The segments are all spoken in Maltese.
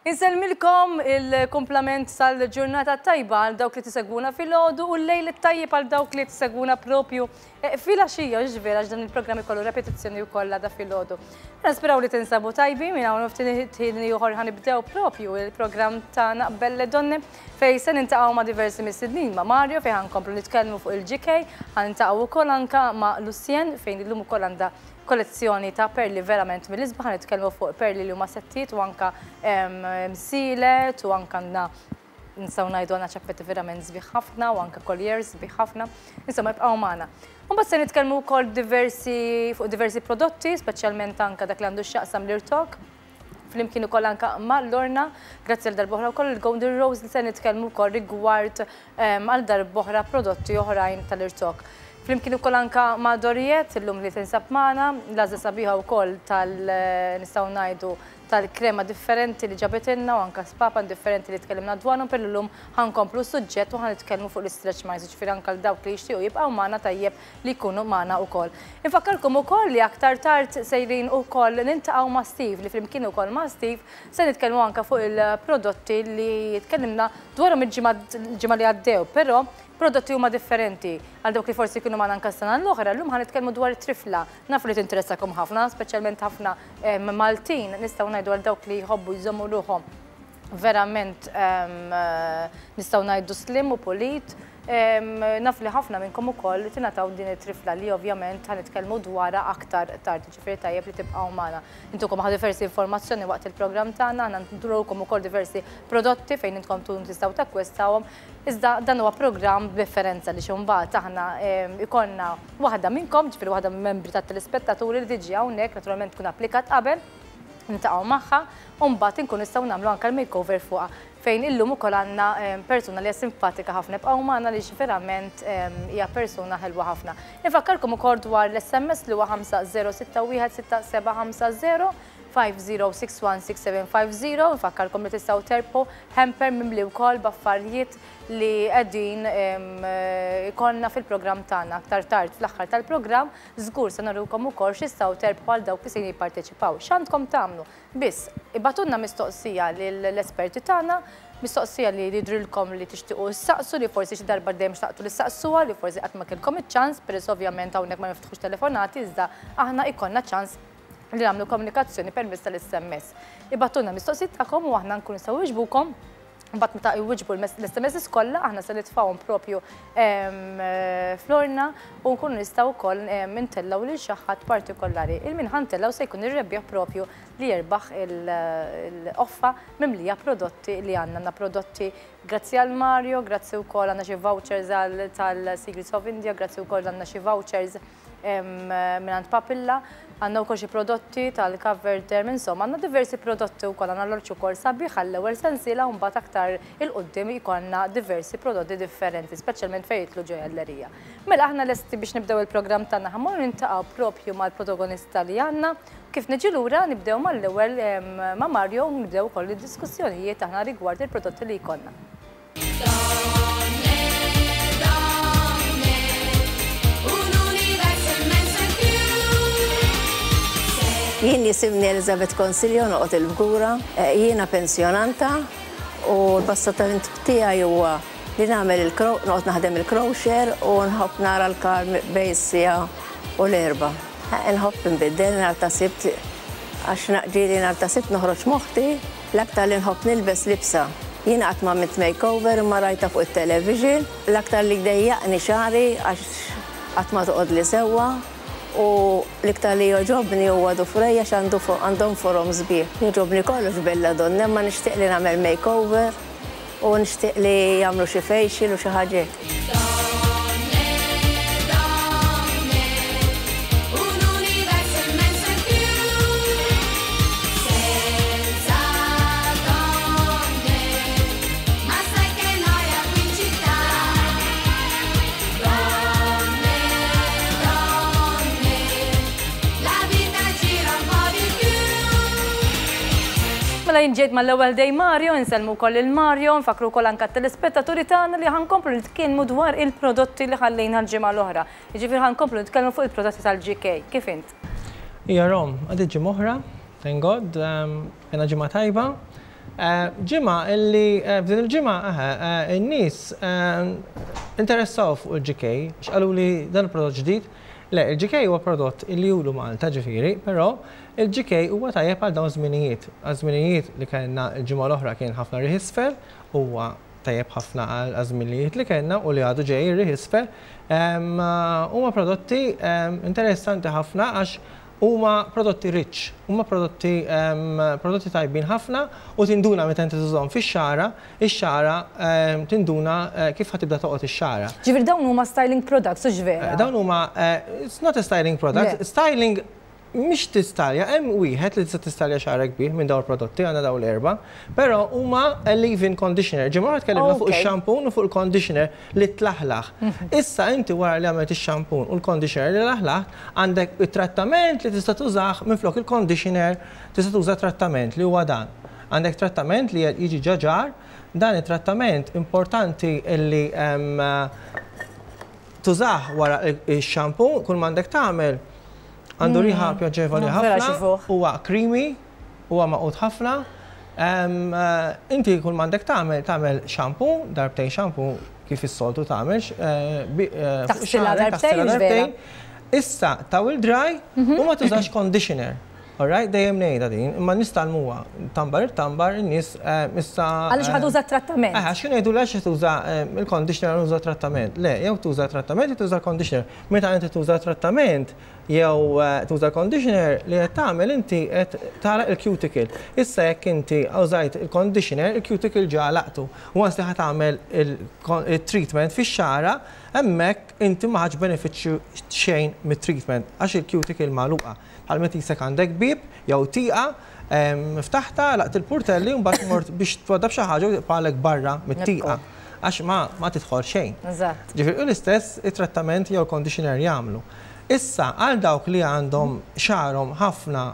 Insellmilkom il-kumplament tal-ġurnata tajba għal dawk li tisegwuna filgħodu u l-lejl it-tajjeb għal dawk li tisegwuna propju eh, filgħaxija ġifieri għax dan il-programm ikollu repetizzjoni wkoll għada filgħodu. Nisperaw li tinsabu tajbi minn hawn ftit ħin ieħor ħanibdew propju il-programm tagħna Belle Donne fejn se niltaqgħu ma' diversi mistednin ma' Mario fejn ħankomplu nitkellmu fuq il-GK, ħaniltaqgħu wkoll anka ma' Lucien fejn illum ukoll għandha kollezzjoni ta' perli verament mill-isbaħ, nitkellmu fuq perli li huma settijiet u anka msielet u anka għandna nistgħu ngħidu għandna ċappetti verament sbieħ ħafna u anka colliers sbieħ ħafna. Insomma, ibqgħu magħna. Mbagħad se nitkellmu wkoll diversi fuq diversi prodotti, speċjalment anka dak li għandu x'jaqsam l-irtok flimkien ukoll anka ma' Lorna, grazzi għal darb'oħra wkoll il-Golden Rose li se nitkellmu wkoll rigward għal darb'oħra prodotti oħrajn tal-irtok. Flimkien ukoll anka ma' Doriet, illum li tinsab magħna, l-għażla sabiħa wkoll tal nistgħu ngħidu tal-krema differenti li ġabitilna u anka spapan differenti li tkellimna dwarhom, però llum ħa nkomplu s-suġġett u ħa nitkellmu fuq l-istretch marks, jiġifieri anka għal dawk li jixtiequ jibqgħu magħna tajjeb li jkunu magħna wkoll. Infakkarkom ukoll li aktar tard sejrin ukoll niltaqgħu ma' Steve li flimkien ukoll ma' Steve se nitkellmu anke fuq il-prodotti li tkellimna dwarhom il-ġimgħa li għaddew, però prodotti huma differenti. Għal dawk li forsi kienu magħna anke s-sena l-oħra, llum ħa nitkellmu dwar it-trifla. Nafu li tinteressakom ħafna, speċjalment ħafna Maltin, nistgħu ngħidu għal dawk li jħobbu jżommu ruħhom verament nistgħu ngħidu slim u pulit. Naf li ħafna minnkom ukoll tingħataw din it-trifla li ovvjament ħa nitkellmu dwarha aktar tard, ġifieri tajjeb li tibqgħu magħna. Intukom ħa diversi informazzjoni waqt il-programm tagħna, aħna nturukom ukoll diversi prodotti fejn intkom tkunu tistgħu takkwistawhom. Iżda dan huwa programm b'differenza li imbagħad aħna ikollna waħda minnkom, ġifieri waħda mill-membri tat-telespettaturi li tiġi hawnhekk, naturalment tkun applikat qabel, niltaqgħu magħha u mbagħad inkunu nistgħu nagħmlu anke l-makeover fuqha fejn illum ukoll għandna persuna li hija simpatika ħafna. Ibqgħu magħna li verament hija persuna ħelwa ħafna. Infakkarkom ukoll dwar l-SMS li huwa 5061 6750 50616750. Infakkarkom li tistgħu terbħu hamper mimli wkoll b'affarijiet li qegħdin ikollna fil-programm tagħna. Aktar tard fl-aħħar tal-programm żgur se nurukom ukoll x'tistgħu terbħu għal dawk li se jipparteċipaw. X'għandkom tagħmlu? Biss, ibagħtulna mistoqsija lill-esperti tagħna, mistoqsija li jidhrilkom li tixtiequ ssaqsu, li forsi xi darba dejjem xtaqtu li ssaqsuha, li forsi qatt ma kellkom iċ-ċans, peress ovvjament hawnhekk ma niftħux telefonati, iżda aħna jkollna ċans li nagħmlu komunikazzjoni permezz tal-SMS. Ibagħtulna mistoqsijiet tagħkom u aħna nkunu nistgħu nwiġbukom. Mbagħad meta jwiġbu l-SMS kollha aħna se nitfgħuhom propju fl-orna u nkunu nistgħu wkoll intellgħu lil xi ħadd partikolari. Il-min ħa ntellgħu se jkun ir-rebbieħ propju li jirbaħ il-qoffa mimlija prodotti li għandna. Għandna prodotti grazzi għal Mario, grazzi wkoll għandna xi vouchers tal-Secrets of India, grazzi wkoll għandna xi vouchers mingħand Papilla, għandna wkoll xi prodotti tal-Cover Derm, insomma għandna diversi prodotti wkoll, għandna l-orċ ukoll sabiħ għall-ewwel sensiela u mbagħad aktar 'il quddiem jkollna diversi prodotti differenti, speċjalment fejn jidħlu ġojellerija. Mela aħna lesti biex nibdew il-programm tagħna, ħa mmorru niltaqgħu propju mal-protagonista li għandna. Kif niġi lura nibdew mal-ewwel ma' Mario u nibdew ukoll id-diskussjonijiet aħna rigward il-prodotti li jkollna. Jien jisimni Elizabeth Consiglio noqgħod il-Fgura, jiena pensjonanta u l-passatemp tiegħi huwa li nagħmel il noqgħod naħdem il-crochet u nħobb nara l-kar bejn is-siegħa u l-erbgħa. Nħobb inbiddel nhar ta' Sibt għax ġieli nhar ta' Sibt noħroġ m'oħti. L-aktar li nħobb nilbes libsa. Jiena qatt m'għamilt makeover imma rajtha fuq it-television. L-aktar li jdejjaqni xagħri għax qatt ma toqgħodli sewwa u l-iktar li jogħġobni huwa dufrej għax għandu għandhom forom sbieħ. Jogħġobni kollox Belladonna imma nixtieq li nagħmel makeover u nixtieq li jagħmlu xi facial u xi ħaġa hekk. Mela jien ġejt mal-ewwel dej Mario, insellmu wkoll lil Mario, nfakkru wkoll anke t-telespettaturi tagħna li ħa nkomplu nitkellmu dwar il-prodotti li ħallejna l-ġimgħa l-oħra. Jiġifieri ħa nkomplu nitkellmu fuq il-prodotti tal-GK. Kif int? Ija Rom, għaddiet ġimgħa oħra, thank God, kellna ġimgħa tajba. Ġimgħa illi f'din il-ġimgħa in-nies interessaw fuq il-GK, x'qaluli dan il-prodott ġdid. Le, il-GK huwa prodott illi ilu Malta ġifieri, però il-GK huwa tajjeb għal dawn żminijiet. Għal żminijiet li kellna l-ġimgħa l-oħra kien ħafna riħ isfel, huwa tajjeb ħafna għal żminijiet li kellna u li għadu ġej ir-riħ isfel. Huma prodotti interessanti ħafna għax huma prodotti rich, huma prodotti prodotti tajbin ħafna u tinduna meta inti tużahom fix-xagħra, ix-xagħra tinduna kif ħa tibda toqgħod ix-xagħra. Ġifieri dawn huma styling products, hux vera? Dawn huma, it's not a styling product, styling mhix tistalja, hemm wieħed li tista' tistalja xagħrek bih minn dawn il-prodotti, għandna dawn l-erba', però huma a leave-in conditioner. Ġimgħa oħra tkellimna fuq ix-shampoo u fuq il-conditioner li tlaħlaħ. Issa inti wara li għamilt ix-shampoo u l-conditioner li laħlaħt, għandek it-trattament li tista' tużah minflok il-conditioner, tista' tuża trattament li huwa dan. Għandek trattament li jiġi ġa ġar, dan it-trattament importanti li tużah wara ix-shampoo, kull m'għandek tagħmel għandu riħa pjaċevoli ħafna, huwa creamy, huwa magħqud ħafna. Inti kull m'għandek tagħmel, tagħmel shampoo, darbtejn shampoo kif is-soltu tagħmel. Taħsilha darbtejn. Issa towel dry u ma tużax conditioner. Alright, dejjem ngħidha din, imma nistgħalmuha. Tambar it-tambar in-nies issa. Għaliex ħa tuża trattament? Għax kienu jgħidu għax tuża il-conditioner uża trattament. Le, jew tuża trattament jew tuża conditioner. Meta inti tuża trattament jew tuża conditioner li qed tagħmel inti qed tagħlaq il-cuticle. Issa jekk inti użajt il-conditioner, il-cuticle ġa għalaqtu. Once li ħa tagħmel il-treatment fix-xagħra, hemmhekk inti ma ħadx benefiċċju xejn mit-treatment għax il-cuticle magħluqa. Bħal meta jisek għandek bib jew tieqa, ftaħta, laqt il-portelli u mbagħad mort biex twaddab xi ħaġa u tibqalek barra mit-tieqa. Għax ma tidħol xejn. Ġifieri l-istess it-trattament jew il-conditioner jagħmlu. Issa għal dawk li għandhom xagħarhom ħafna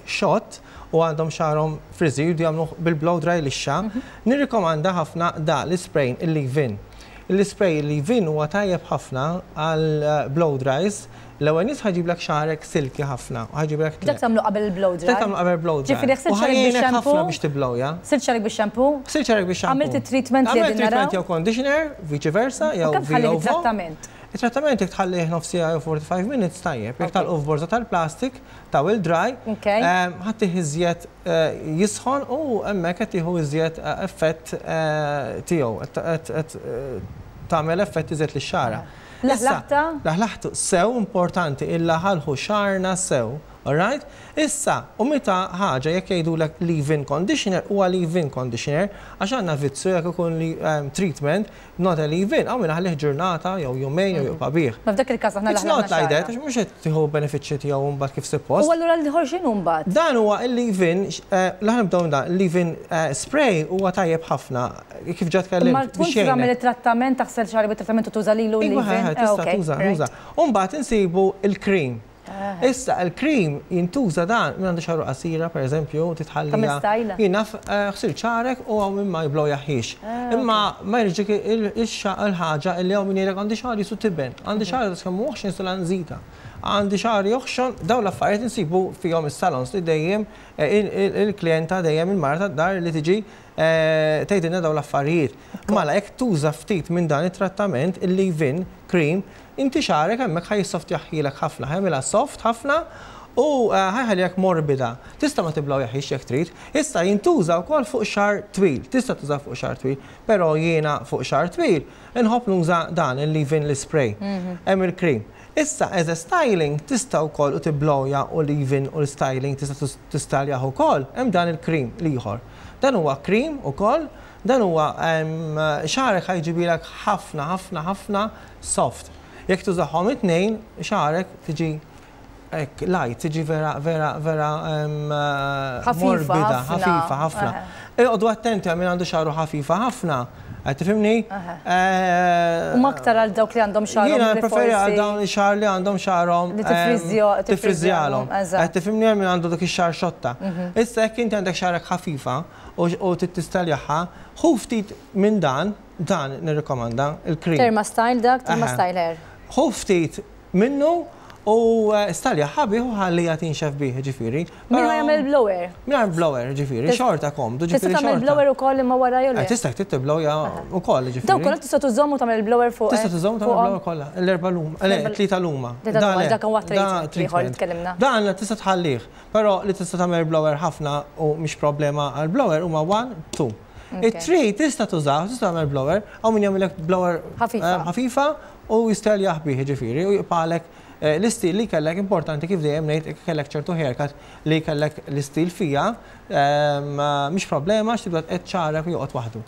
xott u għandhom xagħarhom frizzy jridu jagħmlu bil-blow dry lixxa, nirrikomanda ħafna da l-spray il-leave-in. Il-spray il-leave-in huwa tajjeb ħafna għal blow dries. L-ewwel nies ħa jġiblek xagħrek silky ħafna u ħa jġiblek. Dak tagħmlu qabel il-blow dry. Dak tagħmlu qabel il-blow dry. Ġifieri ħsilt xagħrek bix-shampoo. ħafna biex tiblowja. Ħsilt xagħrek bix-shampoo. Ħsilt xagħrek bix-shampoo. Għamilt it-treatment li Għamilt treatment jew conditioner, vice versa, jew Kemm tħalli it-trattament? Il-trattament jekk tħallih nofs siegħa jew 45 minutes tajjeb. Jekk tagħlqu f'borża tal-plastik, towel dry, ħa ttih iżjed jisħon u hemmhekk qed tieħu iżjed effett tiegħu, qed tagħmel effett iżjed lix-xagħra. Laħlaħta? Laħlaħtu sew importanti illaħalħu xagħarna sew. Alright? Issa, u meta ħaġa jekk jgħidulek leave-in conditioner huwa leave-in conditioner għax għandna vizzju jekk ikun treatment not a leave-in, hawn min ħallih ġurnata jew jumejn jew jibqa' bih. Ma f'dak il-każ aħna It's not like that, għax mhux qed tieħu benefiċċji tiegħu mbagħad kif suppost. U allura l-ieħor x'inhu mbagħad? Dan huwa il-leave-in, l nibdew dan, il-leave-in spray huwa tajjeb ħafna, kif ġa tkellimt. Imma tkun tagħmel it-trattament, taħsel xagħri bit-trattament u tuża lilu l-leave-in. Iva, tista' tuża, tuża. U mbagħad insibu il-cream. Issa, il-cream jintuża dan minn għandu xagħru qasira, per eżempju, titħallija. Jien naf ħsilt xagħrek u hawn min ma jblowjaħiex. Imma ma jridx il-ħaġa li hawn min jgħidlek għandi xagħri su tiben, għandi xagħri ta' kemm oħxon su lanżita, għandi xagħri oħxon, dawn l-affarijiet insibu fihom is-salons li dejjem il-klijenta dejjem il-mara tad-dar li tiġi tgħidilna dawn l-affarijiet. Mela jekk tuża ftit minn dan it-trattament, il-leave-in cream, inti xagħrek hemmhekk ħa jissoftjaħħilek ħafna, ħa jagħmilha soft ħafna u ħa jħallihek morbida. Tista' ma tiblawjaħiex jekk trid. Issa jintuża wkoll fuq xagħar twil. Tista' tuża fuq xagħar twil, però jiena fuq xagħar twil inħobb nuża dan il-leave-in l-spray. Hemm il-cream. Issa as a styling tista' wkoll u tiblowja u leave-in u l-styling tista' tistaljaħ ukoll, hemm dan il-cream l-ieħor. Dan huwa cream ukoll, dan huwa xagħrek ħa jġibilek ħafna ħafna ħafna soft. Jekk tużahom it-tnejn, xagħrek tiġi hekk light, tiġi vera vera vera morbida, ħafifa ħafna. Iqogħdu attenti għal min għandu xagħru ħafifa ħafna, qed tifhimni? U aktar għal dawk li għandhom xagħarhom. Jiena preferi għal dawn ix-xagħar li għandhom xagħarhom. Li tifriżjalhom. Qed tifhimni għal min għandu dak ix-xagħar xotta. Issa jekk inti għandek xagħrek ħafifa u trid tistaljaħha, ħu ftit minn dan, dan nirrikomanda, il-cream. Therma Style dak, Therma Style Hair. Ħu ftit minnu U staljaha bih u ħalliha tinxef bih, ġifieri. Min ma jagħmel blower. Mingħajr blower, ġifieri, xorta komdu, Tista' ġifieri tagħmel xorta. Blower ukoll imma wara jew le? Tista' tibblowja wkoll, ġifieri. Dawn kollha tista' tużhom u tagħmel il-blower fuq. Tista' tużhom tagħmel fuqhom? Blower kollha. L-erba' lum, le, tlieta luma. Tlieta luma, Le, dak huwa da treatment ieħor li tkellimna. Dan tista' tħallih, però li tista' tagħmel blower ħafna u mhix problema għal blower huma 1, 2. It-three tista' tużaw, tista' tagħmel blower, hawn min jagħmilek blower Ħafifa. Ħafifa u jisteljaħ bih, ġifieri, u jibqalek l-istil li kellek. Importanti, kif dejjem ngħid, kellek ċertu haircut li kellek l-istil fija, mhix problema x'tibda tqed xagħrek u joqgħod waħdu.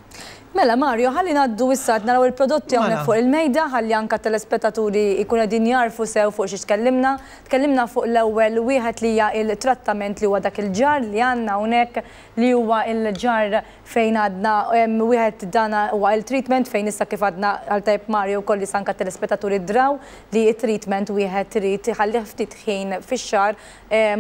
Mela Mario, ħalli ngħaddu issa qed naraw il-prodotti hawnhekk fuq il-mejda, ħalli anka telespettaturi jkunu qegħdin jarfu sew fuq xi tkellimna. Tkellimna fuq l-ewwel wieħed li hija il-trattament, li huwa dak il-ġar li għandna hawnhekk, li huwa il-ġar fejn għadna wieħed dana huwa il-treatment fejn issa kif għadna għal tajb Mario wkoll li anka telespettaturi draw li il-treatment wieħed irid iħallih ftit ħin fix-xagħar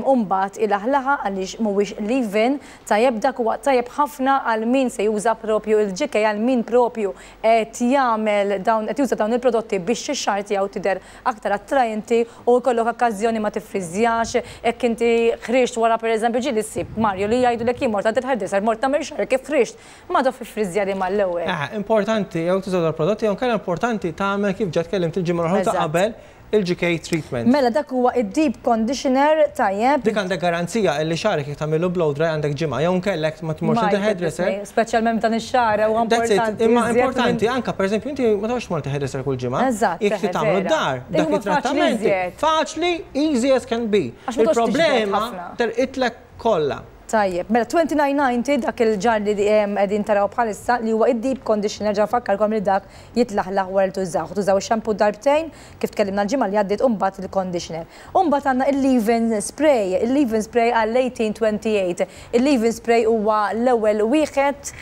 u mbagħad ilaħlaħa għaliex mhuwiex leave-in. Tajjeb, dak huwa tajjeb ħafna għal min se juża propju il-GK, għal min propju qed jagħmel dawn, qed juża dawn il-prodotti biex ix-xagħar tiegħu tidher aktar attrajenti u jkollok okkażjoni ma tiffriżjax, hekk inti ħriġt wara, pereżempju ġieli ssib, Mario, li jgħidulek jien mort għand il-hairdresser, mort nagħmel xagħar, kif ħriġt ma dof iffriżjali mal-ewwel. Importanti, jew tuża l-prodotti, jew kellha importanti tagħmel kif ġa tkellimt il-ġimgħa l-oħra ta' qabel, il-GK treatment. Mela dak huwa id-deep conditioner, tajjeb. Dik għandek garanzija li xagħrek jekk tagħmillu blow dry għandek ġimgħa, jew nkellek ma tmurx għand il-hairdresser. Speċjalment dan ix-xagħar huwa That's it. importanti. Imma iżjed importanti anka, pereżempju, inti ma tgħodx tmur hairdresser kull ġimgħa. Eżatt, Jekk tagħmlu vera. d-dar, dak Huma faċli it-trattamenti. iżjed. Faċli, easy as can be. Għax ma toqgħodx tiġbed Il-problema ħafna. terqitlek kollha. Tajjeb, mela 29.90 dak il-ġar li qegħdin taraw bħalissa, li huwa id-deep conditioner, ġa fakkarkom li dak jitlaħlaħ wara li tużaw. Tużaw ix-shampoo darbtejn kif tkellimna l-ġimgħa li għaddiet u mbagħad il-conditioner. U mbagħad għandna il-leave-in spray, il-leave-in spray għal 1828. Il-leave-in spray huwa l-ewwel wieħed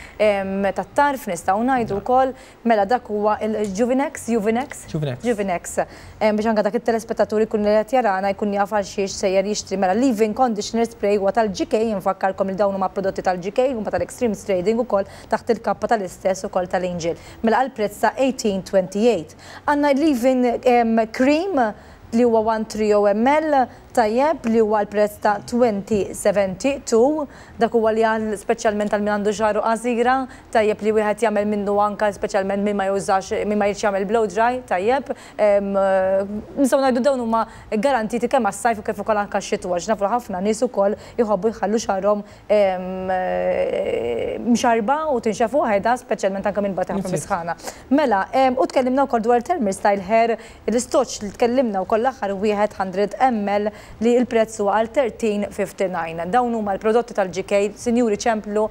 tat-tarf nistgħu ngħidu wkoll, mela dak huwa il-Juvenex, Juvenex? Juvenex. Juvenex. Biex anke dak it-telespettaturi jkun li qed jarana jkun jaf għal xiex sejjer jixtri. Mela leave-in conditioner spray huwa tal-GK, infakkarkom li dawn huma prodotti tal-GK, huma tal-Extreme Trading ukoll taħt il-kappa tal-istess ukoll tal-Angel. Mela għal prezz ta' 1828. Għandna leave-in cream li huwa 130 ml, tajjeb, li huwa l-prezz ta' 2072. Dak huwa li għal speċjalment għal min għandu xagħru qasira, tajjeb li wieħed jagħmel minnu anka speċjalment min ma jużax, min ma jridx jagħmel blow dry, tajjeb. Nistgħu ngħidu dawn huma garantiti kemm għas-sajf u kif ukoll anka x-xitwa, għax nafu ħafna nies ukoll jħobbu jħallu xagħarhom mxarba u tinxefu waħedha, speċjalment anke minn bata ħafna bisħana. Mela, u tkellimna wkoll dwar Thermal Style Hair, l-istoċ li tkellimna wkoll l-aħħar wieħed 100 ml li l-prezz huwa għal 1359. Dawn huma l-prodotti tal-GK, sinjuri, ċemplu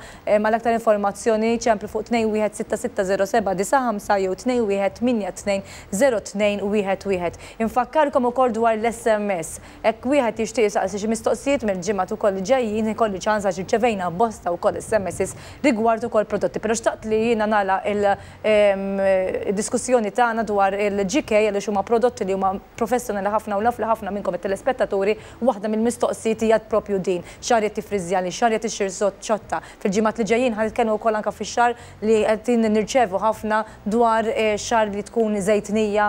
mal-aktar informazzjoni, ċemplu fuq 21660795 jew 21820211. Infakkarkom ukoll dwar l-SMS. Hekk wieħed jixtieq jistaqsi xi mistoqsijiet mill-ġimgħa ukoll li ġejjin ikolli ċans għax irċevejna bosta wkoll SMSs rigward ukoll prodotti. Però xtaqt li jiena nagħlaq il-diskussjoni tagħna dwar il-GK għaliex huma prodotti li huma professjonali ħafna u naf li ħafna minnkom it-telespettaturi waħda mill-mistoqsijiet hija propju din. Xagħri tifriżjali, xagħri tixxir ċotta. Fil-ġimgħat li ġejjin ħa nitkellmu wkoll anke fix-xagħar li qed nirċevu ħafna dwar xagħar li tkun żejtnija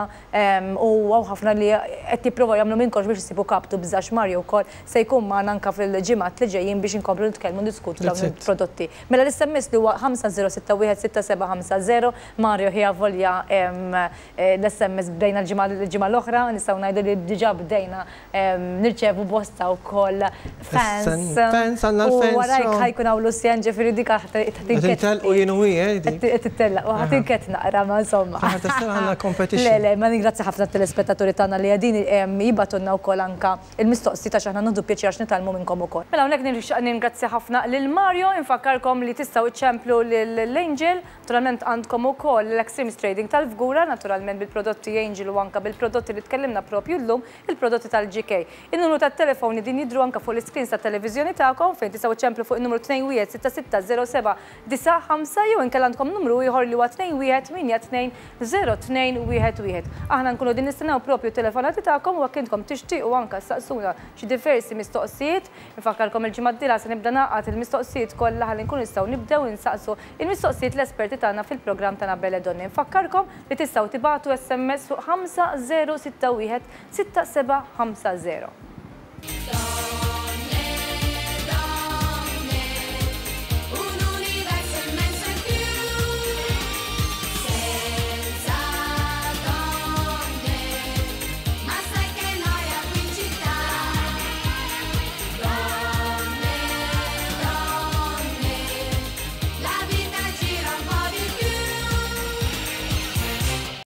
u hawn ħafna li qed jipprovaw jagħmlu minn kollox biex isibu kaptu bżax. Mario wkoll se jkun magħna anke fil-ġimgħat li ġejjin biex inkomplu nitkellmu, niskutu dawn That's it. il-prodotti. Mela l-SMS li huwa 50616750. Mario ħija volja l-SMS bdejna l-ġimgħa l-oħra, nistgħu ngħidu li diġà bdejna nirċevu bosta wkoll fans. Fans, għandna U l-fans, warajk so. ħa jkun hawn Lucien, ġifieri dik Qed u jien u hi, dik. Qed tittellaq u ħa tinket naqra, ma insomma. Aħna tistella għandna competition. Le, le, ma ningrazzja ħafna t-telespettaturi tagħna li qegħdin jibagħtulna wkoll anka il-mistoqsijiet għax aħna nieħdu pjaċir għax nitgħallmu minnkom ukoll. Mela hawnhekk ningrazzja ħafna lil Mario, infakkarkom li tistgħu iċċemplu lil Angel, naturalment għandkom ukoll l-Extreme Trading tal-Fgura, naturalment bil-prodotti Angel u anka bil-prodotti li tkellimna propju llum, il-prodotti tal-GK. In-numru tat-telefon din jidhru anke fuq l-iscreens tat-televiżjoni tagħkom fejn tistgħu iċċemplu fuq in-numru 21660795 jew inkella għandkom numru ieħor li huwa 21820211. Aħna nkunu qegħdin nistennew propju t-telefonati tagħkom u jekk intkom tixtiequ anke ssaqsuna xi diversi mistoqsijiet. Infakkarkom il-ġimgħa d-dieħla se nibda nagħqad il-mistoqsijiet kollha ħalli nkunu nistgħu nibdew insaqsu il-mistoqsijiet l-esperti tagħna fil-programm tagħna Belle Donne. Infakkarkom li tistgħu tibagħtu SMS fuq 5061 6750.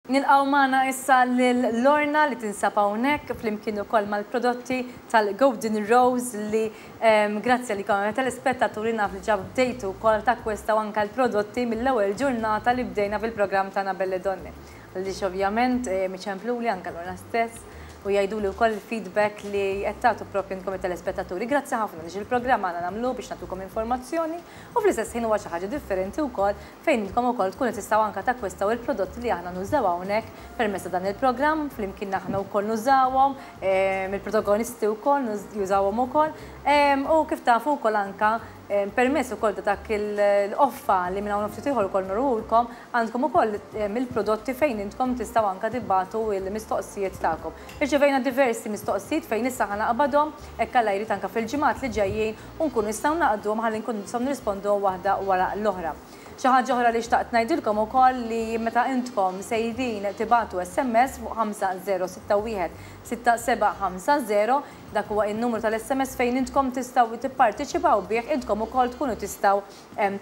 Nilqgħu magħna issa lil Lorna li tinsab hawnhekk flimkien ukoll mal-prodotti tal-Golden Rose li grazzi għalikom telespettaturi naf li ġa bdejtu wkoll takkwistaw anke l-prodotti mill-ewwel ġurnata li bdejna fil-programm tagħna Belle Donne. Għaliex ovvjament iċempluli anke Lorna stess u jgħiduli wkoll il-feedback li qed tagħtu proprju intkom it-telespettaturi. Grazzi ħafna għaliex il-programm għandna nagħmluh biex nagħtukom informazzjoni u fl-istess ħin huwa xi ħaġa differenti wkoll fejn intkom ukoll tkunu tistgħu anke takkwistaw il-prodotti li aħna nużaw hawnhekk permezz ta' dan il-programm, flimkien aħna wkoll nużawhom, il-protagonisti wkoll jużawhom ukoll u kif tafu wkoll anke permezz ukoll ta' dak il-qoffa li minn hawn u ftit ieħor ukoll nurulkom, għandkom ukoll il-prodotti fejn intkom tistgħu anke tibagħtu l-mistoqsijiet tagħkom. Irċevejna diversi mistoqsijiet fejn issa ħa naqbadhom hekk Alla jrid anke fil-ġimgħat li ġejjin u nkunu nistgħu naqduhom ħalli nkunu nistgħu nirrisponduhom waħda wara l-oħra. Xi ħaġa oħra li xtaqt ngħidilkom ukoll li meta intkom sejrin tibagħtu SMS fuq 5061 6750, dak huwa n-numru tal-SMS fejn intkom tistgħu tipparteċipaw bih, intkom ukoll tkunu tistgħu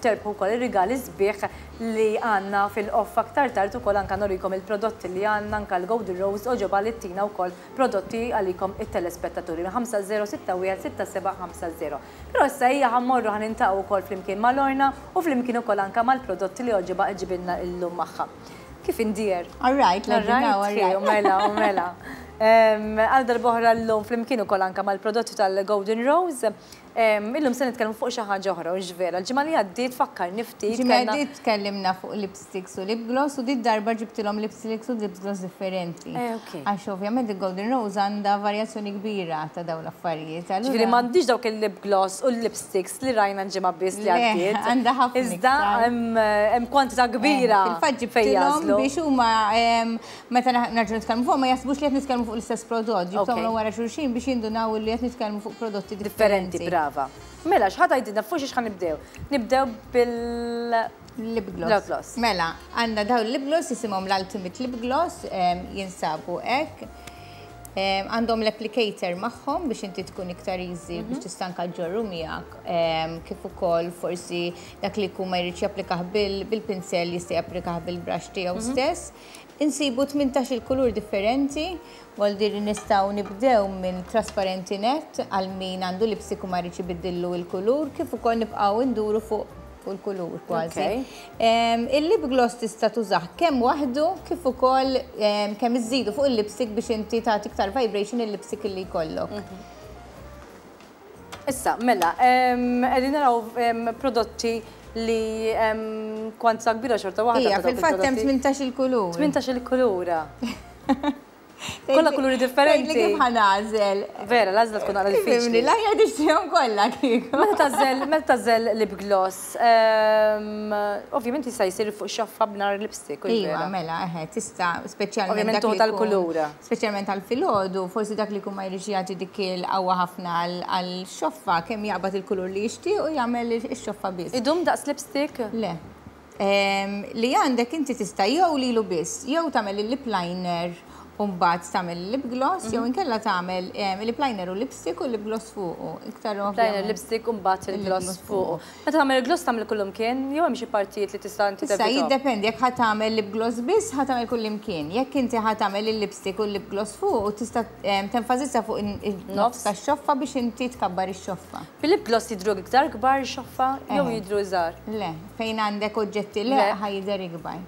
terbħu wkoll ir-rigali sbieħ li għandna fil-off aktar tard ukoll anke nurikom il-prodotti li għandna anke l-Golden Rose għoġobha li ttina wkoll prodotti għalikom it-telespettaturi minn 5061 6750. Però issa ejja ħa mmorru ħa niltaqgħu wkoll flimkien ma' Lorna u flimkien ukoll anke mal-prodotti li għoġibha ġġibilna llum magħha. Kif indear? All right, all right, mela, mela. Għal darb'oħra llum flimkien ukoll anke mal-prodotti tal-Golden Rose. Illum se nitkellmu fuq xi ħaġa oħra, hux vera? Il-ġimgħa li għaddiet fakkarni ftit. Ġimgħa li għaddiet tkellimna fuq lipsticks u lip gloss u din darba ġibtilhom lipsticks u lip gloss differenti. Għax ovvjament il-Golden Rose għandha varjazzjoni kbira ta' dawn l-affarijiet. Ġifieri m'għandix dawk il-lip gloss u l-lipsticks li rajna l-ġimgħa biss li għaddiet. Għandha ħafna. Iżda hemm kwantità kbira. Fil-fatt ġibtilhom biex huma meta nerġgħu nitkellmu fuq ma jaħsbux li qed nitkellmu fuq l-istess prodott, ġibthom wara xulxin biex jindunaw li qed nitkellmu fuq prodotti differenti. Brava. Mela, x'ħa tgħidilna fuq xiex ħa nibdew? Nibdew bil Lip gloss. Mela, għandna dawn lip gloss jisimhom l-Ultimate Lip Gloss, jinsabu hekk. Għandhom l-applicator magħhom biex inti tkun iktar easy biex tista' anke ġorru miegħek, kif ukoll forsi dak li jkun ma jridx japplikah bil-pinsel jista' japplikah bil-brush tiegħu stess. Insibu 18-il kulur differenti, vuol dire nistgħu nibdew minn trasparenti net għal min għandu lipstick u ma jridx ibiddillu l-kulur, kif ukoll nibqgħu nduru fuq il-kulur kważi. Il-lip gloss tista' tużah kemm waħdu kif ukoll kemm iżidu fuq il-lipstick biex inti tagħti iktar vibration il-lipstick li jkollok. Issa, mela, qegħdin naraw prodotti li kwantità kbira xorta waħda. Ija, fil-fatt hemm 18 il-kulur. 18 il-kulur. Kollha kuluri differenti. Li kif ħa nagħżel. Vera, l-għażla tkun għala diffiċli. L-aħjar tixtrihom kollha kieku. Meta tagħżel lip gloss, ovvjament jista' jsir fuq xoffa b'nar lipstick. Iva, mela, eħe, tista' speċjalment. Ovvjament tuħu tal-kulura. Speċjalment għal filgħodu, forsi dak li jkun ma jridx jagħti dik il-qawwa ħafna għal xoffa kemm jaqbad il-kulur li jixtieq u jagħmel ix-xoffa biss. Idum daqs lipstick? Le. Li għandek inti tista' jew lilu biss, jew tagħmel il-lip liner u mbagħad tagħmel il-lip gloss, jew inkella tagħmel il-lip liner u lipstick u lip gloss fuqu. Iktar Liner, lipstick u mbagħad il-gloss fuqu. Meta tagħmel il-gloss tagħmel kullimkien, jew hemm xi partijiet li tista' inti Issa jiddependi jekk ħa tagħmel lip gloss biss ħa tagħmel kullimkien. Jekk inti ħa tagħmel il-lipstick u l-lip gloss fuqu tista' tenfasizza fuq in-nofs tax-xoffa biex inti tkabbar ix-xoffa. Fil-lip gloss jidhru iktar kbar ix-xoffa jew jidhru żgħar? Le, fejn għandek oġġetti le ħa jidher ikbar.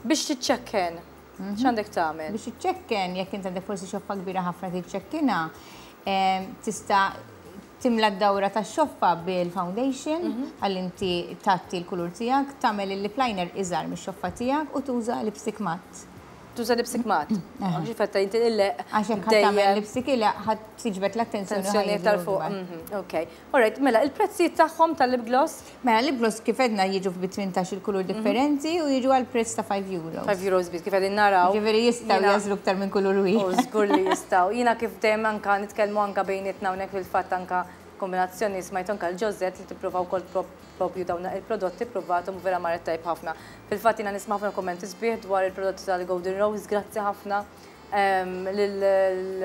Biex tiċċekken, x'għandek tagħmel? Biex tiċċekken, jekk inti għandek forsi xoffa kbira ħafna tiċċekkinha, Tista' timla d-dawra tax-xoffa bil-foundation ħalli inti tgħatti l-kulur tiegħek, tagħmel il-lip liner iżgħar mix-xoffa tiegħek u tuża lipstick matte. Tuża lipstick matte. Għax fetta inti illeq. Għax hekk ħa tagħmel lipstick ileq ħa tiġbed l-attenzjoni iktar fuq. Ok. Alright, mela il-prezzijiet tagħhom tal-lip gloss? Mela lip gloss kif għedna jiġu bi 18 il-kulur differenti u jiġu għal prezz ta' 5 euros. 5 euros biss kif qegħdin naraw. Ġifieri jistgħu jagħżlu iktar minn kulur wieħed. Żgur li jistgħu. Jiena kif dejjem anka nitkellmu anka bejnietna hawnhekk fil-fatt anka kombinazzjoni smajt anka l-Ġożett li tipprova wkoll propju dawn il-prodotti ppruvathom u vera marret tajjeb ħafna. Fil-fatt jiena nisma' ħafna kummenti sbieħ dwar il-prodotti tal-Golden Rose, grazzi ħafna lil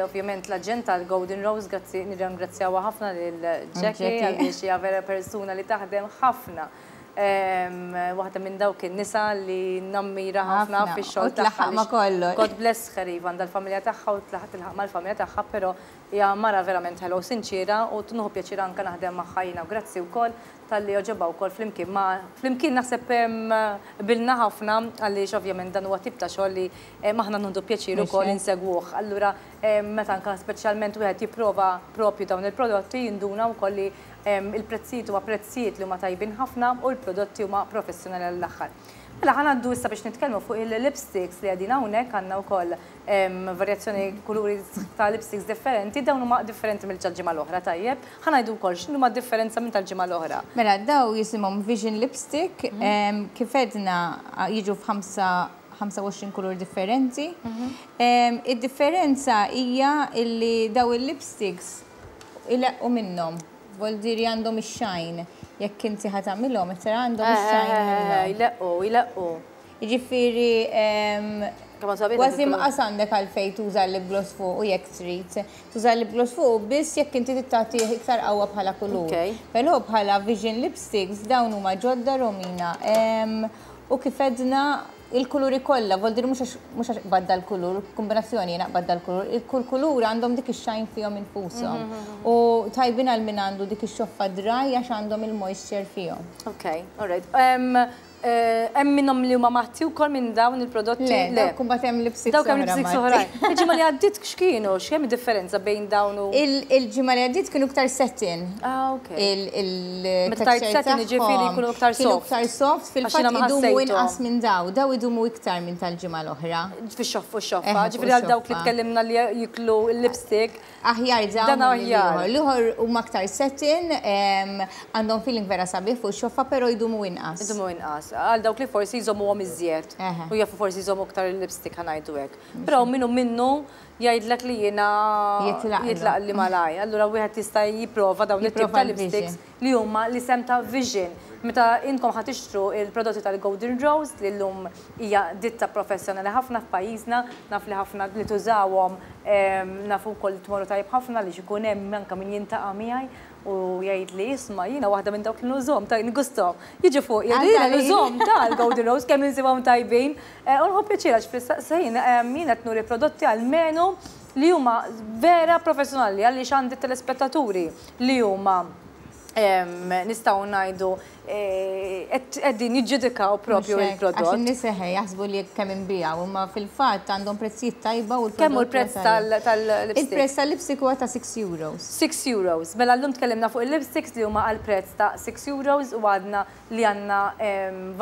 ovvjament l-aġent tal-Golden Rose, grazzi nirringrazzjawha ħafna lil Jackie għaliex hija vera persuna li taħdem ħafna. Waħda minn dawk in-nisa li nammira ħafna fix-xogħol tagħha. Ma kollox. God bless her iva għandha l-familja tagħha u tilħaq mal-familja tagħha, però hija mara verament ħelwa u sinċiera u nieħu pjaċir anke naħdem magħha jiena u grazzi wkoll talli għoġobha wkoll flimkien ma' flimkien naħseb qbilna ħafna għaliex ovvjament dan huwa tip ta' xogħol li aħna nieħdu pjaċir ukoll insegwuh. Allura meta anke speċjalment wieħed jipprova propju dawn il-prodotti jinduna wkoll li il-prezzijiet huma prezzijiet li huma tajbin ħafna u l-prodotti huma professjonali għall-aħħar. Mela ħa ngħaddu issa biex nitkellmu fuq il-lipsticks li qegħdin hawnhekk. Għandna wkoll varjazzjoni kuluri ta' lipsticks differenti, dawn huma differenti mill-ġimgħa l-oħra, tajjeb. Ħa ngħidu wkoll x'inhuma d-differenza minn tal-ġimgħa l-oħra. Mela daw jisimhom Vision Lipstick, kif għedna jiġu f'25 kulur differenti. Id-differenza hija illi daw il-lipsticks ileqqu minnhom. Vuol dire għandhom ix-shine. Jekk inti ħa tagħmilhom, tara għandhom ix-shine minnhom. Jleqqu, jleqqu. Jiġifieri kważi mqas għandek għalfejn tuża l-lip gloss fuq u jekk trid. Tuża l-lip gloss fuq biss jekk inti tagħti iktar qawwa bħala kulur. Però bħala Vision Lipsticks dawn huma ġodda Romina. U kif għedna il-kuluri kollha, vuol dire mhux għax qbadda l-kulur, kombinazzjoni jiena qbadda l-kulur, il-kull kulur għandhom dik ix-shine fihom infushom. U tajbin għal min għandu dik ix-xoffa dry għax għandhom il-moisture fihom. Ok, all right. Hemm minnhom li huma matti wkoll minn dawn il-prodotti? Le, dawk imbagħad hemm lipsticks. Dawk hemm lipsticks oħrajn. Il-ġimgħa li għaddiet x'kienu? X'hemm differenza bejn dawn u Il-ġimgħa li għaddiet kienu iktar satin. Ah, ok. Meta tgħid satin jiġifieri jkunu iktar soft. Kienu iktar soft, fil-fatt idumu inqas minn daw, daw idumu iktar minn tal-ġimgħa l-oħra. Fix-xoff u x-xoffa, ġifieri għal dawk li tkellimna li jiklu l-lipstick. Aħjar dawn aħjar. L-ieħor huma aktar satin, għandhom feeling vera sabiħ fuq xoffa, però jdumu inqas. Jdumu inqas. Għal dawk li forsi jżommuhom iżjed. U jafu forsi jżommu aktar il-lipstick ħa ngħidu hekk. Però minnu minnu jgħidlek li jiena jitlaq li malaj. Allura wieħed jista' jipprova dawn it-tip ta' lipsticks li huma l-isem ta' Vision. Meta intkom ħa tixtru il-prodotti tal-Golden Rose li llum hija ditta professjonali ħafna f'pajjiżna, naf li ħafna li tużawhom, nafu wkoll li tmorru tajjeb ħafna li ikun hemm anke min jintaqa' miegħi u jgħid li isma' jiena waħda minn dawk li nużhom ta' nigusthom. Jiġu fuq jgħidu jiena nużhom tal-Golden Rose kemm insibhom tajbin. U nħobb pjaċir għax fl-istess ħin jien qed nuri prodotti almenu li huma vera professjonali għaliex għandi telespettaturi li huma nistgħu ngħidu qegħdin jiġġudikaw propju il-prodott. Għax in-nies eħe jaħsbu li kemm inbiegħu, imma fil-fatt għandhom prezzijiet tajba u l-prodott. Kemm hu l-prezz tal-lipstick? Il-prezz tal-lipstick huwa ta' 6 euros. 6 euros. Mela llum tkellimna fuq il-lipsticks li huma għal prezz ta' 6 euros u għadna li għandna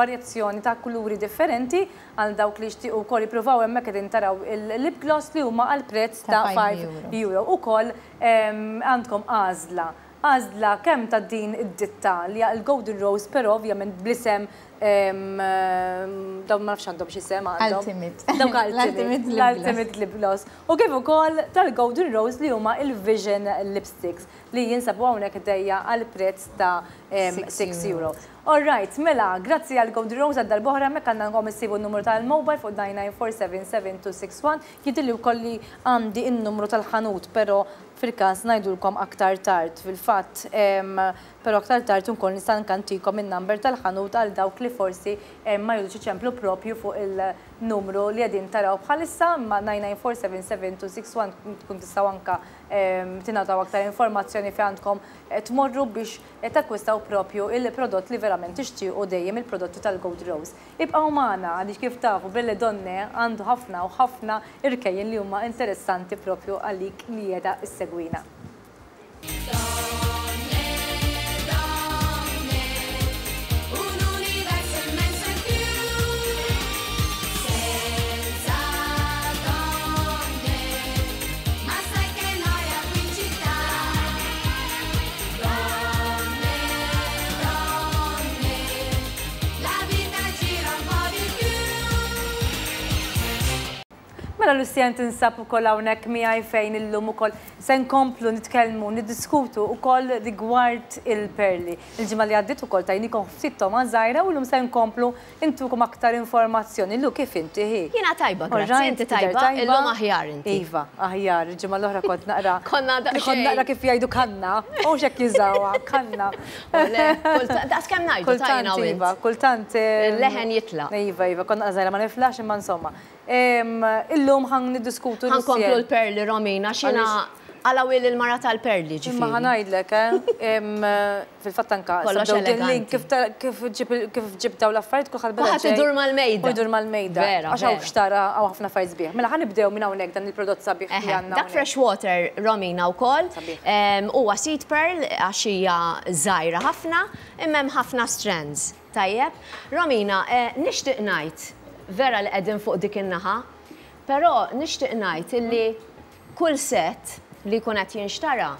varjazzjoni ta' kuluri differenti għal dawk li jixtiequ wkoll jippruvaw hemmhekk qegħdin taraw il-lip gloss li huma għal prezz ta' 5 euro. Ukoll għandkom għażla għażla kemm ta' din id-ditta li hija l-Golden Rose, però ovvjament bl-isem dawn ma nafx għandhom x'isem għandhom. Ultimate. Dawk Ultimate, l-Ultimate Lip Gloss. U kif ukoll tal-Golden Rose li huma il-Vision Lipsticks li jinsabu hawnhekk ħdejja għal prezz ta' 6 euro. All right, mela, grazzi għal Golden Rose għal darb'oħra hemmhekk għandna issibu n-numru tal-mobile fuq 99477261. Jidhirli wkoll li għandi n-numru tal-ħanut, però fil-każ ngħidulkom aktar tard. Fil-fatt, però aktar tard ukoll nista' nkantikom in-number tal-ħanut għal dawk li forsi ma jridux iċemplu propju fuq il-numru li qegħdin taraw bħalissa, imma 99477261 tkun tistgħu anka tingħataw aktar informazzjoni fejn għandkom tmorru biex takkwistaw propju il-prodott li verament tixtiequ dejjem il-prodotti tal-Gold Rose. Ibqgħu magħna għaliex kif tafu Belle Donne għandu ħafna u ħafna irkejjen li huma interessanti propju għalik li qiegħda issegwina. Mela Lucienne tinsab ukoll hawnhekk miegħi fejn illum ukoll se nkomplu nitkellmu, niddiskutu ukoll rigward il-perli. Il-ġimgħa li għaddiet ukoll tajnikom ftit togħma żgħira u llum se nkomplu ntukom aktar informazzjoni. Lu, kif inti hi? Jiena tajba, grazzi, inti tajba? Illum aħjar inti. Iva, aħjar, il-ġimgħa l-oħra kont naqra. Konna daqsxejn. Kont naqra kif jgħidu kanna, u x'hekk jużawha, kanna. Le, daqs kemm ngħidu ta' jiena u int. Iva, kultant. Il-leħen jitlaq. Iva, iva, kont naqra żgħira ma niflaħx imma insomma. Illum ħan niddiskutu. Ħa nkomplu l-perli Romina, x'jiena għala wil il-mara tal-perli ġifieri. Imma ħa ngħidlek, eh, fil-fatt anka. Kollox eleganti. Kif ġib daw l-affarijiet kulħadd beda. Kulħadd idur mal-mejda. U jdur mal-mejda. Vera. Għax hawn xtara hawn ħafna affarijiet sbieħ. Mela ħa nibdew minn hawnhekk dan il-prodott sabiħ li għandna. Dak fresh water Romina wkoll. Huwa seed pearl għax hija żgħira ħafna, imma hemm ħafna strands. Tajjeb. Romina, nixtieq ngħid, vera li qegħdin fuq dik in-naħa, però nixtieq ngħid illi kull set li jkun qed jinxtara,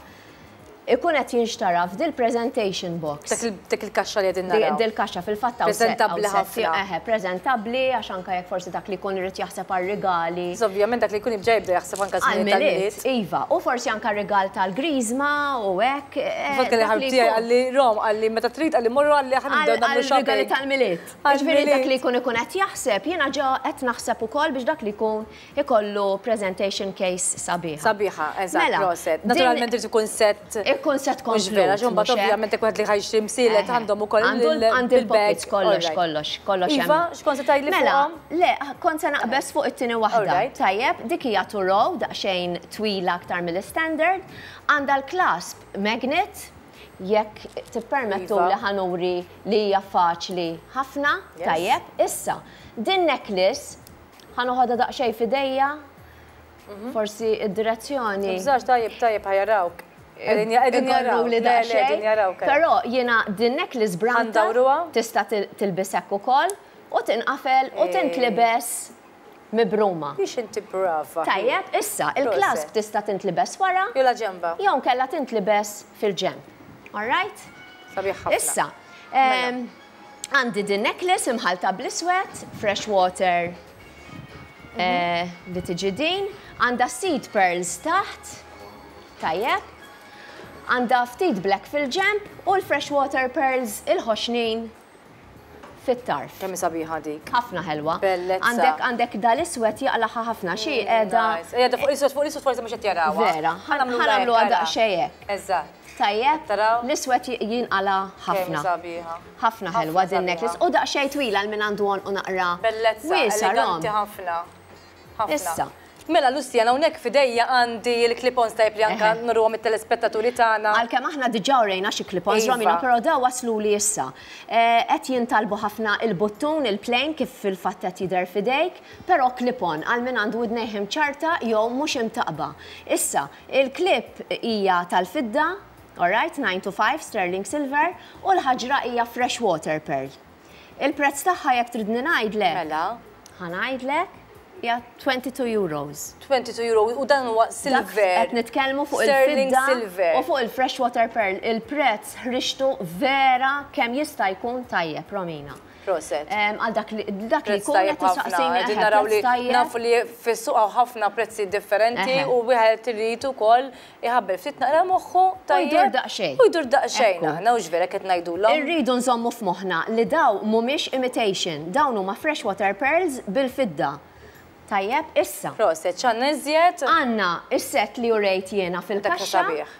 ikun qed jinxtara f'dil-presentation box. Dik il-kaxxa li qegħdin naraw. Dil-kaxxa fil-fatt hawn set. Preżentabbli ħafna. Eħe, preżentabbli għax anke jekk forsi dak li jkun irid jaħseb għar-rigali. Ovvjament dak li jkun jibda jibda jaħseb anke żmien tal-Milied. Iva, u forsi anke rigal tal-Griżma u hekk. Fatt kelli ħabib tiegħi qalli Rom qalli meta trid qalli morru qalli aħna nibdew nagħmlu shopping. Għal-rigali tal-Milied. Jiġifieri dak li jkun ikun qed jaħseb, jiena ġa qed naħseb ukoll biex dak li jkun ikollu presentation case sabiħa. Sabiħa, eżatt, mela, proset. Naturalment irid ikun set. Ikun set komplut. Mhux vera, għax imbagħad ovvjament jekk wieħed li ħa jixtri msielet għandhom ukoll il-pockets kollox, kollox, kollox. Iva, x'kont se tgħidli Mela, le, kont se naqbeż fuq it-tieni waħda. Tajjeb, dik hija two row, daqsxejn twila aktar mill-istandard. Għandha l-clasp magnet, jekk tippermettuli ħa nuri li hija faċli ħafna, tajjeb. Issa, din necklace ħa noħodha daqsxejn f'idejja, forsi id-direzzjoni. Tibżax, tajjeb, tajjeb, ħa jarawk. Qegħdin jarawk, le, le, qegħdin jarawk. Però jiena din necklace bramta tista' tilbis hekk ukoll u tinqafel u tintlibes mibruma. Biex inti brava. Tajjeb, issa, il-clasp tista' tintlibes wara. Jew la ġemba. Jew inkella tintlibes fil-ġenb. All right? Sabiħ ħafna. Issa, għandi din necklace imħallta bl-iswed, fresh water li tiġi din, għandha seed pearls taħt, tajjeb, għandha ftit black fil-ġenb u l-fresh water pearls il-ħoxnin fit-tarf. Kemm hi sabiħa dik. Ħafna ħelwa. Bellezza. Għandek għandek dal-iswed jaqlaħha ħafna xi qiegħda. Qiegħda fuq l-iswed fuq l-iswed forsi mhux qed jarawha. Vera, ħa nagħmluha daqsxejn hekk. Eżatt. Tajjeb? Taraw? L-iswed jinqala ħafna. Kemm hi sabiħa. Ħafna ħelwa din necklace u daqsxejn twila għal min għandu għonqu naqra. Bellezza, eleganti ħafna. Ħafna. Issa. Mela Luciana, hawnhekk f'idejja għandi l-clip-ons tajjeb li anke nuruhom it-telespettaturi tagħna. Għalkemm aħna diġà urejna xi clip-ons, Romina, però dawn wasluli issa. Qed jintalbu ħafna il-buttun, il-plain, kif fil-fatt qed jidher f'idejk, però clip-on għal min għandu widnejh imċarrta jew mhux imtaqqba. Issa, il-clip hija tal-fidda, all right, 9 to 5, sterling silver, u l-ħaġra hija fresh water pearl. Il-prezz tagħha jekk tridni ngħidlek. Mela. Ħa ngħidlek, hija 22 euros. 22 euro u dan huwa silver. Qed nitkellmu fuq il-fidda u fuq il-fresh water pearl. Il-prezz ħriġtu vera kemm jista' jkun tajjeb, Romina. Proset. Għal dak li dak li jkun qed tistaqsini. Qegħdin naraw li nafu li fis-suq hawn ħafna prezzi differenti u wieħed irid ukoll iħabbel ftit naqra moħħu tajjeb. U jdur daqsxejn. U jdur daqsxejn aħna hux vera qed ngħidulhom. Irridu nżommu f'moħħna li dawn mhumiex imitation, dawn huma fresh water pearls bil-fidda. Tajjeb, issa. Proset, x'għandna iżjed? Għandna is-sett li urejt jiena fil-kaxxa. Dak sabiħ.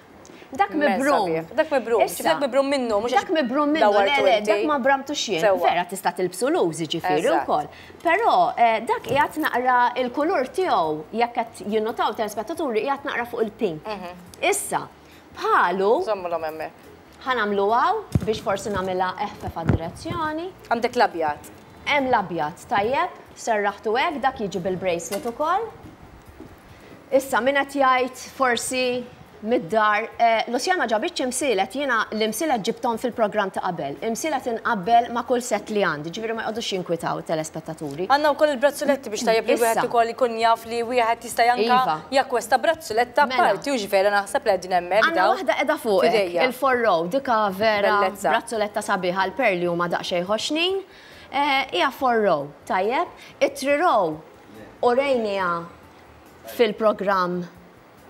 Dak mibrum. Dak mibrum. Issa. Dak mibrum minnu, mhux Dak mibrum minnu, le, le, dak ma bramtux jien. Vera tista' tilbsu loose jiġifieri wkoll. Però dak qiegħed naqra il-kulur tiegħu jekk qed jinnotaw telespettaturi qiegħed naqra fuq il-pink. Issa, bħalu. Żommulhom hemmhekk. Ħa nagħmlu hawn biex forsi nagħmilha eħfef għad-direzzjoni. Għandek l-abjad. Hemm l-abjad, tajjeb, serraħtu hekk, dak jiġi bil-bracelet ukoll. Issa, min qed jgħid forsi mid-dar, Lucia ma ġabitx imsielet, jiena l-imsielet ġibthom fil-programm ta' qabel. Imsielet inqabbel ma' kull sett li għandi, ġifieri ma jqogħdux jinkwitaw it-telespettaturi. Għandna wkoll il-brazzuletta biex tajjeb li wieħed ukoll ikun jaf li wieħed jista' anke jakkwesta brazzuletta apparti, hux vera naħseb li qegħdin hemmhekk dawn. Għandna waħda qiegħda fuqek, il-four row, dika vera brazzuletta sabiħa, l-perli huma daqsxejn ħoxnin. Hija four row, tajjeb. It-three row urejniha. fil-programm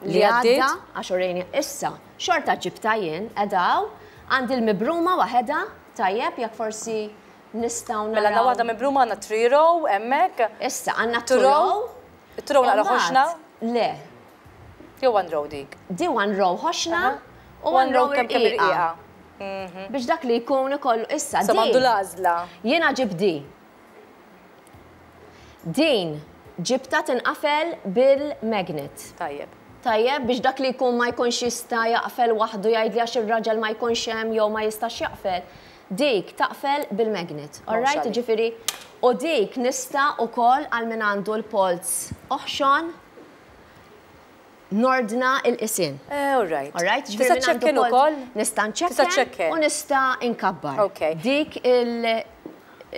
li għadda, għax urejni issa, xorta ġibta jien, edaw, għandi l-mibruma waħedha, tajjeb, jekk forsi nistgħu naraw. Mela għandna waħda mibruma għandna 3 row hemmhekk. Issa għandna 2 row. 2 row naqra ħoxna. Le. Jew 1 row dik. Di 1 row ħoxna u 1 row kemm kemm irqiqa. Biex dak li jkun ikollu issa. Sa m'għandu l-għażla. Jiena ġib di. Din ġibta tinqafel bil-magnet. Tajjeb. Tajjeb, biex dak li jkun ma jkunx jista' jaqfel waħdu jgħidli għax ir-raġel ma jkunx hemm jew ma jistax jaqfel. Dik taqfel bil-magnet. All right, ġifieri, u dik nista' ukoll għal min għandu l-polz oħxon nordna il-qisien. All right. All right, ġifieri min għandu Tista' ċċekken polz ukoll? Nista' Tista' nċekken ċċekken. u nista' nkabbar. Ok. Dik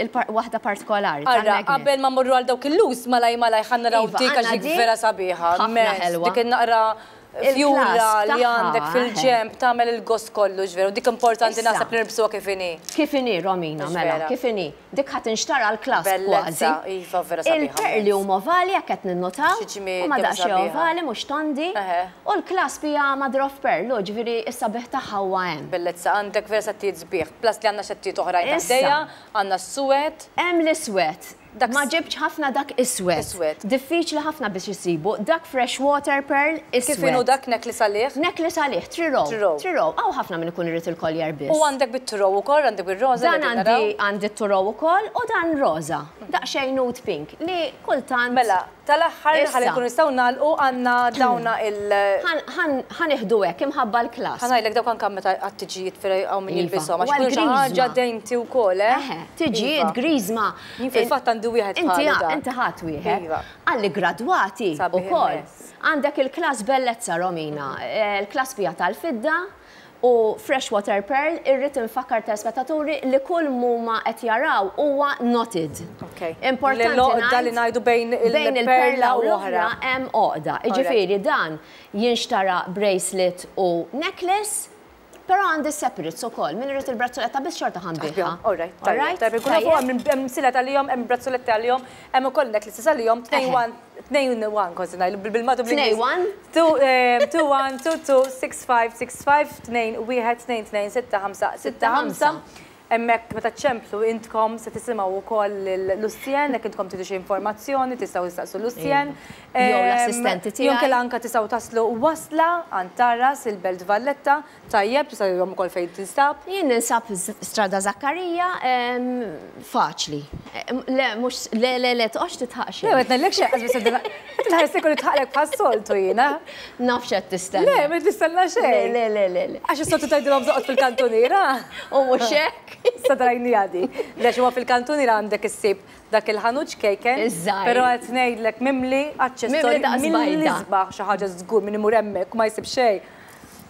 il-waħda partikolari Ara, tal-magnet. qabel ma mmorru għal dawk il-lus, malaj malaj ħa naraw Iva, dik għax għandna dik dik vera sabiħa. ħafna Mess, ħelwa. Dik in-naqra Il-clasp fjura li tagħha, għandek fil-ġemp tagħmel il-gost kollu ġveru. Dik importanti Issa. naħseb li nilbsuha kif inhi. Kif inhi, Romina, Mhux mela, vera. kif inhi. Dik ħa tinxtara l-clasp Bellezza, kważi. iva, vera sabiħa, Il-perli mezz. huma ovali jekk qed ninnotaw. Xi ġmiel, Huma kemm daqsxejn sabiħa. ovali mhux tondi. Eħe. U l-clasp hija mother of pearl, u ġifieri s-sabiħ tagħha huwa hemm. Bellezza, għandek vera settijiet sbieħ. Plus li għandna settijiet oħrajn Issa. taħdejja, għandna s-suwed. Hemm l-iswed. Dak Ma ġibx ħafna dak iswed. Iswed. Diffiċli ħafna biex isibu. Dak freshwater pearl iswed. Kif inhu dak necklace għalih? Necklace għalih, three row. Three row. Three row. Hawn ħafna min ikun irid il-collier biss. U għandek bit-two row ukoll, għandek bir-roża Dan li qegħdin naraw. għandi t-two row ukoll u dan roża. Daqsxejn nude pink li kultant Mela, tal-aħħar Issa. ħalli nkunu nistgħu nagħlqu għandna dawna il- Ħa nieħdu hekk imħabba l-clasp. Ħa ngħidlek dawk anke meta għat-tiġijiet fejn hawn min Iva. jilbishom, għax U kull xi għall-griżma. ħaġa dejnti wkoll, eh? Eħe, tiġijiet, Iva. griżma. Jien fil-fatt għandi wieħed Inti bħalu dan. inti ħadd wieħed. Iva. Għalli gradwati Sabiħ ukoll. immens. Għandek il-clasp bellezza Romina, il-clasp hija tal-fidda u freshwater pearl, irrid infakkar telespettaturi li kull muma qed jaraw huwa knotted. Ok. Importanti L-għoqda li ngħid ngħidu bejn bejn il-perla il-perla u u l-oħra. l-oħra hemm għoqda. Jiġifieri dan jinxtara bracelet u necklace, però għandi separates ukoll. Min irid il-brazzoletta biss xorta ħa nbigħha. All right, tajjeb, tajjeb, ikun nafu hemm hemm silet għalihom, hemm brazzoletti għalihom, hemm ukoll necklaces għalihom, tnejn one, tnejn one, kważi ngħidu bil-matu bl-Ingliż. Tnejn one? Two, two one, two two, six five, six five, tnejn wieħed, tnejn tnejn, sitta ħamsa, sitta ħamsa. Hemmhekk meta ċemplu intkom se tisimgħu wkoll lil Lucienne, jekk intkom tridu xi informazzjoni tistgħu tistaqsu Lucienne. Jew l-assistenti tiegħi. Jew inkella anke tistgħu taslu wasla għand Tarras il-Belt Valletta, tajjeb tistgħu jgħidulhom ukoll fejn tinsab. Jien ninsab Strada Zakkarija, faċli. Le, mhux, le, le, le, toqgħodx titħaq xejn. Le, ma tnellek xejn, qas biss qed inħares li kollu tħaqlek bħas-soltu jiena. Naf x'qed tistenna. Le, ma tistenna xejn. Le, le, le, le. Għax is-soltu tgħidilhom toqgħod fil-kantuniera. U mhux hekk. Sa drajni għadi. Le, huwa fil-kantuniera għandek issib dak il-ħanut ċkejken. Iż-żgħir. Però qed ngħidlek mimli aċċessorji Mimli daqs mill bajda. isbaħ xi ħaġa żgur min imur hemmhekk u ma jsib xejn.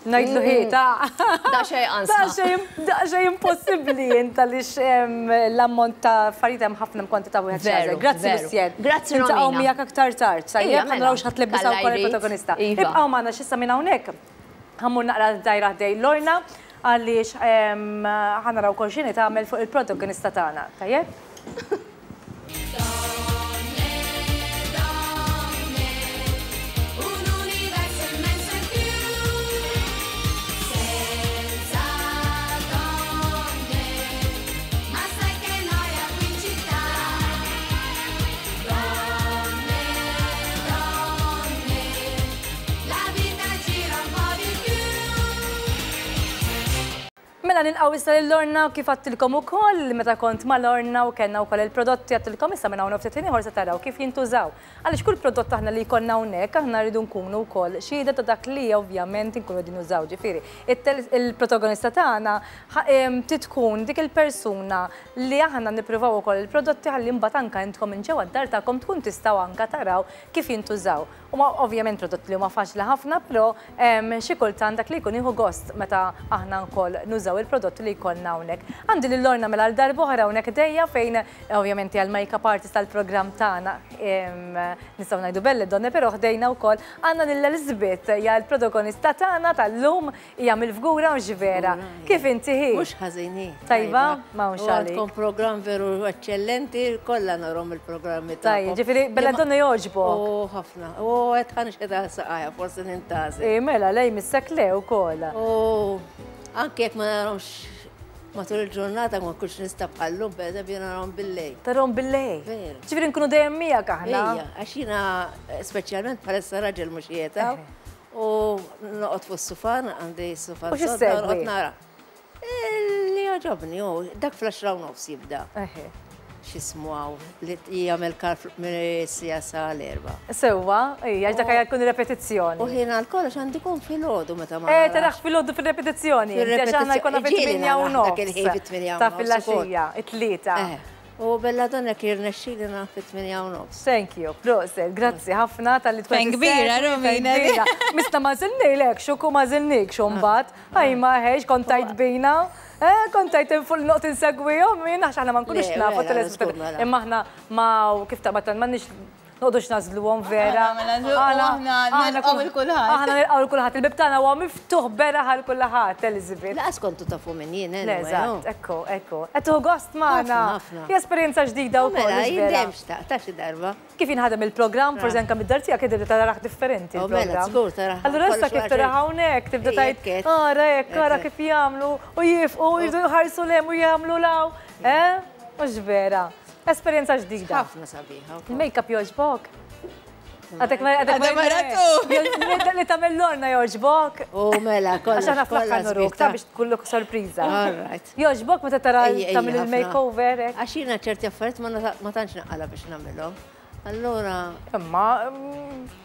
Ngħidlu ħi, ta' Da xejn ansa. Da xejn impossibbli int għaliex l-ammont ta' affarijiet hemm ħafna kwantità wieħed Veru, xi Grazzi veru. Lucienne. Grazzi, Niltaqgħu Romina. miegħek aktar tard. Ija, Sajjeb, mela. naraw x'ħadd tlebbisha Kalla wkoll jrid. il-protagonista. Iva. Ibqgħu magħna x'issa minn hawnhekk. Ħa mmur naqra dajra ħdej Lorna għaliex ħa naraw kol x'inhi tagħmel fuq il-protagonista tagħna. Tajjeb? Mela nilqgħu issa lil Lorna u kif għadtilkom ukoll meta kont ma' Lorna u kellna wkoll il-prodotti għadtilkom issa minn hawn ftit ieħor se taraw kif jintużaw. Għaliex kull prodott aħna li jkollna hawnhekk aħna rridu nkunu wkoll xhieda ta' dak li ovvjament inkunu qegħdin nużaw. Ġifieri, il-protagonista tagħna trid tkun dik il-persuna li aħna nippruvaw ukoll il-prodotti ħalli mbagħad anke intkom minn ġewwa d-dar tagħkom tkun tistgħu anke taraw kif jintużaw. Huma ovvjament prodotti li huma faċli ħafna, però xi kultant dak li jkun jieħu gost meta aħna wkoll nużaw il-prodotti li jkollna hawnhekk. Għandi lil Lorna mela għal darb'oħra hawnhekk dejja fejn ovvjament hija l-make-up artist tal-programm tagħna, nistgħu ngħidu Belle Donne, però ħdejna wkoll għandna lil Elizabeth, hija l-protagonista tagħna tal-lum, hija mill-Fgura u x'vera. Kif inti hi? Mhux ħażin hi. Tajba? Ma hawnx U għalik. għandkom programm veru eċċellenti, kollha narhom il-programmi Tajjeb, tagħkom. ġifieri Belle Donne jogħġbok. Oh, ħafna. Oh, qed ħa nixħet għal saqajja forsi nintgħażel. Ej mela le jmissek le wkoll. U anke jekk ma narahomx matul il-ġurnata ma nkunx nista' bħal-lum pereżempju narahom bil-lejl. Tarahom bil-lejl? Veru. Ġifieri nkunu dejjem miegħek aħna. Ejja, għax jiena speċjalment bħalissa raġel mhux qiegħed hawn u noqgħod fuq is-sufan, għandi s-sufan sodda u noqgħod nara. Li jogħġobni hu, dak fl-għaxra u nofs jibda. X'ismu hawn, li jagħmel kar mis-siegħa sa l-erbgħa. Sewwa, ija, għax dak jkun repetizzjoni. U ħin għal kollox għandi jkun filgħodu meta ma. Eh, taraħ filgħodu fir-repetizzjoni. Għax aħna jkollna fit-tmienja u nofs. Dak il-ħin fit-tmienja u nofs. Ta' filgħaxija, it-tlieta. U belladonna jekk jirnexxili nara fit-8 u nofs. Thank you, proset, grazzi ħafna talli tkun. Fejn kbira, Romina. Mista ma żilnilek, xuku ma żilnik xumbat. Aj ma ħex, kontajt bina. Eh, kontajt fuq noqgħod insegwihom jien għax aħna ma nkunux nafu telespettaturi. Imma aħna ma kif taqbad m'għandniex noqogħdux nagħżluhom vera. Aħna nilqgħu 'l kulħadd. Aħna nilqgħu 'l kulħadd. Il-bib tagħna huwa miftuħ beraħ għal kulħadd, Elizabeth. Laqas kontu tafu min jien, Eżatt, ekku, ekku. Qed tieħu gost magħna. Hija esperjenza ġdida wkoll. Mela, jien dejjem xtaqt ta' xi darba. Kif jinħadem il-programm, forsi anke mid-dar tiegħek tibda tarah differenti il-programm. Żgur tarah. Allura issa kif tarah hawnhekk tibda tgħid, ara hekk, ara kif jagħmlu u jifqu u jridu jħarsu 'l hemm u jagħmlu 'l hawn. Eh? Mhux vera. Esperjenza ġdida. Ħafna sabiħa. Il-makeup jogħġbok? Għadek ma għadek ma ratu. Li tagħmel Lorna jogħġbok? U mela, kollha. Għax aħna fl-aħħar nuruk ta' biex tkullok sorpriża. All right. Jogħġbok meta tara tagħmel il-makeover? Għax jiena ċerti affarijiet ma tantx naqala biex nagħmilhom. Allura. Imma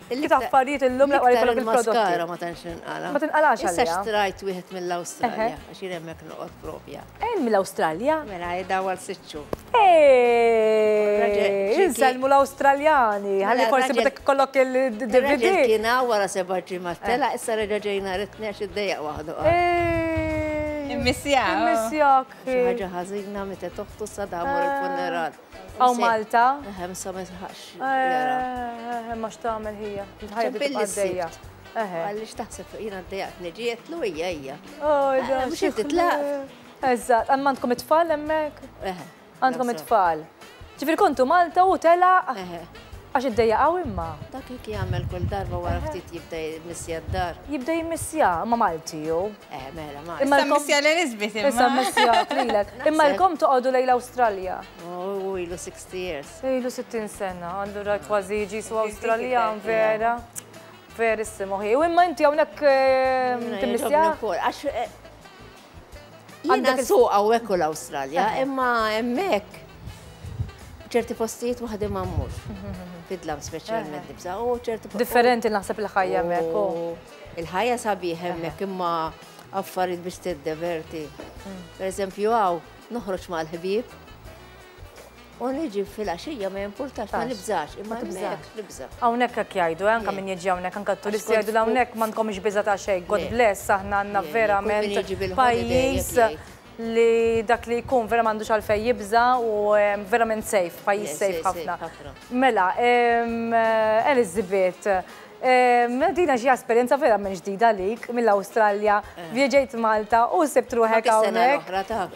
kif affarijiet illum l-aqwa li jkollok il-prodotti. Maskara ma tantx ninqala. Ma tinqalax għalija. Issa xtrajt wieħed mill-Awstralja, għax jien hemmhekk noqgħod propja. Eh, mill-Awstralja? Mela, daw għal sitt xhur. Insellmu l-Awstraljani, ħalli forsi meta kollok il-DVD. Kien hawn wara seba' ġimgħat tela, issa reġa' ġejna ritni għax iddejjaq waħdu. Immissjak. Immissjak. Xi ħaġa ħażina meta toħtu sadamur il-funeral. Hawn Malta? Eħe, sa ma jisħaqx. Eh, ma x'tagħmel ħija. Il-ħajja tibqa' għaddejja. Għaliex taħseb jiena ddejjaqt niġi qedtlu hija hija. Oh, Mhux inti tlaq. Eżatt, għandkom it-tfal hemmhekk? Għandkom it-tfal. Ġifieri kontu Malta u telaq. Għax iddejjaqaw imma. Dak hekk jagħmel kull darba wara ftit jibda jimmissja d-dar. Jibda jimmissja, ma Malti ju. Eh, mela, Malti. Imma missja l-Elizabeth imma. Issa missja lilek. Imma lkom toqgħodu lejn l-Awstralja. Oh, ilu 60 years. Ilu 60 sena, allura kważi jiġi su Awstraljan vera. Verissimo. U imma inti hawnhekk timmissja? Għax Jiena suq hawnhekk u l-Awstralja, imma hemmhekk ċerti postijiet waħdi ma mmurx. Fidlam speċjalment nibża' u ċerti Differenti naħseb il-ħajja hemmhekk. Il-ħajja sabiħ hemmhekk imma affarijiet biex tiddeverti. Per eżempju hawn noħroġ mal-ħbieb u niġi fil-għaxija ma jimpurtax, ma nibżax, imma hemmhekk nibża'. Hawnhekk hekk jgħidu, anke min jiġi hawnhekk, anke t-turisti jgħidu hawnhekk m'għandkomx biża' ta' xejn. God bless, aħna għandna verament pajjiż li dak li jkun vera m'għandux għalfejn jibża' u verament safe, pajjiż safe ħafna. Mela, Elizabeth, dina xi esperjenza verament ġdida għalik mill-Awstralja, vjeġejt Malta u sibt ruħek hawnhekk. Oħra ta'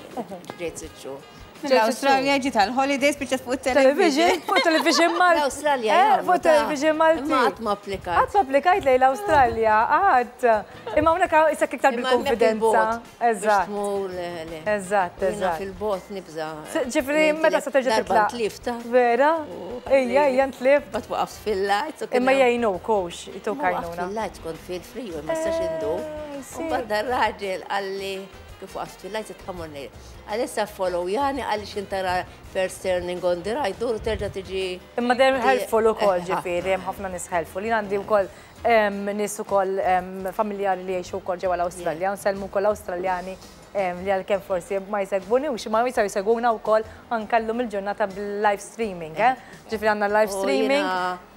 ġejt sitt xhur. Mill-Awstralja ġiet għal-holidays biex fuq television. Fuq television Malti. L-Awstralja. Fuq television Malti. Imma qatt ma applikajt. Qatt ma applikajt lejn l-Awstralja, qatt. Imma hawnhekk issa iktar bil-konfidenza. Eżatt. Eżatt, eżatt. Fil-bot nibża. Ġifieri meta se terġa' titlaq. Tlifta. Vera? Ejja, ejja ntlift. Bat waqaft fil-light. Imma jgħinuk hux, jtuk għajnuna. Fil-light kont fil-freeway, ma stax indur. U bad raġel qalli kif waqaft fil-light tħamurni. Għalissa follow jani għalli xintara first turning on the right, dur terġa tiġi. Imma dejjem helpful ukoll ġifieri, hemm ħafna nies helpful. Jien għandi wkoll nies ukoll familjari li jgħixu wkoll ġewwa l-Awstralja, nsellmu wkoll Awstraljani li għalkemm forsi ma jsegwuni u ma jistgħu jsegwuna wkoll anke llum il-ġurnata bil-live streaming, eh? Ġifieri għandna live streaming,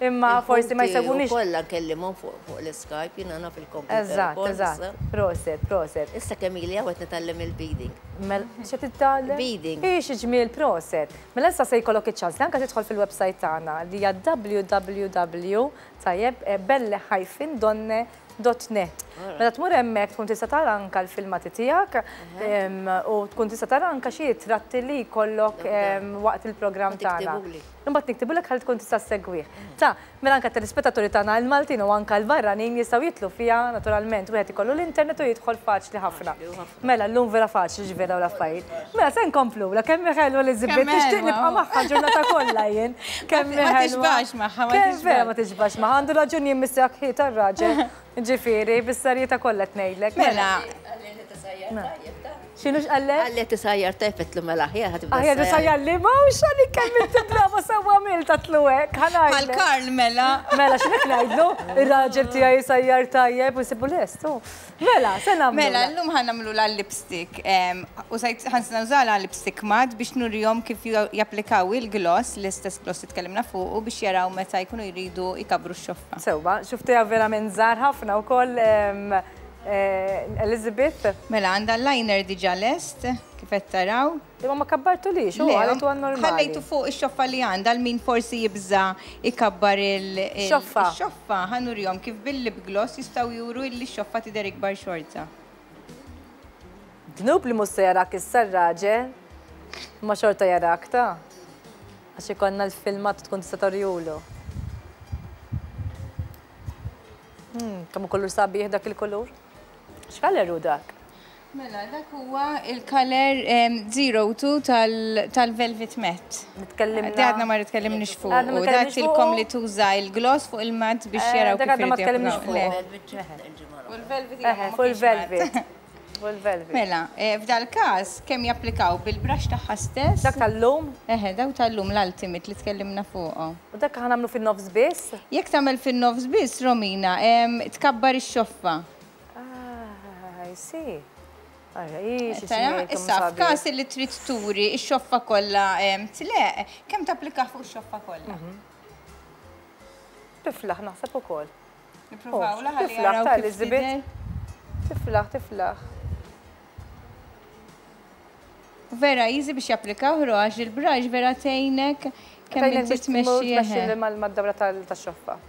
imma forsi ma jsegwunix. Kollha nkellimhom fuq l-Skype, jiena naf il-computer. Eżatt, eżatt. Proset, proset. Issa kemm ili hawn nitgħallem il-beading. Mela, xe titgħallem? Beading. Ix ġmiel proset. Mela issa se jkollok iċ-ċans li anke tidħol fil-website tagħna li hija www tajjeb belle-donne.net. Meta tmur hemmhekk tkun tista' tara anke l-filmati tiegħek u tkun tista' tara anke xi ritratti li jkollok waqt il-programm tagħna. Imbagħad niktibulek ħalli tkun tista' ssegwih. Ta, mela anke t-telespettaturi tagħna l-Maltin u anke l-barranin jistgħu jidħlu fiha naturalment. Wieħed ikollu l-internet u jidħol faċli ħafna. Mela llum vera faċli ġifieri dawn l-affarijiet. Mela se nkomplulha kemm hi ħelwa Elizabeth, nixtieq nibqa' magħha l-ġurnata kollha jien. Kemm hi ħelwa. Ma tixbax magħha, ma tixbax. Vera ma tixbax magħha, għandu raġun jien missejjaħ ħi tar-raġel. Ġifieri, bis-serjetà kollha qed ngħidlek. Mela. X'inhu x'qallek? Qalli qed isajjar tajjeb għedtlu mela aħjar ħa tibda. Aħjar isajjar li mhux għalik kemm inti brava sewwa għamilt għedtlu hekk, ħa ngħidlek. Bħal Karl mela. Mela x'inhu ngħidlu? Ir-raġel tiegħi jsajjar tajjeb u nsibu lest hu. Mela, se nagħmlu. Mela, llum ħa nagħmlulha l-lipstick. Użajt ħa nużalha lipstick matte biex nurihom kif japplikaw il-gloss, l-istess gloss li tkellimna fuqu biex jaraw meta jkunu jridu jkabbru x-xoffa. Sewwa, xuftiha verament żgħar ħafna wkoll Elizabeth. Mela, għandha l-liner diġà lest, kif qed taraw. Imma ma kabbartulix, u ħallejtu għan normali. Ħallejtu fuq ix-xoffa li għandha għal min forsi jibża' jkabbar il-xoffa. Ix-xoffa ħa nurihom kif bil-lip gloss jistgħu juru illi x-xoffa tidher ikbar xorta. Dnub li mhux se jarak issa r-raġel, imma xorta jarak ta. Għax ikollna l-filmat u tkun tista' torjulu. Kemm hu kulur sabiħ dak il-kulur. X'kaler hu dak? Mela, dak huwa il-kaler 02 tal-Velvet Matte. Tkellimna. Għadna ma tkellimniex fuq. U dak tilkom li tuża il-gloss fuq il-matt biex jaraw kif. Dak għadna ma tkellimniex fuq. Fuq il-velvet. Fuq il-velvet. Fuq il-velvet. Mela, f'dal każ kemm japplikaw bil-brush tagħha stess. Dak tal-lum? Eħe, daw tal-lum l-ultimate li tkellimna fuqhom. U dak ħa nagħmlu fin-nofs biss? Jekk tagħmel fin-nofs biss, Romina, tkabbar ix-xoffa. Ah, I see. Issa, f'każ li trid turi x-xoffa kollha tleq, kemm tapplika fuq ix-xoffa kollha? Mhm. Tiflaħ naħseb ukoll. Nippruvaw oh, Tiflaħ ta' Elizabeth. Tiflaħ, tiflaħ. Vera easy biex japplikaw ro għax il-brush vera tgħinek kemm inti tmexxi mal-dawra tax-xoffa.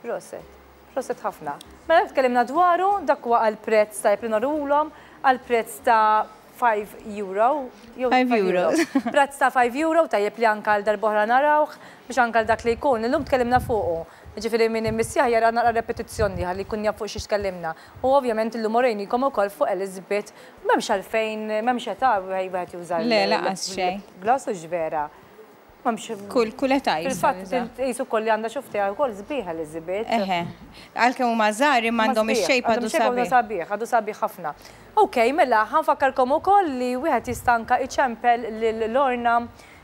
Proset. Proset ħafna. Mela tkellimna dwaru, dak huwa għal prezz tajjeb li norulhom, għal prezz ta' 5 euro. 5 euro. Prezz ta' 5 euro tajjeb li anka għal darb'oħra narawh biex anka għal dak li jkun. Illum tkellimna fuqu. Jiġifieri min immissjah jara naqra repetizzjoni ħalli jkun jaf fuq xiex tkellimna. U ovvjament illum orejnikom ukoll fuq Elizabeth m'hemmx għalfejn, m'hemmx età wieħed juża Le, lanqas xejn. Gloss hux vera. Kull kull età jista' Fil-fatt, qisu wkoll li għandha xuftejha wkoll sbieħ Elizabeth. Eħe. Għalkemm huma żgħar imma għandhom ix-shape għadu sabiħ. Għadu sabiħ, għadu sabiħ ħafna. Ok, mela, ħa nfakkarkom ukoll li wieħed jista' anke iċempel lil Lorna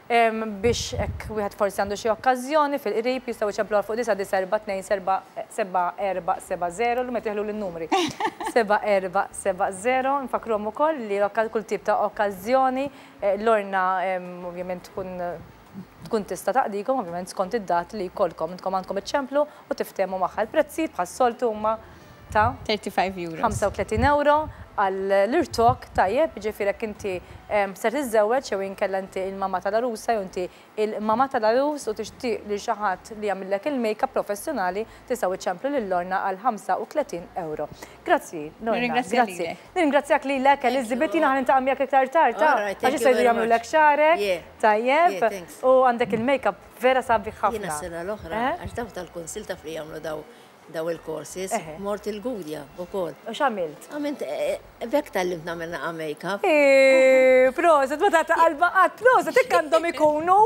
biex hekk wieħed forsi għandu xi okkażjoni fil-qrib jistgħu jċempluha fuq 994 7 4 7 0 llum qed jeħluli n-numri. 7 4 7 0 nfakkruhom ukoll li kull tip ta' okkażjoni Lorna ovvjament tkun tkun tista' taqdikom ovvjament skont id-dat li jkollkom. Intkom għandkom iċċemplu u tiftehmu magħha. Il-prezzijiet bħas-soltu huma ta' 35 euros. 35 euro għall-irtokk tajjeb, jiġifieri jekk inti ser tiżżewweġ jew inkella inti il-mama tal-għarusa jew inti il-mama tal-għarus u tixtieq lil xi ħadd li jagħmillek il-makeup professjonali tistgħu iċċemplu lil Lorna għal 35 euro. Grazzi, Lorna. Grazzi. Nirringrazzjak lilek, Elizabeth, jiena ħa niltaqa' miegħek iktar tard, ta? Għax issa jridu jagħmlulek xagħrek. Tajjeb. U għandek il-makeup vera sabiħ ħafna. Jiena s-sena l-oħra, għax dawn tal-kunsill taf li jagħmlu daw daw il-courses, mort il-Gudja wkoll. U x'għamilt? Għamilt, b'hekk tgħallimt nagħmel naqa' make-up. Proset, ma tagħti qalba qatt, proset, hekk għandhom ikunu.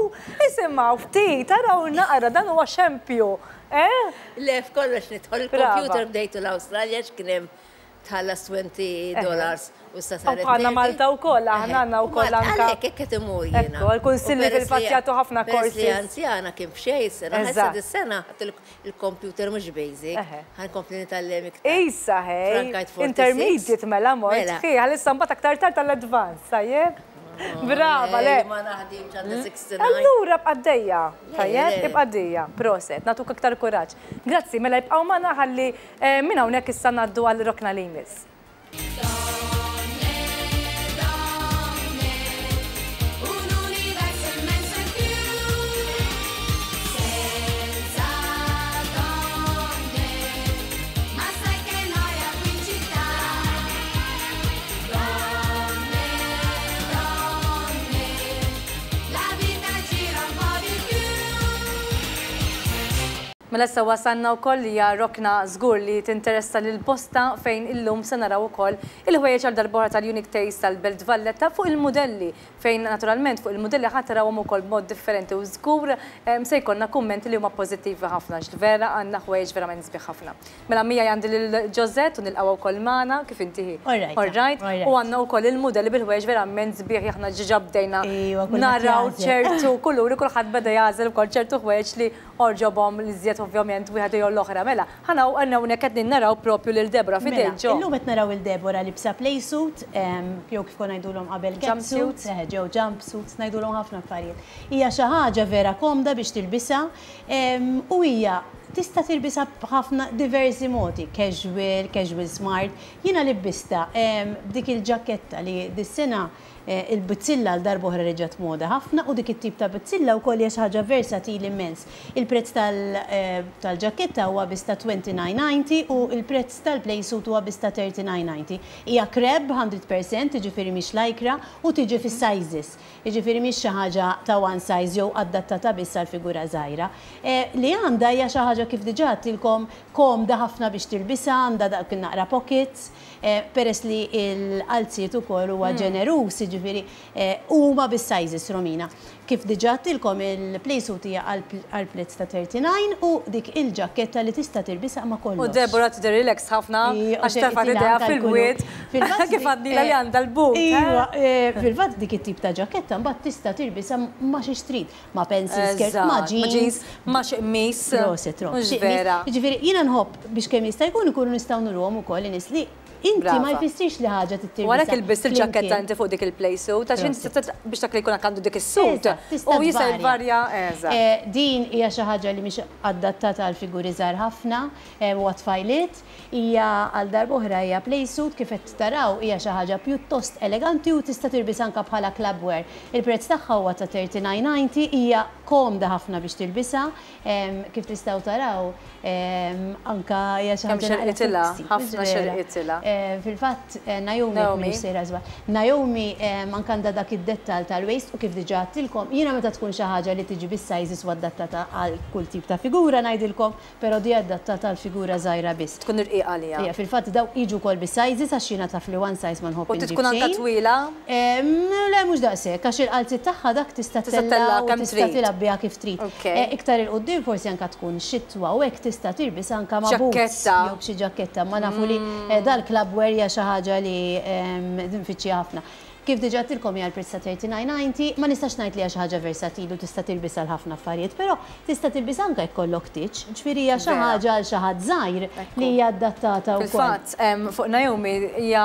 Isimgħu ftit, araw naqra, dan huwa xempju. Eh? Le, f'kollox nidħol, il-computer bdejtu l-Awstralja x'kien hemm tħallas 20 dollars u issa saret. Bħalna Malta wkoll, aħna għandna wkoll anke. Għalhekk hekk qed imur jiena. Ekku, l-kunsilli fil-fatt jagħtu ħafna courses. Peress li anzjana kien b'xejn sena, issa dis-sena ħadt il-computer mhux basic, ħa nkompli nitgħallem iktar. Issa ħej, intermediate mela mort, hi, għalissa mbagħad aktar tard tal-advanced, tajjeb? Brava, le. Ma naħdimx għandi 69. Allura ibqa' għaddejja, tajjeb? Ibqa' għaddejja, proset, nagħtuk aktar kuraġġ. Grazzi, mela ibqgħu magħna ħalli Minn hawnhekk issa ngħaddu għal rokna li jmiss. Mela issa wasalna wkoll li hija rokna żgur li tinteressa lil bosta fejn illum se naraw ukoll il-ħwejjeġ għal darb'oħra tal-Unique Taste tal-Belt Valletta fuq il-mudelli fejn naturalment fuq il-mudelli ħa tarawhom ukoll b'mod differenti u żgur se jkollna kummenti li huma pożittivi ħafna għax vera għandna ħwejjeġ verament sbieħ ħafna. Mela miegħi għandi lil Josette u nilqgħuha wkoll magħna, kif inti hi? All right. U għandna wkoll il-mudelli bil-ħwejjeġ verament sbieħ li aħna ġiġa bdejna naraw ċertu kuluri, kulħadd beda jagħżel ukoll ċertu ħwejjeġ li għoġobhom l-iżjed ovvjament wieħed jew l-oħra. Mela, ħa hawnhekk qegħdin naraw propju lil Deborah f'idejk Jo. Mela, illum qed naraw lil Deborah libsa play suit, jew kif konna ngħidulhom qabel catsuit, eħe ġew jump suits, ngħidulhom ħafna affarijiet. Hija xi ħaġa vera komda biex tilbisha u hija Tista' tilbisha b'ħafna diversi modi, casual, casual smart. Jiena libbistha b'dik il-ġakketta li dis-sena il-bizzilla għal darb'oħra reġgħet moda ħafna u dik it-tip ta' bizzilla wkoll hija xi ħaġa versatili immens. Il-prezz tal-ġakketta huwa biss ta' 29.90 u l-prezz tal-play suit huwa biss ta' 39.90. Hija crepe 100%, jiġifieri mhix lycra u tiġi fis-sizes. Jiġifieri mhix xi ħaġa ta' one size jew adattata biss għal figura żgħira. Li għandha hija xi ħaġa kif diġà għedtilkom komda ħafna biex tilbisha, għandha dak in-naqra pockets, peress li l-qalziet ukoll huwa ġeneruż, jiġifieri huma bis-sizes Romina. Kif diġà għedtilkom il-play suit hija għall-prezz ta' 39 u dik il-ġakketta li tista' tilbisha ma' kollox. U Deborah tidher relaxed ħafna għax tefgħet idejha fil-bwiet kif għadnilha li għandha l-but. Iva, fil-fatt dik it-tip ta' ġakketta mbagħad tista' tilbisha ma' xiex trid, ma' pencil skirt, ma' jeans. Ma' xi qmis. Proset, Rom. Mhux vera. Jiġifieri jiena nħobb biex kemm jista' jkun ikunu nistgħu nuruhom ukoll in-nies li Inti ma jfissirx li ħaġa trid tilbisha. U għalhekk ilbist il-ġakketta inti fuq dik il-play suit, għax inti biex dak li jkun għandu dik is-suit. U jista' jvarja. Eżatt. Din hija xi ħaġa li mhix adattata għal figuri żgħar ħafna u għat-tfajliet. Hija għal darb'oħra hija play suit kif qed taraw hija xi ħaġa pjuttost eleganti u tista' tilbisha anke bħala club wear. Il-prezz tagħha huwa ta' 39.90, hija komda ħafna biex tilbisha. Kif tistgħu taraw, anka hija xi ħaġa xerqitilha, ħafna xerqitilha. Fil-fatt Naomi mhix sejra żball. Naomi anka għandha dak id-dettall tal-waist u kif diġà għedtilkom, jiena meta tkun xi ħaġa li tiġi bis-sizes u adattata għal kull tip ta' figura ngħidilkom, però di adattata għal figura żgħira biss. Tkun irqiqa għaliha. Ija, fil-fatt dawk jiġu wkoll bis-sizes għax jiena taf li one size ma nħobb inġib xejn. U tkun anka twila? Le mhux daqshekk, għax il-qalziet tagħha dak tista' ttella' u tista' tilgħab biha kif trid. Iktar 'il quddiem forsi anka tkun xitwa u hekk tista' tilbisha anka ma' boots jew b'xi ġakketta, imma nafu li dal-club wear hija xi ħaġa li nfittxiha ħafna. Kif diġà għedtilkom hija l-prezz ta' 39.90, ma nistax ngħid li hija xi ħaġa versatili u tista' tilbisha għal ħafna affarijiet, però tista' tilbisha anke jekk kollok tieġ, ġifieri hija xi ħaġa għal xi ħadd żgħir li hija adattata wkoll. Fil-fatt, fuq Naomi hija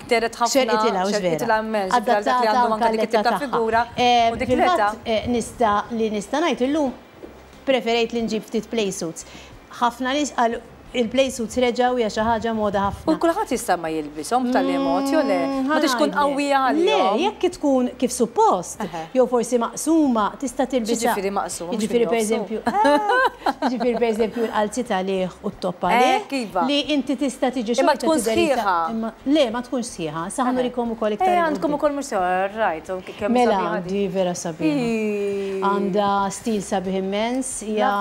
dehret ħafna. Xerqitilha, hux vera? Xerqitilha immens, ġifieri għal dak li għandu anke dik it-tip ta' figura u dik l-età. Fil-fatt, nista' li nista' ngħid illum preferejt li nġib ftit play suits. Ħafna nies qalu il-play suits reġgħu hija xi ħaġa moda ħafna. U kulħadd jista' ma jilbishom b'tali mod jew le? Ma tridx tkun qawwija għalihom. Le, jekk tkun kif suppost, jew forsi maqsuma, tista' tilbisha. X'jiġifieri maqsuma? Jiġifieri pereżempju, jiġifieri pereżempju l-qalziet għalih u t-top għalih. Iva. Li inti tista' tiġi xorta. Imma tkun sħiħa. Le, ma tkunx sħiħa. Sa ħa nurikom ukoll iktar. Eh, għandkom ukoll mhux sħiħa, right. Mela, di vera sabiħa. Għandha stil sabiħ immens, hija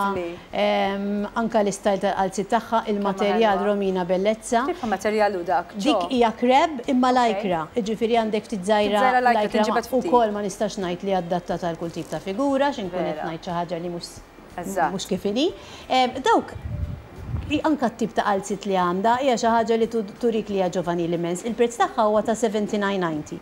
anka l-istajl tal-qalziet tagħha, il-materjal Romina Bellezza. Kif materjal hu dak? Dik hija kreb imma lycra, jiġifieri għandek ftit żgħira lycra ukoll ma nistax ngħid li adattata għal kull tip ta' figura għax inkun qed ngħid xi ħaġa li mhux mhux kif inhi. Dawk anka t-tip ta' qalziet li għandha hija xi ħaġa li turik li hija ġovanili immens. Il-prezz tagħha huwa ta' 79.90.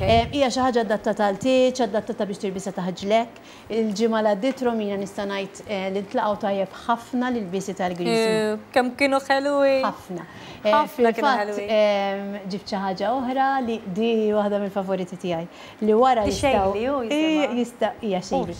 Hija xi ħaġa adattata għal tieġ, adattata biex tilbisha taħt ġlekk. Il-ġimgħa li għaddiet Romina nista' ngħid li ntlaqgħu tajjeb ħafna l-ilbiesi tal-Griżi. Kemm kienu ħelwin! Ħafna. Ħafna kienu ħelwin. Fil-fatt ġibt xi ħaġa oħra li di waħda mill-favoriti tiegħi. Li wara jistgħu. Xejli hu jisimha. Jista' hija Xejli.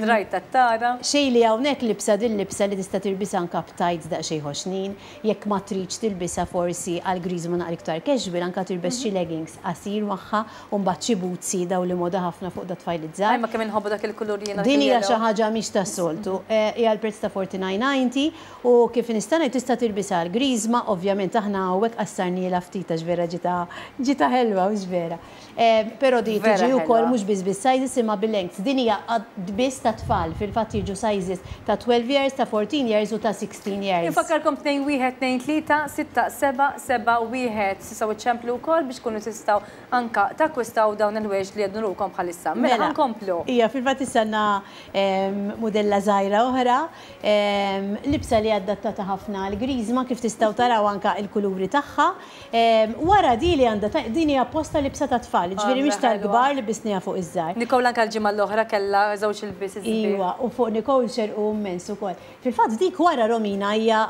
Rajt tat-tara. Xejli hawnhekk libsa din libsa li tista' tilbisha anke b'tights daqsxejn ħoxnin, jekk ma tridx tilbisha forsi għal griżma naqra iktar casual anke tilbes xi leggings qasir magħha u mbagħad xi bootsi dawn li moda ħafna fuq dat-tfajliet żgħar. Imma kemm inħobbu dak il-kulur jiena dak Din hija il-yellow. xi ħaġa mhix tas-soltu. Hija l-prezz ta' 49.90 u kif nista' ngħid tista' tilbisha għal griżma, ovvjament aħna hawnhekk qassarnielha ftit għax vera ġietha ġietha ħelwa hux vera. Però di tiġi wkoll mhux biss bis-sizes imma bil-lengths. Din hija biss tat-tfal, fil-fatt jiġu sizes ta' 12 years, ta' 14 years u ta' 16 years. Infakkarkom 2 1 2 3 6 7 7 1. Tistgħu iċċemplu wkoll biex tkunu tistgħu anka takkwistaw dawn il-ħwejjeġ li qed nurukom bħalissa. Mela ħa nkomplu. Ija, fil-fatt issa għandna mudella żgħira oħra, libsa li adattata ħafna għall-griżma kif tistgħu taraw anka l-kuluri tagħha. Wara di li għandha ta' din hija apposta libsa tat-tfal, jiġifieri mhix tal-kbar li lbisniha fuq iż-żgħar. Nicole anke l-ġimgħa l-oħra kellha żewġ ilbies isbieħ. Iwa, u fuq Nicole xerqu immens ukoll. Fil-fatt dik wara Romina hija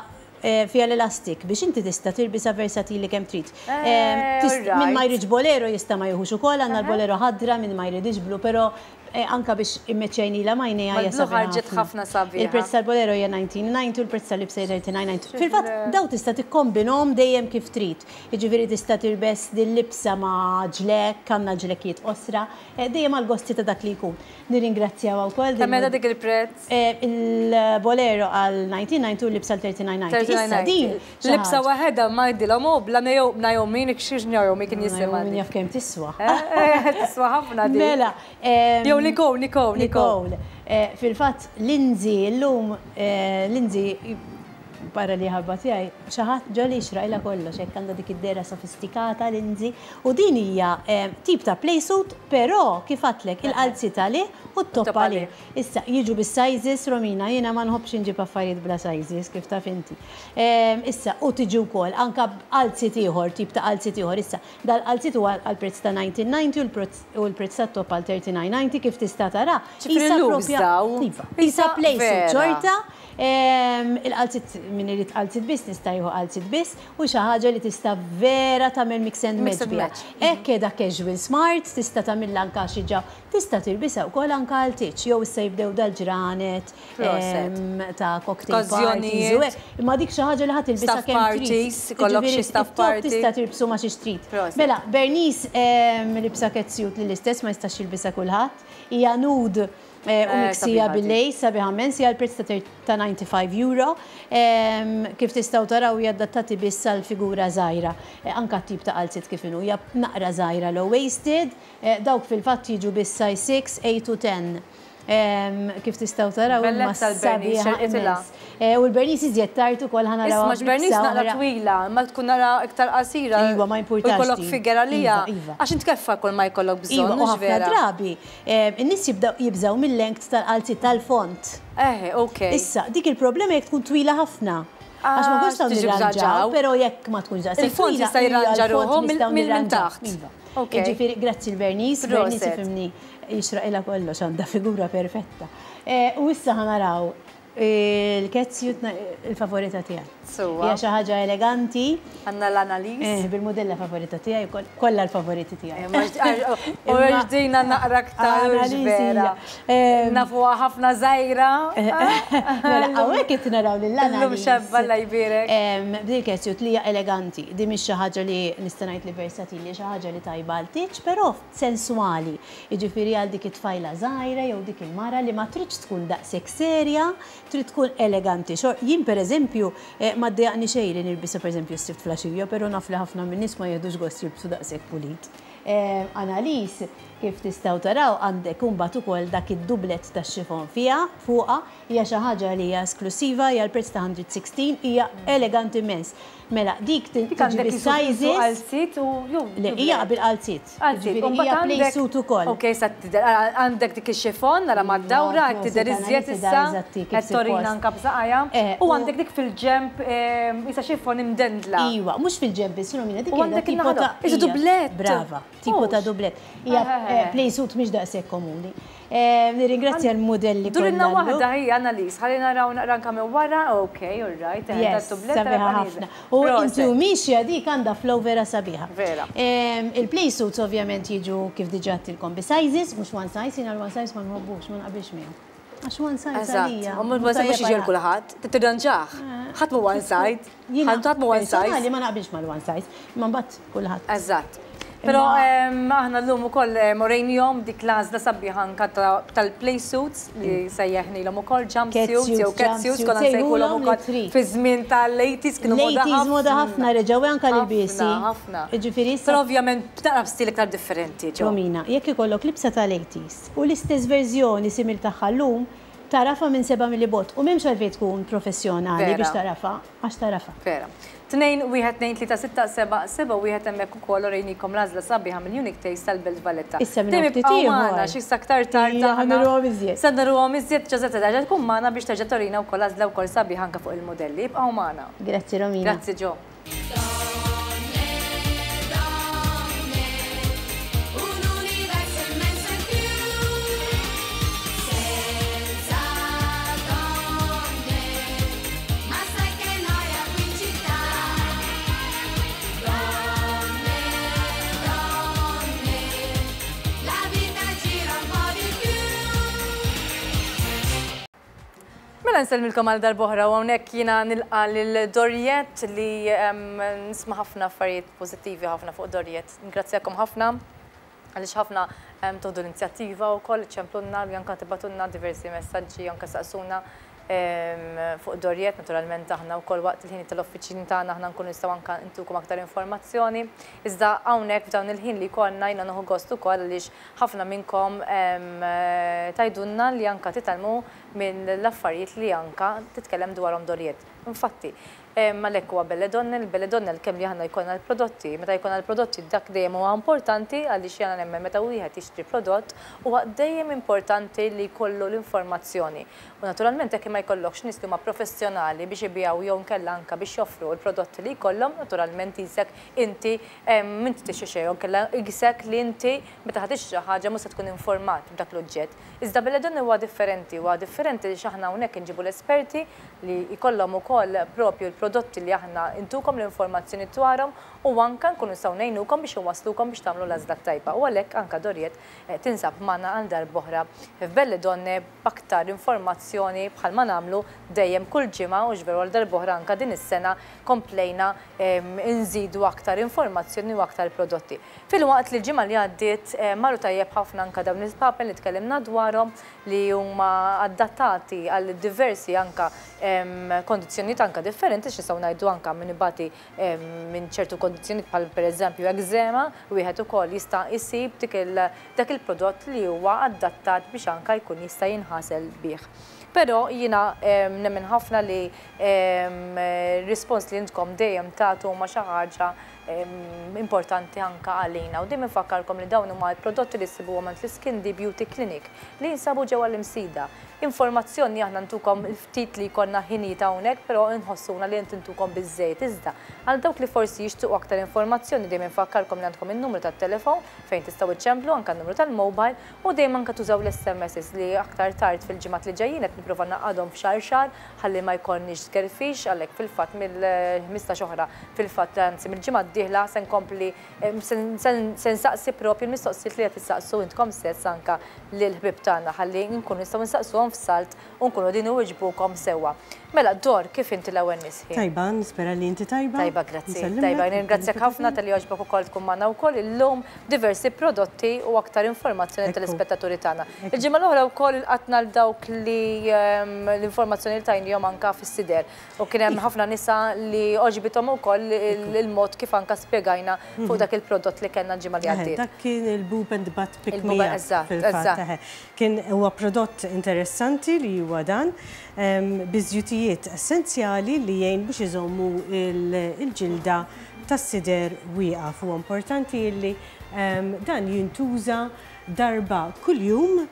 fiha l-elastic biex inti tista' tilbisha versatili kemm trid. Min ma jridx bolero jista' ma jieħux ukoll, għandna l-bolero ħadra min ma jridx blu, però Anka biex immeċċejnilha m'għajnejha hija sabiħa. Mal-blu ħarġet ħafna sabiħa. Il-prezz tal-bolero hija 1990 u l-prezz tal-libsa hija 39.90. Fil-fatt dawn tista' tikkombinhom dejjem kif trid. Jiġifieri tista' tilbes dil-libsa ma' ġlekk, għandna ġlekkijiet qosra, dejjem għall-gosti ta' dak li jkun. Nirringrazzjawha wkoll. Kemm qiegħda dik il-prezz? Il-bolero għal 1990 u l-libsa għal 39.90. Issa din. Libsa waħedha ma jdilhom u bla Naomi, xiex Naomi kien jisimha. Min jaf kemm tiswa. Tiswa ħafna din. Mela. Jew Nicole, Nicole, Nicole. Fil-fatt Lindsay llum, Lindsay barra li ħabba tiegħi, xi ħadd ġo li jixraqilha kollox, hekk għandha dik id-dehra sofistikata Lindsay. U din hija tip ta' playsuit, però kif għedtlek il-qalziet għalih u t-top għalih. Issa, jiġu bis-sizes, Romina, jiena ma nħobbx inġib affarijiet bla sizes, kif taf inti. Issa, u tiġi wkoll anke b'qalziet ieħor, tip ta' qalziet ieħor. Issa, dal-qalziet huwa għall-prezz ta' 1990 u l-prezz tat-top għal 39.90 kif tista' tara. Qisha propja. Iva. Qisha playsuit xorta. Il-qalziet, min irid qalziet biss nista' jieħu qalziet biss u xi ħaġa li tista' vera tagħmel mix and match biha. Hekk qiegħda casual smart, tista' tagħmilha anke xi ġa Tista' tilbisha wkoll anke għal tieġ, jew issa jibdew dal-ġranet ta' cocktail parties u hekk. Imma dik xi ħaġa li ħa tilbisha kemm trid. Ikollok xi staff party. Tista' tilbsu ma' xiex trid. Mela, Bernice libsa catsuit li l-istess ma jistax jilbisha kulħadd. Hija nude u miksija bil-lace, sabiħa immens, hija l-prezz ta' €95. Kif tistgħu taraw hija adattati biss għal figura żgħira. Anke t-tip ta' qalziet kif inhu, hija naqra żgħira low waisted. Dawk fil-fatt jiġu biss size 6, 8 u 10. Kif tistgħu taraw imma sabiħa immens. U l-Bernice iżjed tard ukoll ħa narawha. Isma' x'Bernice naqra twila, imma tkun naqra iktar qasira. Iva, ma jimpurtax. U jkollok figure għaliha. Għax int keffa kull ma jkollok bżonn, Iva, u ħafna drabi in-nies jibdew jibżgħu mil-length tal-qalziet tal-font. Eħe, okej. Issa, dik il-problema jekk tkun twila ħafna. Għax ma nkunx nistgħu nirranġaw, però jekk ma tkunx daqshekk. Il-font jista' jirranġa ruħu minn taħt. Iva. Jiġifieri, grazzi l-Bernice, Bernice ifhimni jixraqilha kollox, għandha figura perfetta. U issa ħa naraw il-catsuit il-favorita tiegħi. Sewwa. Hija xi ħaġa eleganti. Għandna l-Annalise. Eh, bil-mudella favorita tiegħi wkoll, kollha l-favoriti tiegħi. U din naqra aktar vera. Nafuha ħafna żgħira. Mela, hawnhekk qed naraw lil Annalise. Illum xebba Alla jbierek. B'din il-catsuit li hija eleganti. Din mhix xi ħaġa li nista' ngħid li versatili, xi ħaġa li tajba għal tieġ, però sensuali. Jiġifieri għal dik it-tfajla żgħira jew dik il-mara li ma tridx tkun daqshekk serja, trid tkun eleganti. Jien pereżempju ma ddejjaqni xejn li nilbisha pereżempju s-Sibt flaxija, però naf li ħafna min-nies ma jieħdux gost jilbsu daqshekk pulit. Annalise, kif tistgħu taraw għandek imbagħad ukoll dak id-dublett tax-xifon fiha, fuqha, hija xi ħaġa li hija esklussiva, hija l-prezz ta' 116, hija eleganti immens. Mela, dik tiġi bis-sizes. Qalziet u jew. Le, hija bil-qalziet. Qalziet. Jiġifieri hija play suit ukoll. Ok, sa tidher għandek dik ix-xifon nara mad-dawra qed tidher iżjed issa. Qed torina anke b'saqajha. U għandek dik fil-ġenb qisha xifon imdendla. Iva, mhux fil-ġenb biss, Romina, dik qiegħda tipo ta' Qisu dublett. Brava, tipo ta' dublett. Hija play suit mhix daqshekk komuni. Nirringrazzja l-mudelli kollha. Durilna waħda hi Annalise, ħalli naraw naqra anke minn wara, ok, all right, Yes, sabiħa ħafna. U inti u mixja dik għandha flow vera sabiħa. Vera. Il-play suits ovvjament jiġu kif diġà għedtilkom bi sizes, mhux one size, jiena l-one size ma nħobbux, ma naqbilx miegħu. Għax one size għalija. Eżatt, ma mhux jiġi għal kulħadd, tirranġah. Ħadd mhu one size. Ħadd mhu one size. Jiena ma naqbilx mal-one size, imma mbagħad kulħadd. Eżatt. Però aħna llum ukoll orejnihom dik l-għażla sabiħa anka tal-play suits li sejjaħnilhom ukoll jump suits jew cat suits konna nsejħulhom ukoll fi żmien tal-80s kienu moda ħafna. L-80s moda ħafna reġgħu anka l-ilbiesi. Ħafna. Jiġifieri issa. Però ovvjament taqra b'stil iktar differenti. Romina, jekk ikollok libsa tal-80s u l-istess verżjoni simil tagħha llum, tagħrafha minn seba' mili bogħod u m'hemmx għalfejn tkun professjonali biex tagħrafha, għax tagħrafha. Vera. 2, 1, 2, 3, 6, 7, 7, 1 hemmhekk ukoll urejnikom l-għażla sabiħa mill-Unique Taste tal-Belt Valletta. Issa minn Dejjem ftit ibqgħu ieħor. magħna xi issa aktar tard Ija, aħna ħa nuruhom iżjed. Se nuruhom iżjed, Ġożetta terġa' tkun magħna biex terġa' turina wkoll għażla wkoll sabiħa anke fuq il-mudelli. Ibqgħu magħna. Grazzi Romina. Grazzi Ġo. Mela nsellmilkom għal darb'oħra u hawnhekk jiena nilqa' lil Doriette li nisma' ħafna affarijiet pożittivi ħafna fuq Doriette. Ngrazzjakom ħafna għaliex ħafna toħdu l-inizjattiva wkoll iċċemplunna li anke tibgħatulna diversi messaġġi anke saqsuna fuq Doriette. Naturalment aħna wkoll waqt il-ħin tal-uffiċini tagħna aħna nkunu nistgħu anke ntukom aktar informazzjoni. Iżda hawnhekk f'dawn il-ħin li jkollna jiena nieħu gost ukoll għaliex ħafna minnkom tgħidulna li anke titgħallmu minn l-affarijiet li anke titkellem dwarhom Doriette. Infatti, għalhekk huwa Belle Donne, il-Belle Donne kemm li aħna jkollna l-prodotti, meta jkollna l-prodotti dak dejjem huwa importanti għaliex jiena nemmen meta wieħed jixtri prodott huwa dejjem importanti li jkollu l-informazzjoni. U naturalment jekk ma jkollokx nies li huma professjonali biex ibijaw jew nkella anke biex joffru l-prodotti li jkollhom, naturalment isek inti m'inti tixtri xejn jew nkella isek li inti meta ħa tixtri xi ħaġa mhux se tkun informat b'dak l-oġġett. Iżda Belle Donne huwa differenti, huwa differenti li aħna hawnhekk inġibu l-esperti li jkollhom ukoll propju l-prodotti li aħna intukom l-informazzjoni dwarhom u anke nkunu nistgħu ngħinukom biex inwasslukom biex tagħmlu l-għażla tajba. U għalhekk anke Doriette tinsab magħna għal darb'oħra f'Belle Donne b'aktar informazzjoni bħalma nagħmlu dejjem kull ġimgħa u x'veru għal darb'oħra anke din is-sena komplejna nżidu aktar informazzjoni u aktar prodotti. Filwaqt li l-ġimgħa li għaddiet marru tajjeb ħafna anke dawn il-papen li tkellimna dwarhom li huma adattati għal diversi anke kondizzjonijiet anke differenti, x'nistgħu ngħidu anke min ibati minn ċertu kondizzjonijiet bħal pereżempju eczema, wieħed ukoll jista' jsib dak il-prodott li huwa adattat biex anke jkun jista' jinħasel bih. Però jiena nemmen ħafna li rispons li intkom dejjem tagħtu huma xi ħaġa importanti anke għalina. U dejjem infakkarkom li dawn huma l-prodotti li ssibuhom għand l-Skin D Beauty Clinic li jinsabu ġewwa l-Imsida. Informazzjoni aħna ntukom ftit li jkollna ħinijiet hawnhekk, però nħossuna li intukom biżżejjed. Iżda għal dawk li forsi jixtiequ aktar informazzjoni dejjem infakkarkom li għandkom in-numru tat-telefon fejn tistgħu iċċemplu anke n-numru tal-mobile u dejjem anke tużaw l-S M Ss li aktar tard fil-ġimgħat li ġejjin qed nipprova naqadhom f'xahar xahar ħalli ma jkollniex tgerfix għalhekk fil-fatt mill-ħmistax oħra fil-fatt anzi mill-ġimgħa d-dieħla se nkompli se nsaqsi propju l-mistoqsijiet li qed tistaqsu intkom stess anke lill-ħbieb tagħna ħalli nkunu nistgħu nsaqsuhom f'salt u nkunu qegħdin iwiġbukom sewwa. Mela, Dor, kif inti l-ewwel nisħi? Tajba, nispera li inti tajba. Tajba, grazzi. Nsellimlek. Tajba, nirringrazzjak ħafna tal-li għoġbok ukoll tkun magħna wkoll illum diversi prodotti u aktar informazzjoni tal-ispettaturi tagħna. Il-ġimgħa l-oħra wkoll ilqatna l dawk li l-informazzjoni li tajnihom anke fis-sider. U kien hemm ħafna nisa li għoġbithom ukoll il-mod kif anke spjegajna fuq dak il-prodott li kellna l-ġimgħa li għaddiet. Dak kien il-Boob and Butt Pick Il-Boob Me Up, eżatt, fil-fatt, eżatt. eħe. Kien huwa prodott interessanti li huwa dan, biżjutijiet essenzjali li jgħin biex iżommu il-ġilda tas-sider wieqaf. Huwa importanti li dan jintuża darba kuljum.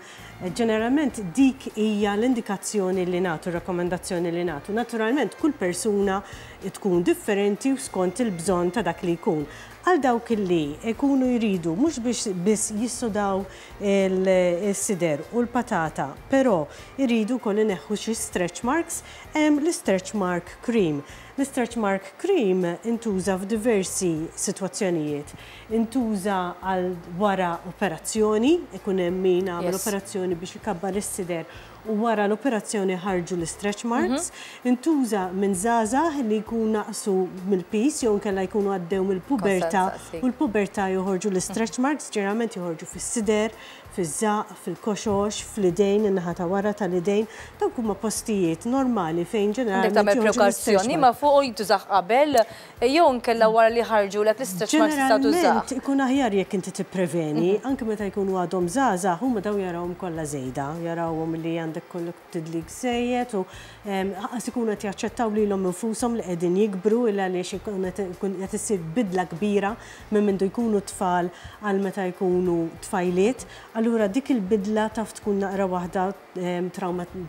Ġeneralment dik hija l-indikazzjoni li nagħtu, rakkomandazzjoni li nagħtu. Naturalment kull persuna tkun differenti u skont il-bżonn ta' dak li jkun. Għal dawk li jkunu jridu mhux biex biss jissodaw il-sider u l-patata, però jridu wkoll ineħħu xi stretch marks, hemm l-stretch mark cream. L-stretch mark cream intuża f'diversi sitwazzjonijiet. Intuża għal wara operazzjoni, ikun hemm min għamel operazzjoni biex ikabbar is-sider u wara l-operazzjoni ħarġu l-istretch marks. Intuża minn żgħażagħ li jkun naqsu mill-piż jew inkella jkunu għaddew mill-pubertà u l-pubertà joħorġu l-istretch marks, ġeneralment joħorġu fis-sider, fiż-żaqq, fil-koxox, fl-idejn, in-naħa ta' wara tal-idejn. Dawk huma postijiet normali fejn Għandek ġeneralment tagħmel joħorġu l-istretch prekawzjoni ma marks. fuq u jintużah qabel jew inkella wara li ħarġulek l-istretch marks tista' tużah. Ġeneralment ikun aħjar jekk inti tippreveni, anke meta jkunu għadhom żgħażagħ, huma daw jarawhom kollha żejda, jarawhom li għandek kollok tidlik żejjed u anqas ikunu qed jaċċettaw lilhom infushom li qegħdin jikbru illa għaliex ikun qed issir bidla kbira minn mindu jkunu tfal għal meta jkunu tfajliet. Allura dik il-bidla taf tkun naqra waħda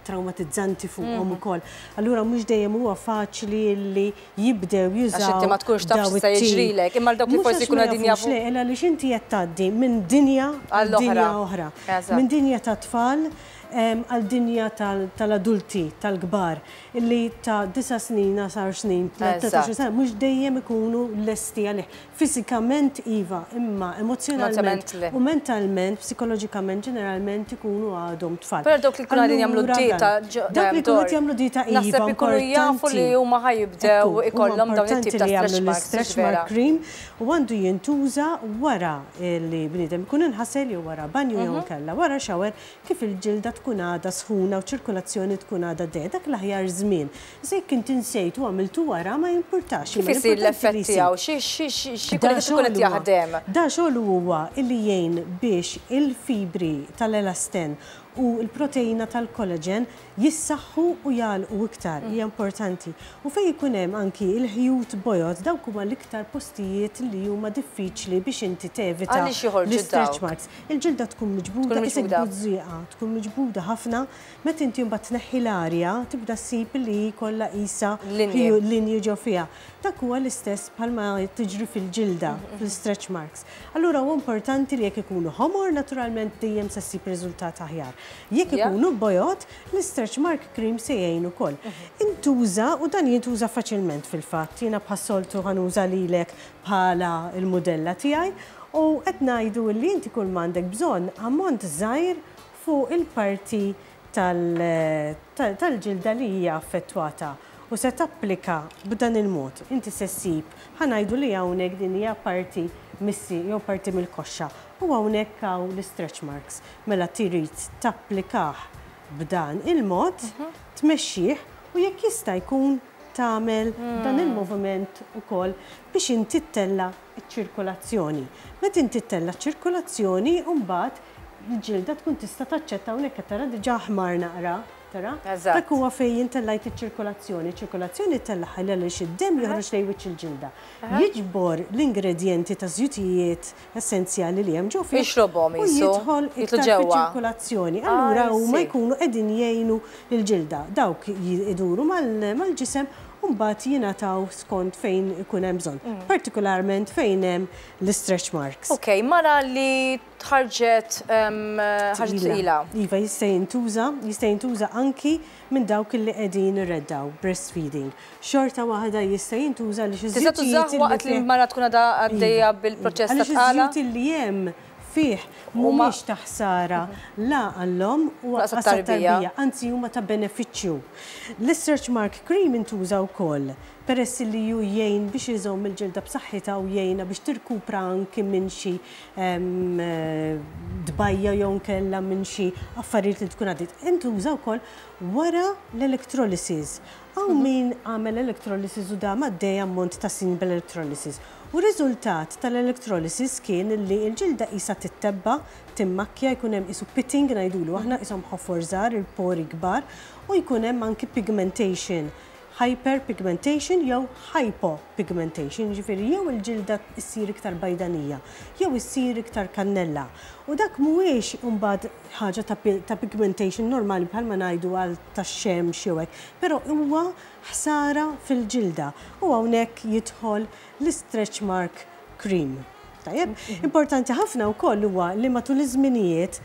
traumatizzanti fuqhom ukoll. Allura mhux dejjem huwa faċli li jibdew jużaw. Għax inti ma tkunx taf daw x'se it-tip. jiġrilek, imma dawk li Mhux forsi għax jkunu ma qegħdin jafux, jafu. Le, illa għaliex inti qed tgħaddi minn dinja għal Għall-oħra. dinja oħra. Minn dinja ta' tfal għal dinja tal-adulti, tal-kbar, illi ta' 9 snin, 10 snin, 13 sena, mhux dejjem ikunu lesti għalih. Fiżikament iva, imma emozjonalment Emozjonalment le. u mentalment, psikoloġikament, ġeneralment ikunu għadhom tfal. Però dawk li jkunu qegħdin jagħmlu Allura dieta dan, dawk li jkunu qed jagħmlu dieta iva, Naħseb ikunu jafu li importanti. huma ħa jibdew Ekku, huma ikollhom dawn it-tip importanti ta' li jagħmlu stretch marks, l-istretch vera. mark cream u għandu jintuża wara li bniedem ikun inħasel jew wara banju jew inkella wara shower kif il-ġilda tkun għadha sħuna u ċirkolazzjoni tkun għadha dejja. Dak l-aħjar żmien. Issa jekk inti nsejt u għamiltu wara ma jimpurtax, Kif imma isir l-importanti li l-effett jsir. tiegħu? Xi Da jkun qed xogħol huwa- jaħdem? Da xogħol huwa illi jgħin biex il-fibri tal-elasten u l-proteina tal-collagen jissaħħu u jagħlqu iktar, hija importanti. U fejn ikun hemm anki il-ħjut bojod, dawk huma l-iktar postijiet li huma diffiċli biex inti tevita Għaliex joħorġu l-stretch dawk? marks. Il-ġilda tkun miġbuda, Tkun isek miġbuda. bużżieqa, tkun miġbuda ħafna, meta inti mbagħad tneħħi l-arja, tibda ssib li kollha qisha Linji. linji ġo fiha. Dak huwa l-istess bħalma tiġri fil-ġilda, fil-stretch marks. Allura huwa importanti li jekk ikunu ħomor, naturalment dejjem se ssib riżultat aħjar. Jekk ikunu bojod, l-stretch mark cream se jgħin ukoll. Intuża, u dan jintuża faċilment fil-fatt, jiena bħas-soltu ħa nuża lilek bħala il-mudella tiegħi, u qed ngħidu li inti kull m'għandek bżonn ammont żgħir fuq il-parti tal-ġilda li hija affettwata. U se tapplika b'dan il-mod. Inti se ssib, ħa ngħidu li hawnhekk din hija parti missi jew parti mill-koxxa. U hawnhekk hawn l-stretch marks. Mela trid tapplikah b'dan il-mod, tmexxih u jekk jista' jkun tagħmel dan il-moviment ukoll biex inti ttella' ċ-ċirkolazzjoni. Meta inti ttella' ċ-ċirkolazzjoni, mbagħad il-ġilda tkun tista' taċċetta hawnhekk qed tara diġà ħmar naqra. Tara? Dak huwa fejn intellajt iċ-ċirkolazzjoni. Ċirkolazzjoni tellagħha għaliex id-demm joħroġ lejn wiċċ il-ġilda. Jiġbor l-ingredjenti ta' żjutijiet essenzjali li hemm ġo fih Jixrobhom u qisu, jidħol jidħlu iktar ġewwa. fiċ-ċirkolazzjoni. Allura huma jkunu qegħdin jgħinu l-ġilda. Dawk iduru mal-ġisem u mbagħad jingħataw skont fejn ikun hemm bżonn. Partikolarment fejn hemm l-stretch marks. Ok, mara li tħarġet ħarġet tqila. Iva, jista' jintuża anki minn dawk li qegħdin irreddaw, breastfeeding. Xorta waħda jista' jintuża li xi Tista' tużah żjutijiet waqt li mara tkun għadha għaddejja bil-proċess ta' Għaliex tqala? iż-żjut li hemm fih mhumiex ta' ħsara la għall-omm u Laqas lanqas għat-tarbija. għat-tarbija, anzi huma ta' benefiċċju. L-stretch mark cream intuża wkoll peress li ju jgħin biex iżomm il-ġilda b'saħħitha u jgħinha biex tirkupra anki minn xi dbajja jew nkella minn xi affarijiet li tkun għaddiet. Intuża wkoll wara l-electrolysis. Hawn min għamel electrolysis u dam għaddej ammont ta' snin bil-electrolysis. U riżultat tal-electrolysis kien li l-ġilda qisha tittebba, timmakkja, jkun hemm qisu pitting ngħidulu aħna qishom ħofor żgħar, il-pori kbar, u jkun hemm anki pigmentation. Hyperpigmentation jew hypopigmentation, ġifieri jew il-ġilda ssir iktar bajdanija, jew issir iktar kannella. U dak mhuwiex imbagħad ħaġa ta' pigmentation normali bħalma ngħidu għal tax-xemx jew hekk, però huwa ħsara fil-ġilda. U hawnhekk jidħol l-stretch mark cream. Tajjeb? Importanti ħafna wkoll huwa li matul iż-żminijiet,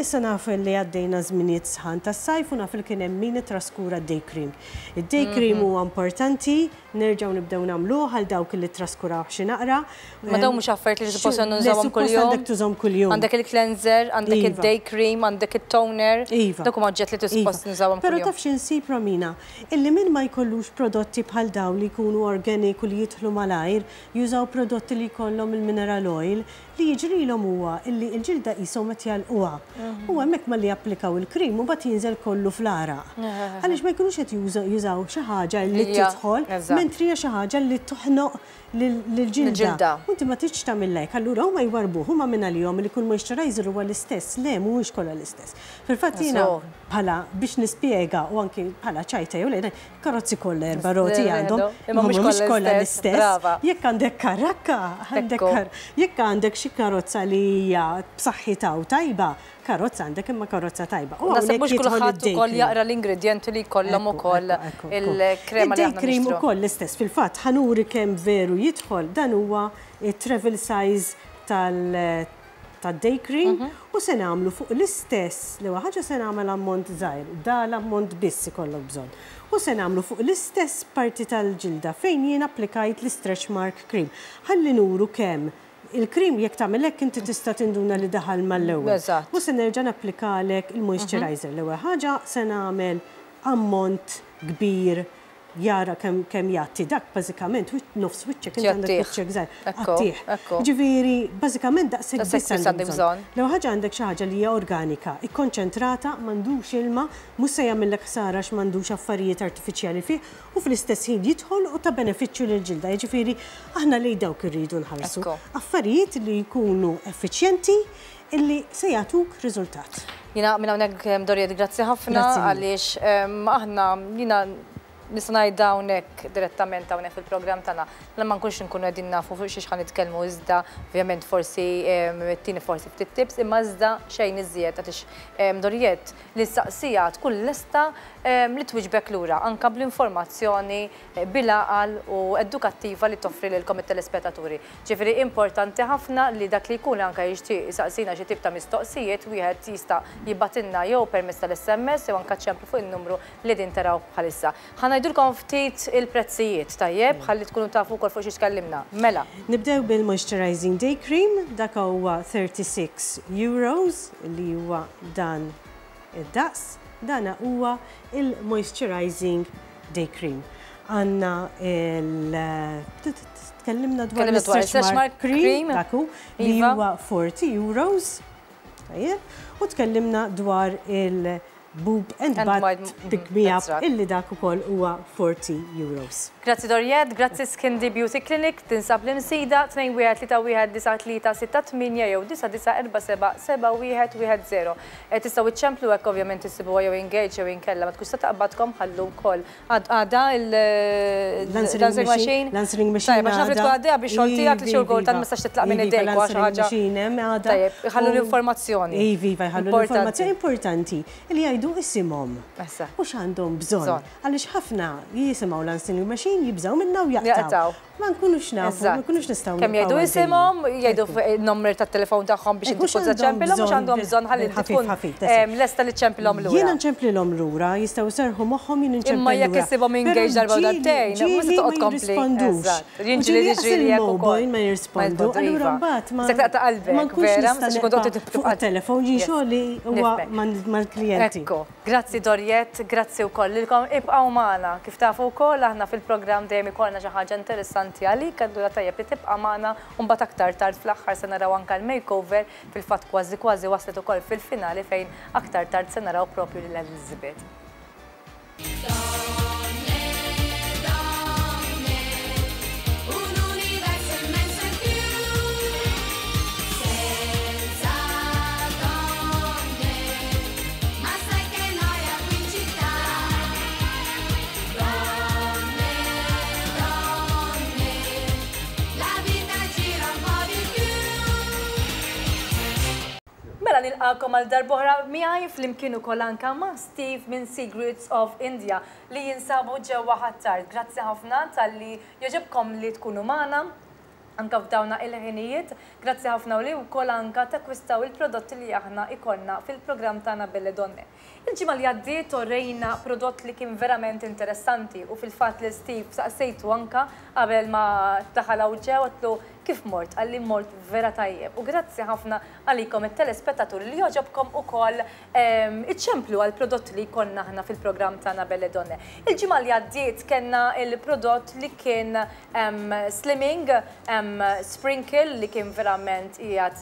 issa naf li għaddejna żminijiet sħan tas-sajf u naf li kien hemm min ittraskura d-day cream. Id-day cream huwa importanti, nerġgħu nibdew nagħmluh għal dawk li ttraskurawh xi naqra. Ma dawn mhux affarijiet li suppost nużawhom kuljum. Suppost għandek tużahom kuljum. Għandek il-cleanser, għandek id-day cream, għandek it-toner. Iva. Dawk huma oġġett li suppost nużawhom kuljum. Però taf xi nsib Romina? Illi min ma jkollux prodotti bħal dawn li jkunu organic u li jidħlu malajr, jużaw prodotti li jkollhom il-mineral oil, li jiġrilhom huwa illi l-ġilda qishom qed jagħlquha. U hemmhekk malli japplikaw il-cream imbagħad jinżel kollu fl-għaraq. Għaliex ma jkunux qed jużaw xi ħaġa li tidħol mentri hija xi ħaġa li toħnoq lill-ġilda. U inti ma tridx tagħmilha hekk, allura huma jwarrbuh, huma mingħalihom li kull moisturizer huwa l-istess. Le, mhuwiex kollha l-istess. Fil-fatt jiena bħala biex nispjega u anki bħala ċajta jew le, Karozzi kollha erba' roti għandhom, imma mhux kollha l-istess. Jekk għandek karakka, għandek jekk għandek xi karozza li hija b'saħħitha u tajba, karozza għandek imma karozza tajba. U hawnhekk mhux kulħadd ukoll jaqra l-ingredjenti li jkollhom ukoll il-krema li aħna cream ukoll l-istess. Fil-fatt ħa nuri kemm veru jidħol dan huwa t-travel size tal tad-day cream u se nagħmlu fuq l-istess, l-ewwel ħaġa se nagħmel ammont żgħir, da l-ammont biss ikollok bżonn. U se nagħmlu fuq l-istess parti tal-ġilda fejn jien applikajt l-istretch mark cream. Ħalli nuru kemm il-cream jekk tagħmel hekk inti tista' tinduna li daħal mal-ewwel. U se nerġa' napplikalek il-moisturizer. L-ewwel ħaġa se nagħmel ammont kbir jara kemm kemm jgħatti dak bażikament nofs wiċċek inti għandek wiċċek żgħir. Għattih. Ġifieri bażikament daqshekk biss għandek bżonn. L-ewwel ħaġa għandek xi ħaġa li hija organika, ikkonċentrata, m'għandux ilma, mhux se jagħmillek ħsara għax m'għandux affarijiet artifiċjali fih u fl-istess ħin jidħol u ta' benefiċċju lill-ġilda. Jiġifieri aħna lejn dawk irridu nħarsu. Affarijiet li jkunu effiċjenti illi se jagħtuk riżultat. Jiena minn hawnhekk Doriet grazzi ħafna għaliex aħna jiena nista' ngħidha hawnhekk direttament hawnhekk fil-programm tagħna li ma nkunx inkunu qegħdin nafu fuq xiex ħa nitkellmu iżda ovvjament forsi tini forsi ftit tips imma iżda xejn iżjed għaliex Doriet li ssaqsiha tkun lesta li twiġbek lura anke bl-informazzjoni bil-għaqal u edukattiva li toffri lilkom it-telespettaturi. Ġifieri importanti ħafna li dak li jkun anke jixtieq isaqsina xi tip ta' mistoqsijiet wieħed jista' jibgħatilna jew permezz tal-SMS jew anke ċemplu fuq in-numru li qegħdin taraw bħalissa. Ħa ngħidulkom ftit il-prezzijiet, tajjeb, ħalli tkunu tafu wkoll fuq xiex tkellimna. Mela. Nibdew bil-moisturizing day cream, dak huwa 36 euros li huwa dan id-daqs. Dana huwa il-moisturizing day cream. Għandna il tkellimna dwar l-stretch mark cream, dak hu, li huwa 40 euros. Tajjeb. U tkellimna dwar il-boob and butt pick me up illi dak ukoll huwa 40 euros. Grazzi Doriette, grazzi Skindy Beauty Clinic, tinsab l-Imsida, 21 31 93 68 jew 9947 7110. Tistgħu iċċemplu hekk ovvjament issibuha jew engage jew inkella ma tkunx se taqbadkom ħallu wkoll. Għadha l-answering machine? L-answering machine. Tajjeb, għax naf li tkun għaddejja bix-xogħol tiegħek li xi kultant ma tistax titlaq minn idejk u xi ħaġa. Tajjeb, iħallu l-informazzjoni. Iva, iva, jħallu l-informazzjoni importanti li jgħidu isimhom. U x'għandhom bżonn. Għaliex ħafna jisimgħu l-answering machine jibżgħu minnha u jaqtgħu. Ma nkunux nafu, ma nkunux nistgħu. Kemm jgħidu isimhom, jgħidu n-numru tat-telefon tagħhom biex inti tkun ċempilhom mhux għandhom bżonn ħalli inti tkun lesta li ċċempilhom lura. Jiena nċemplilhom lura, jistgħu jserrħu moħħhom jien inċempel lura. Imma jekk issibhom engaged darba u darbtejn, mhux se toqgħod tkompli. Jien ġieli jiġri hekk ukoll. Ma jirrispondu. Allura mbagħad ma. Se taqta' qalbek, vera, ma tistax tkun toqgħod fuq it-telefon jien xogħli huwa mal-klijenti. Ekku. Grazzi Doriette, grazzi wkoll lilkom. Ibqgħu magħna. Kif tafu wkoll aħna fil-programm dejjem ikollna xi ħaġa interessanti għalik, allura tajjeb li tibqa' magħna u mbagħad aktar tard fl-aħħar se naraw anke l-makeover, fil-fatt kważi kważi waslet ukoll fil-finali fejn aktar tard se naraw propju lil Elizabeth. Mela nilqakom għal darb'oħra miegħi flimkien ukoll anke ma' Steve minn Secrets of India li jinsabu ġewwa Ħ'Attard. Grazzi ħafna talli jogħġobkom li tkunu magħna. anka f'dawna il-ħinijiet. Grazzi ħafna u li wkoll anka takkwistaw il-prodotti li aħna ikollna fil-programm tagħna Belle Donne. Il-ġimgħa li għaddiet orejna prodott li kien verament interessanti u fil-fatt lil Steve saqsejtu anka qabel ma daħal hawn ġew għedtlu kif mort, qalli mort vera tajjeb u grazzi ħafna għalikom it-telespettaturi li jogħġobkom ukoll iċċemplu għall-prodotti li jkollna aħna fil-programm tagħna Belle Donne. Il-ġimgħa li għaddiet kellna l-prodott li kien slimming sprinkle li kien verament qiegħed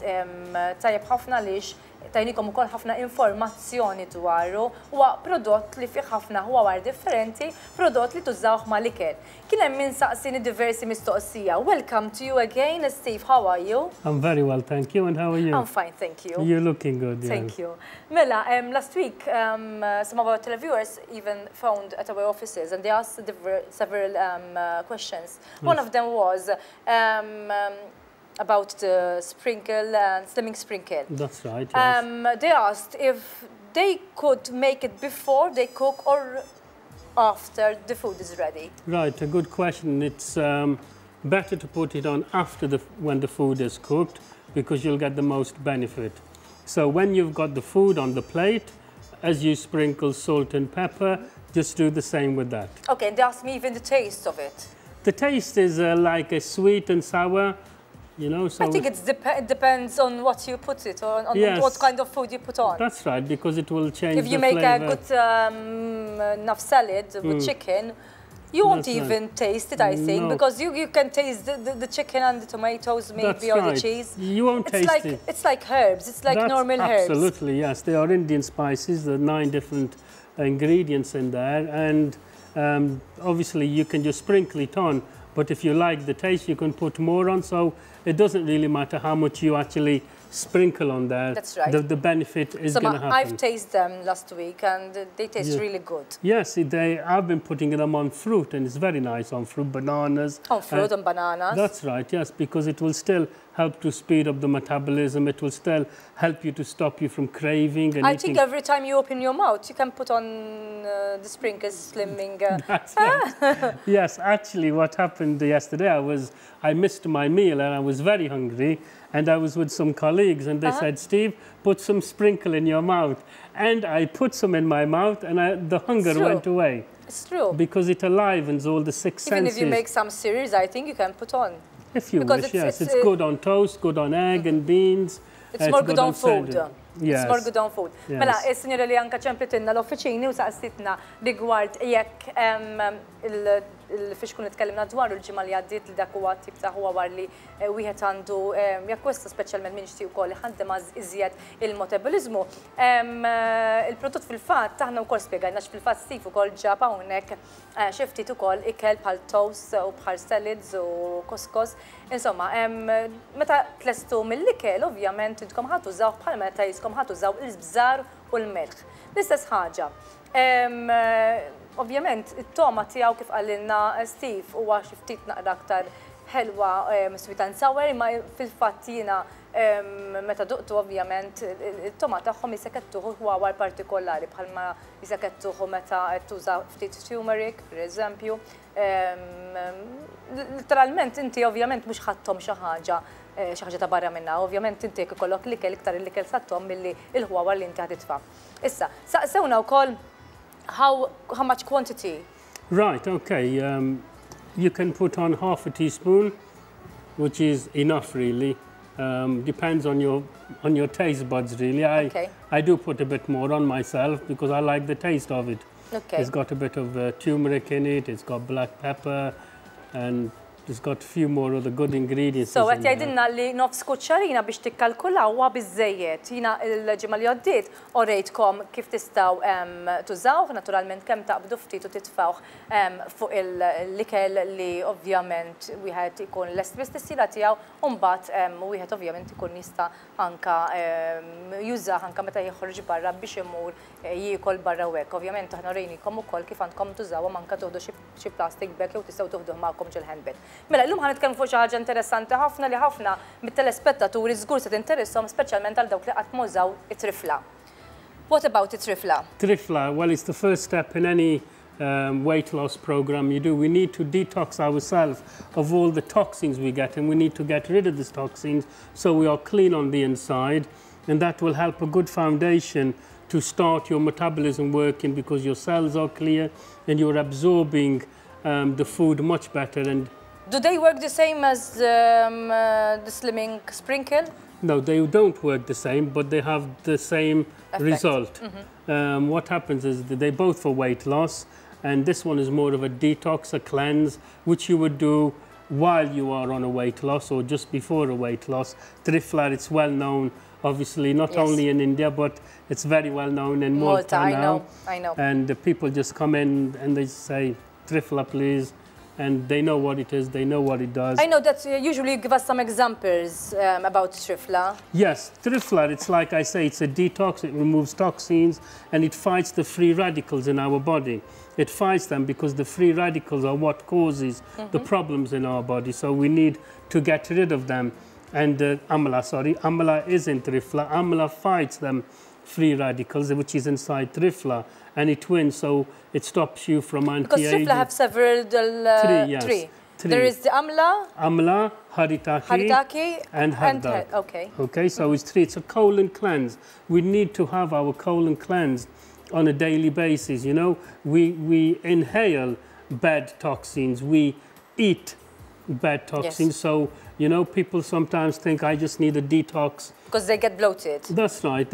tajjeb ħafna għaliex tajnikom ukoll ħafna informazzjoni dwaru. Huwa prodott li fih ħafna ħwawar differenti, prodott li tużawh mal-ikel. Kien hemm min saqsini diversi mistoqsija. Welcome to you again, Steve. How are you? I'm very well, thank you. And how are you? I'm fine, thank you. You're looking good. Yeah. Thank you. Mela, last week, some of our televiewers even phoned at our offices and they asked several questions. Yes. One of them was about the sprinkle and slimming sprinkle. That's right, yes. They asked if they could make it before they cook or after the food is ready. Right, a good question. It's better to put it on after the when the food is cooked, because you'll get the most benefit. So when you've got the food on the plate, as you sprinkle salt and pepper, just do the same with that. Okay, and they asked me even the taste of it. The taste is like a sweet and sour. You know, so I think it's it depends on what you put it on, on yes. what kind of food you put on. That's right, because it will change If you the make flavor. a good enough salad with chicken, you won't That's even right. taste it, I think, No. because you can taste the chicken and the tomatoes maybe, That's or the right. cheese. You won't It's taste it. It's like herbs, it's like That's normal herbs. Absolutely, yes. They are Indian spices, there are 9 different ingredients in there, and obviously you can just sprinkle it on. But if you like the taste, you can put more on. So it doesn't really matter how much you actually sprinkle on there. That's right. The benefit is So going to happen. I've tasted them last week and they taste Yeah. really good. Yes, I've been putting them on fruit, and it's very nice on fruit, bananas. On fruit and bananas. That's right, yes, because it will still help to speed up the metabolism. It will still help you to stop you from craving and I eating. think every time you open your mouth, you can put on the sprinkles slimming. That's right. Yes, actually what happened yesterday, I missed my meal and I was very hungry, and I was with some colleagues and they said, Steve, put some sprinkle in your mouth. And I put some in my mouth and the hunger went away. It's true. Because it alivens all the 6 Even senses. if you make some cereals, I think you can put on. If you Because wish, yes. it's, It's good on toast, good on egg and beans. It's more good on food. sandwich. Yes. It's more good on food. Yes. Mela, il-sinjora li anka ċemplitinna l-offiċini u saqsitna rigward jekk il-fiex kun itkellimna dwaru l-ġimgħa li għaddiet li dak huwa tip ta' huwa war li wieħed għandu jakkwista speċjalment min jixtieq ukoll iħaddem iżjed il-metabolizmu. Il-prodott fil-fatt aħna wkoll spjegajna x'fil-fatt Steve ukoll ġab hawnhekk xi ftit ukoll ikel bħal toast u bħal salads u couscous. Insomma, meta tlestu mill-ikel ovvjament intkom ħa tużaw bħal meta jiskom ħa tużaw il-bżar u l-melħ. L-istess ħaġa. Ovvjament, it-toma tiegħu kif qalilna Steve huwa xi ftit naqra aktar ħelwa sweet and sour, imma fil-fatt jiena meta duqtu ovvjament it-toma tagħhom jisekettuħu ħwawar partikolari bħalma jisekettuħu meta tuża ftit turmeric, per eżempju. Literalment inti ovvjament mhux ħadthom xi ħaġa xi ħaġa ta' barra minna, ovvjament inti jekk ikollok l-ikel iktar l-ikel sattom milli l-ħwawar li inti ħaditfa. Issa, saqsewna wkoll how much quantity? Right, okay. You can put on half a teaspoon, which is enough really. Depends on your taste buds really. I do put a bit more on myself because I like the taste of it. It's got a bit of turmeric in it, it's got black pepper, and it's got a few more of the good ingredients. So, in qed there. jgħidilna li nofs kuċċarina biex tikkalkulaw huwa biżejjed. Jiena l-ġimgħa li għaddiet orejtkom kif tistgħu tużawh, naturalment kemm taqbdu ftit u titfawh fuq l-ikel li ovvjament wieħed ikun lest biss tissila tiegħu, u mbagħad wieħed ovvjament ikun jista' anka jużah anka meta joħroġ barra biex imur jiekol barra u hekk. Ovvjament aħna orejnikom ukoll kif għandkom tużawhom anka tuħdu xi plastic bag jew tistgħu tuħduh magħkom ġol-handbag. Mela, llum ħa nitkellmu fuq xi ħaġa interessanti ħafna li ħafna mit-telespettaturi żgur se tinteresshom, speċjalment għal dawk li qatt mużaw it-trifla. What about it-trifla? Trifla, well, it's the first step in any weight loss program you do. We need to detox ourselves of all the toxins we get, and we need to get rid of these toxins so we are clean on the inside, and that will help a good foundation to start your metabolism working, because your cells are clear and you're absorbing the food much better. And do they work the same as the slimming sprinkle? No, they don't work the same, but they have the same effect. Result. Mm-hmm. What happens is that they both for weight loss, and this one is more of a detox, a cleanse, which you would do while you are on a weight loss or just before a weight loss. Triphala, it's well known, obviously, not yes. only in India, but it's very well known in Malta, I now. know, I know. And the people just come in and they say, Triphala, please. And they know what it is, they know what it does. I know that usually you give us some examples about Triphala. Yes, Triphala, it's like I say, it's a detox, it removes toxins, and it fights the free radicals in our body. It fights them because the free radicals are what causes the problems in our body, so we need to get rid of them. And Amla, sorry, Amla is in Triphala. Amla fights them free radicals, which is inside Triphala, and it wins, so it stops you from anti-aging. Because Triphala have several... three, yes. Three. Three. There is the Amla, Amla, Haritaki, Haritaki and Hardak. Okay. Okay, so it's three. It's a colon cleanse. We need to have our colon cleansed on a daily basis, you know. We inhale bad toxins, we eat bad toxins, yes. So, you know, people sometimes think, I just need a detox. Because they get bloated. That's right,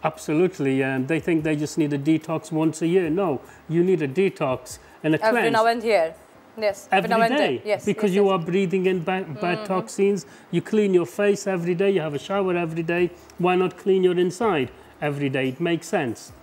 absolutely. And they think they just need a detox once a year. No, you need a detox and a cleanse. Every now and here. Yes, every now and day. then. Yes, because yes, you yes. are breathing in bad toxins. You clean your face every day, you have a shower every day. Why not clean your inside every day? It makes sense.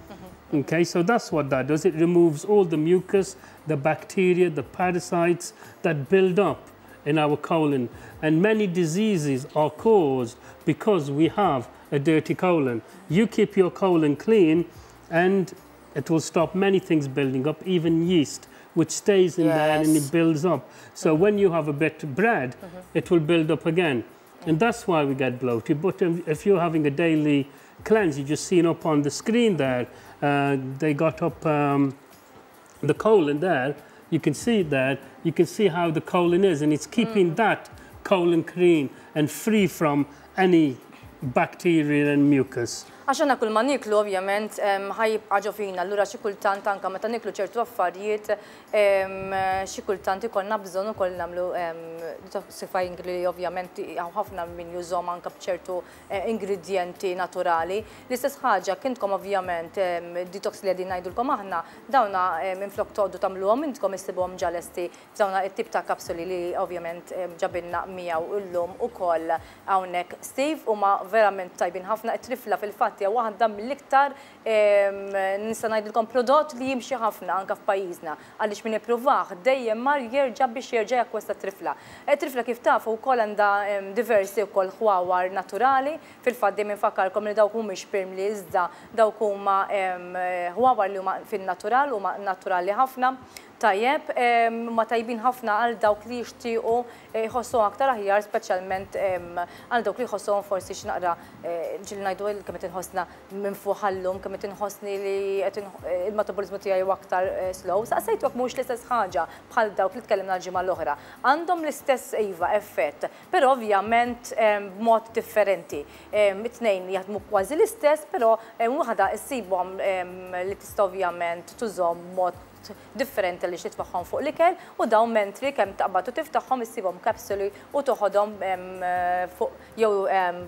Okay, so that's what that does. It removes all the mucus, the bacteria, the parasites that build up in our colon. And many diseases are caused because we have a dirty colon. You keep your colon clean and it will stop many things building up, even yeast, which stays in there and it builds up. So when you have a bit of bread, it will build up again. And that's why we get bloated. But if you're having a daily cleanse, you just seen up on the screen there, they got up the colon there. You can see it there. You can see how the colon is, and it's keeping that colon clean and free from any bacteria and mucus. Għax aħna kull ma niklu ovvjament ħa jibqa' ġo fina, allura xi kultant anke meta niklu ċertu affarijiet xi kultant ikollna bżonn ukoll nagħmlu detoxifying li ovvjament hawn ħafna min jużhom anke b'ċertu ingredjenti naturali. L-istess ħaġa kintkom ovvjament detox li qegħdin ngħidulkom aħna dawna minflok toqgħodu tagħmluhom intkom issibuhom ġa lesti f'dawna it-tip ta' kapsuli li ovvjament ġabilna miegħu llum ukoll hawnhekk Steve, huma verament tajbin ħafna. It-trifla fil-fatt hija waħda mill-iktar nista' ngħidilkom prodott li jimxi ħafna anke f'pajjiżna, għaliex min ippruvah dejjem mar jerġa' biex jerġa' jakkwista trifla. Trifla kif tafu wkoll għandha diversi wkoll ħwawar naturali, fil-fatt dejjem infakkarkom li dawk mhumiex pirmli iżda dawk huma ħwawar li huma fin-natural, huma naturali ħafna. Tajjeb, ma tajbin ħafna għal dawk li jixtiequ jħossuhom aktar aħjar, speċjalment għal dawk li jħossuhom forsi xi naqra ġieli ngħidu kemm qed inħossna minn fuq ħallum, kemm qed inħossni li qed il-metabolizmu tiegħi huwa aktar slow. Saqsejtu jekk mhux l-istess ħaġa bħal dawk li tkellimna l-ġimgħa l-oħra. Għandhom l-istess iva effett, però ovvjament b'mod differenti. It-tnejn jaħdmu kważi l-istess, però waħda issibhom li tista' ovvjament tużhom b'mod differenti li xitfaħħom fuq l-ikel, u dawn mentri kemm taqbad u tiftaħħom issibhom kapsuli u toħodhom fuq jew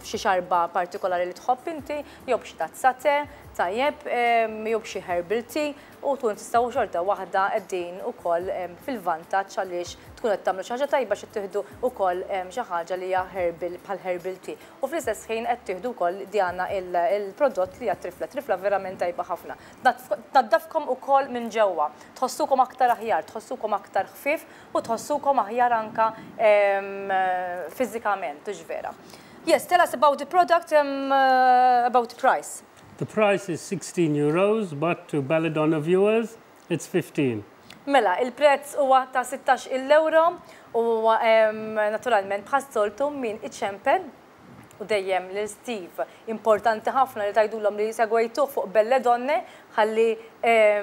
f'xi xarba partikolari li tħobb inti, jew b'xi tazza te, tajjeb, jew b'xi herbal tea, u tkun tistgħu xorta waħda qegħdin ukoll fil-vantaġġ għaliex tkun qed tagħmlu xi ħaġa tajba xi tieħdu wkoll xi ħaġa li hija herbal bħal herbal tea. U fl-istess ħin qed tieħdu wkoll Diana il-prodott li hija trifla. Trifla verament tajba ħafna. Tnaddafkom ukoll minn ġewwa. Tħossukom aktar aħjar, tħossukom aktar ħfief u tħossukom aħjar anka fiżikament, hux vera. Yes, tell us about the product, about the price. The price is 16 euros, but to Belladonna viewers, it's 15. Mela, il-prezz huwa ta' 16 euro u naturalment bħas-soltu min iċempel u dejjem lil Steve. Importanti ħafna li tgħidulhom li segwejtuh fuq Belle Donne ħalli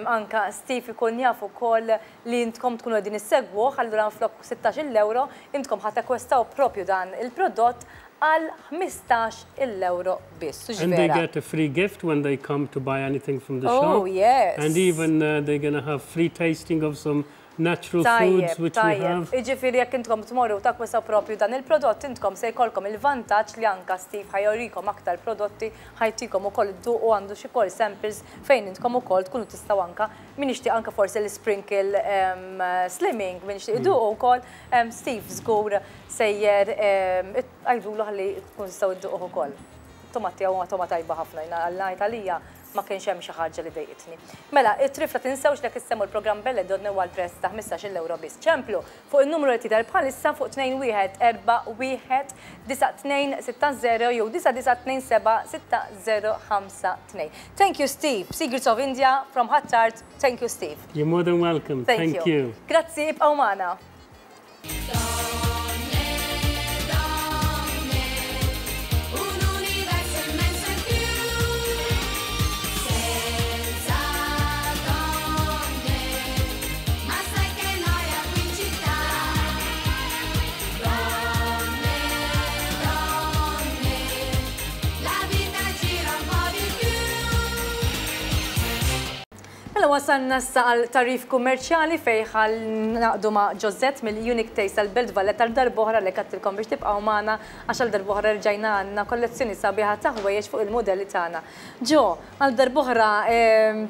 anka Steve ikun jaf ukoll li intkom tkunu qegħdin issegwuh, allura minflok 16-il ewro intkom ħa takkwistaw propju dan il-prodott għal 15-il ewro biss. Hux vera? And they get a free gift when they come to buy anything from the shop. Oh yes. And even they're gonna have free tasting of some natural foods which we have. Tajjeb, jiġifieri jekk intkom tmorru u takkwistaw propju dan il-prodott, intkom se jkollkom il-vantaġġ li anka Steve ħa jurikom aktar prodotti, ħa jtikom ukoll idduqu għandu xi kol samples fejn intkom ukoll tkunu tistgħu anka min jixtieq anka forsi l-sprinkle slimming, min jixtieq iduqu wkoll, Steve żgur sejjer għidulu ħalli tkunu tistgħu idduquh ukoll. It-toma tiegħu huwa toma tajba ħafna, jiena għal ngħid għalija Ma kienx hemm xi ħaġa li dejqitni. Mela, it-trifla tinsewx li jekk issemmu l-programm Belle Donne huwa għall-prezz ta' 15-il ewro biss. Ċemplu fuq in-numru li tidher bħalissa fuq 2141 9260 jew 9927 6052. Thank you Steve, Secrets of India from Ħ'Attard, thank you Steve. You're more than welcome, thank you. Grazzi, ibqgħu magħna. Mela wasalna issa għal tagħrif kummerċjali fejn ħa ningħaqdu ma' Josette mill-Unique Taste tal-Belt Valletta għal darb'oħra għalhekk għedtilkom biex tibqgħu magħna għax għal darb'oħra rġajna għandna kollezzjoni sabiħa ta' ħwejjeġ fuq il-mudelli tagħna. Jo, għal darb'oħra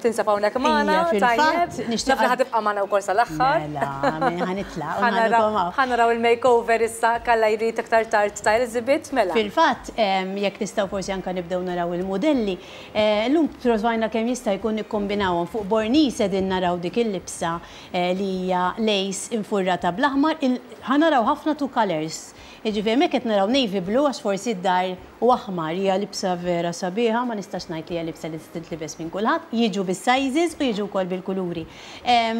tinsab hawnhekk magħna, tajjeb? Naf li ħa tibqa' magħna wkoll sal-aħħar. Mela, ħa nitlaq u nħallikom hawn. Ħa naraw il-makeover issa kalla jrid aktar tard ta' Elizabeth, mela. Fil-fatt, jekk nistgħu forsi anke nibdew naraw il-mudelli, Illum provajna kemm jista' jkun nikkombinawhom. Fuq Bornis qegħdin naraw dik il-libsa li hija lace infurrata bl-aħmar. Ħa naraw ħafna two colours. Jiġifieri hemmhekk qed naraw navy blue għax forsi d-dar u aħmar. Hija libsa vera sabiħa, ma nistax ngħid li hija libsa li tista' tintlibes minn kulħadd. Jiġu bis-sizes u jiġu wkoll bil-kuluri.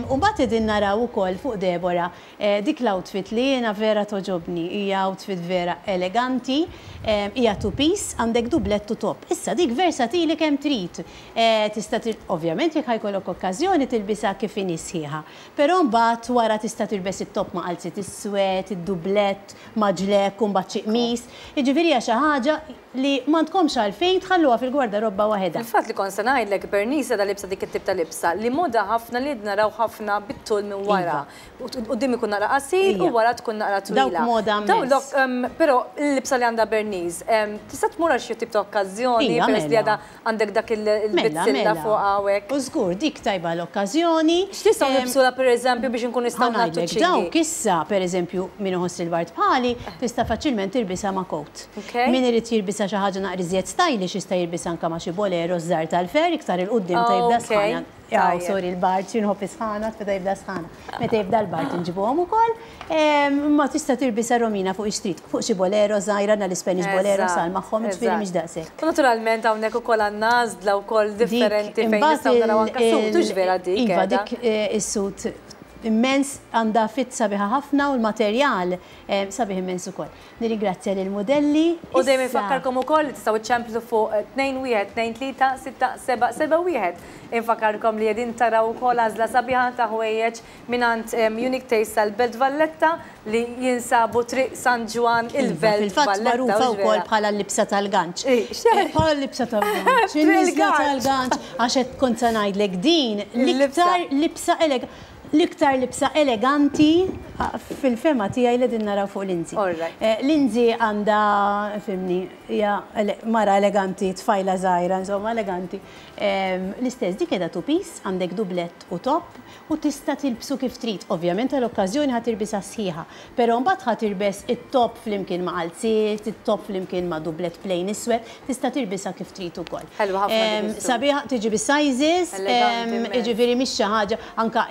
U mbagħad qegħdin naraw ukoll fuq Deborah Dik l-outfit li jiena vera togħġobni, hija outfit vera eleganti, hija two piece, għandek dublett u top. Issa dik versatili kemm trid. Tista' ovvjament jekk ħa jkollok okkażjoni tilbisha kif inhi sħiħa. Però mbagħad wara tista' tilbes it-top ma' qalziet iswed, id-dublett ma' ġlekk u mbagħad xi qmis. Jiġifieri hija xi ħaġa li m'għandkomx għalfejn tħalluha fil-gwardarobba waħedha. Fil-fatt li kont se ngħidlek, Bernice għadha liebsa dik it-tip ta' libsa li moda ħafna li naraw ħafna bit-tul minn wara. Quddiem ikun naqra qasir u wara tkun naqra twila. Dawk moda immens. Però l-libsa li għandha Bernice, tista' tmur għal xi tip ta' okkażjoni peress li għadha għandek dak il-bizzilla fuq hawnhekk. U żgur, dik tajba għall-okkażjoni. X'nistgħu nilbsulha pereżempju biex inkunu nistgħu nagħtu ċ-ċingi? Dawk issa, pereżempju, min iħoss il-bard bħali, tista' faċilment tilbisha ma' coat. Min irid jilbisha xi ħaġa naqra iżjed stylish jista' jilbisha anke ma' xi bolero żgħar tal-fer iktar 'il quddiem meta jibda s-sħana. Aw, sorry, il-bard, xi nħobb is-sħana, meta jibda s-sħana. Meta jibda l-bard inġibuhom ukoll. Imma tista' tilbisha Romina fuq ix-street, fuq xi bolero żgħira, għandna l-Spanish bolero sal magħhom, jiġifieri mhix daqshekk. U naturalment hawnhekk ukoll għandna għażla wkoll differenti fejn nistgħu naraw anke suit, hux vera dik? Iva, dik is-suit immens, għandha fit sabiħa ħafna u l-materjal sabiħ immens ukoll. Nirringrazzja lill-mudelli. U dejjem infakkarkom ukoll li tistgħu iċċemplu fuq 2123 6771. Infakkarkom li qegħdin taraw ukoll għażla sabiħa ta' ħwejjeġ mingħand Unique Taste tal-Belt Valletta li jinsabu Triq San Ġwann il-Belt Valletta. Fil-fatt magħrufa wkoll bħala l-libsa tal-ganċ. Bħala l-libsa tal-ganċ. Il-libsa tal-ganċ. Għax qed kont se ngħidlek din l-iktar libsa eleganti. L-iktar libsa eleganti fil-fehma tiegħi li qegħdin naraw fuq Lindsay. Lindsay għandha, fimni, hija mara eleganti, tfajla żgħira, insomma eleganti. L-istess dik qiegħda two piece, għandek dublett u top u tista' tilbsu kif trid. Ovvjament għal okkażjoni ħa tilbisha sħiħa, però mbagħad ħa tilbes it-top flimkien ma' qalziet, it-top flimkien ma' dublett plain iswed, tista' tilbisha kif trid ukoll. Ħelwa ħafna dik is-suit. Sabiħa, tiġi bis-sizes, jiġifieri mhix xi ħaġa, anke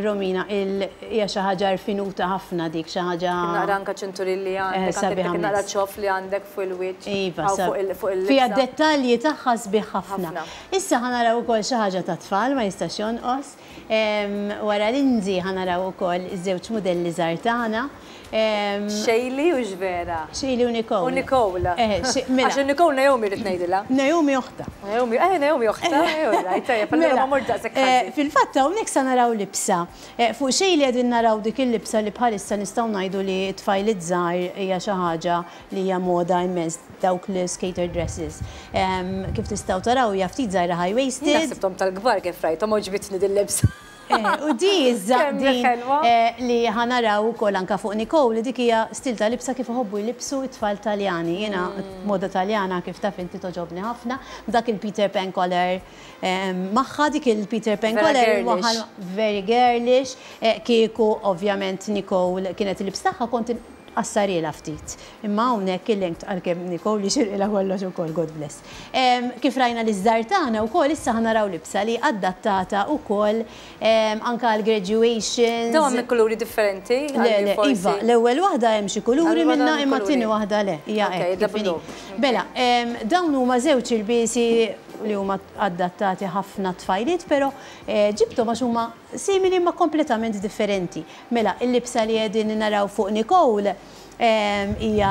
Romina, hija xi ħaġa rfinuta ħafna dik, xi ħaġa. Naqra anke ċinturin li għandek, anke dik naqra ċoff li għandek fuq il-wiċċ. Iva, fiha d-dettalji tagħha sbieħ ħafna. Issa ħa naraw ukoll xi ħaġa tat-tfal, ma jistax jonqos. Wara Lindsay ħa naraw ukoll iż-żewġ mudelli żgħar tagħna. Shaylee hux vera? Shaylee u Nicole. U Nicole. Mela. Għax Nicole Naomi rrid ngħidilha. Naomi oħtha. Naomi, eh Naomi oħtha, right, tajjeb, allura ma mort daqshekk ħażin. Fil-fatt hawnhekk sa naraw libsa. Fuq Shaylee qegħdin naraw dik il-libsa li bħalissa nistgħu ngħidu li t-tfajliet żgħar hija xi ħaġa li hija moda immens, dawk l-skater dresses. Kif tistgħu taraw hija ftit żgħira high waisted. Jien ħsibthom tal-kbar kif rajthom, għoġbitni dil-libsa. U di iżda din li ħa naraw ukoll anke fuq Nicole, dik hija stil ta' libsa kif iħobbu jlibbsu t-tfal Taljani. Jiena moda Taljana kif taf inti togħġobni ħafna, b'dak il-Peter Pan collar magħha, dik il-Peter Pan collar waħal very girlish, kieku ovvjament Nicole kienet il-libs tagħha kont Qassarhielha ftit. Imma hawnhekk il-length għalkemm Nicole jixirqilha kollox ukoll, God bless. Kif rajna liż-żgħar tagħna wkoll issa ħa naraw libsa li adattata wkoll anke għal graduations. Dawn hemm kuluri differenti? Le, le, iva, l-ewwel waħda hemm xi kuluri minnha imma t-tieni waħda le, hija hekk kif inhi. Mela, dawn huma żewġ ilbiesi li huma adattati ħafna għat-tfajliet, però ġibthom għax huma simili imma kompletament differenti. Mela, il-libsa li qegħdin naraw fuq Nicole hija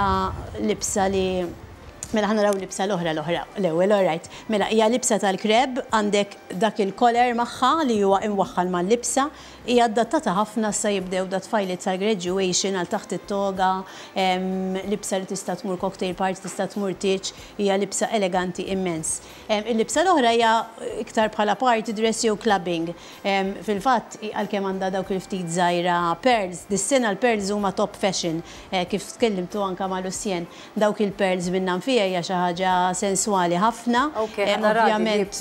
libsa li Mela ħa naraw libsa l-oħra l-oħra l-ewwel, all right. Mela hija libsa tal-kreb, għandek dak il-collar magħha li huwa imwaħħal mal-libsa, hija adattata ħafna issa jibdew da tfajliet tal-graduation għal taħt it-toga, libsa li tista' tmur cocktail party, tista' tmur tieġ, hija libsa eleganti immens. Il-libsa l-oħra hija iktar bħala party dress jew clubbing. Fil-fatt, għalkemm għandha dawk il-ftit żgħira pearls, dis-sena l-pearls huma top fashion, kif tkellimtu anke ma' Lucien. Dawk il-pearls minnha nfiha hija xi ħaġa senswali ħafna. Ovvjament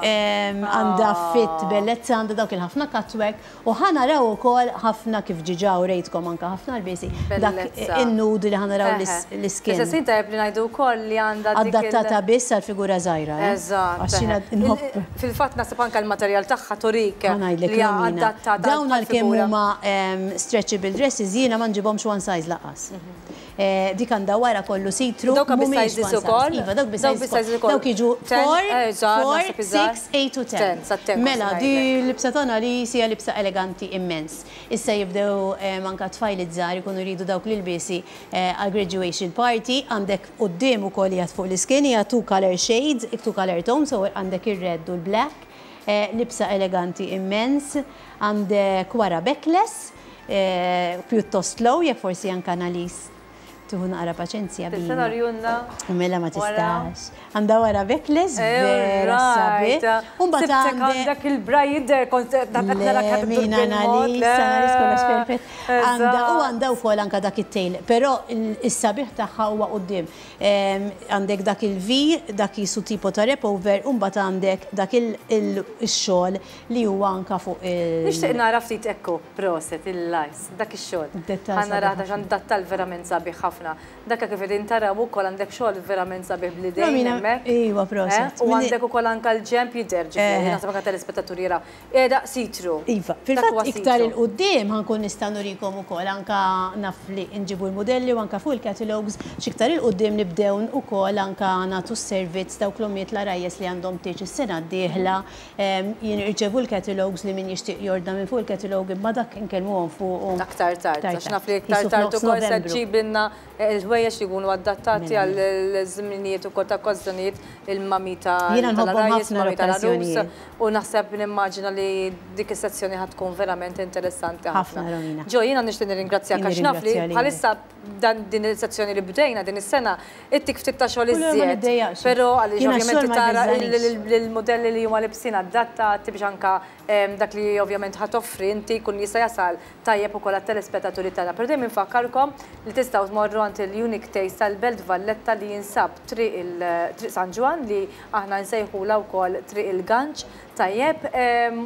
għandha fit bellezza, għandha dawk il-ħafna cutwork u ħa naraw ukoll ħafna kif ġiġa urejtkom anke ħafna lbiesi, dak in-nude li ħa naraw l-iskin. Fl-istess ħin tajjeb li ngħidu wkoll li għandha dik il-. Adattata biss għal figura żgħira, eh? Eżatt. Għax jiena nħobb. Fil-fatt naħseb anke l-materjal tagħha turik li hija adattata. Dawn għalkemm huma stretchable dresses jiena ma nġibhomx one size lanqas. Dik għandha wara kollu see-through. Dawk bi sizes ukoll? Iva, dawk bi sizes ukoll. Dawk jiġu 4, 4, 6, 8 u 10. Mela, di l-libsa tagħna li hija libsa eleganti immens. Issa jibdew anke tfajliet żgħar ikunu jridu dawk l-ilbiesi għal graduation party, għandek quddiem ukoll qiegħed fuq l-iskin hija two color shades, two color tones, so għandek ir-red u l-black, libsa eleganti immens, għandek wara backless, pjuttost low, jekk forsi anke Annalise tieħu naqra paċenzja bina. Tista' norjunna? Mela ma tistax. Għandha wara backless vera sabiħ. U mbagħad għandek il-bra jidher kont qed nara kemm Mina Annalise, Annalise kollox perfett. Għandha u għandha wkoll anke dak it-tail, però is-sabiħ tagħha huwa quddiem. Għandek dak il-V, dak qisu tipo ta' wrap over, u mbagħad għandek dak ix-xogħol li huwa anke fuq il. Nixtieq nara ftit ekku, proset, il-lajs, dak ix-xogħol. Dettall Ħa narah għax għandu dettall verament sabiħ ħafna. Dak kif qegħdin taraw ukoll għandek xogħol verament sabiħ bl-idejn hemmhekk. Iva, proset. U għandek ukoll anke l-ġenb jidher, ġifieri, naħseb anke telespettaturi jaraw. Qiegħda see-through. Iva, fil-fatt iktar 'il quddiem ħa nkun nista' nurikom ukoll anke naf li nġibu l-mudelli u anke fuq il-catalogues x'iktar 'il quddiem nibdew ukoll anke nagħtu s-servizz dawk l-ommijiet l-għarajjes li għandhom tieġ is-sena d-dieħla jirċevu l-catalogues li min jixtieq jordna minn fuq il-catalogue imma dak inkellmuhom fuqu. Aktar tard, għax naf li iktar tard ukoll se ġġibilna Il-ħwejjeġ li jkunu adattati għal żminijiet ukoll ta' okkażjonijiet il-mami tal-għarajjes, mami tal-għarus. U naħseb nimmaġina li dik is-sezzjoni ħa tkun verament interessanti ħafna. Ġo, jiena nixtieq nirringrazzjak għax naf li bħalissa dan din is-sezzjoni li bdejna din is-sena ittik ftit ta' xogħol iżjed. Però għaliex ovvjament tara l-mudelli li huma libsin adattati biex anke dak li ovvjament ħa toffri inti jkun jista' jasal tajjeb ukoll għat-telespettaturi tagħna. Però dejjem infakkarkom li tistgħu tmorru għand il-Unique Taste tal-Belt Valletta li jinsab Triq il Triq San Ġwann li aħna nsejħulha wkoll Triq il-Ganċ tajjeb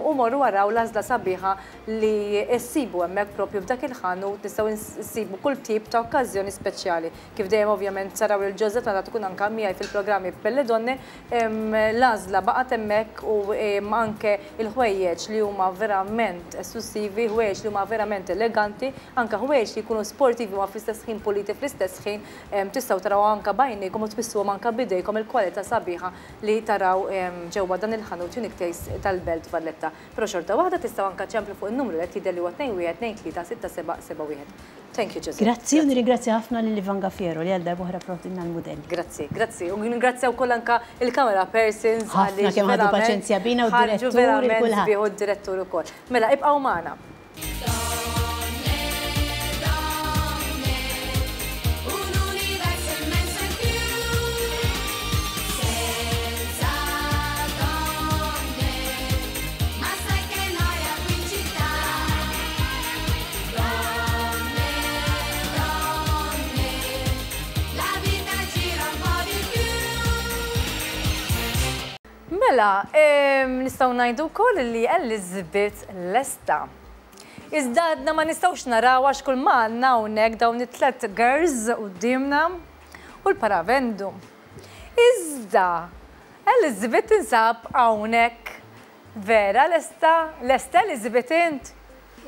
u morru araw l-għażla sabiħa li ssibu hemmhekk propju f'dak il-ħanut nistgħu nsibu kull tip ta' okkażjoni speċjali. Kif dejjem ovvjament taraw lil Josette meta tkun anke miegħi fil-programmi Belle Donne L-għażla baqgħet hemmhekk u anke l-ħwejjeġ li huma verament esklussivi, ħwejjeġ li huma verament eleganti, anke ħwejjeġ li jkunu sportivi ma fl-istess ħin puliti fl-istess ħin, tistgħu taraw anke b'għajnejkom u tmissuhom anke b'idejkom il-kwalità sabiħa li taraw ġewwa dan il-ħanut Unique Taste. stess tal-Belt Valletta. Però xorta waħda tistgħu anke ċemplu fuq in-numru li qed jidher li huwa 21 23 67 71. Thank you Josette. Grazzi u nirringrazzja ħafna lil Ivan Gaffiero li għal darb'oħra pprovdilna l-mudelli. Grazzi, grazzi. U nirringrazzja wkoll anke il-camera persons Ħafna kemm ħadu paċenzja bina u d-direttur u kulħadd. U d-direttur ukoll. Mela ibqgħu magħna. Mela, nistgħu ngħidu wkoll li Elizabeth lesta. Iżda għadna ma nistgħux naraw għax kull ma għandna hawnhekk dawn it-tlet girls quddiemna u l-paravendu. Iżda Elizabeth tinsab hawnhekk Vera lesta? Lesta Elizabeth int?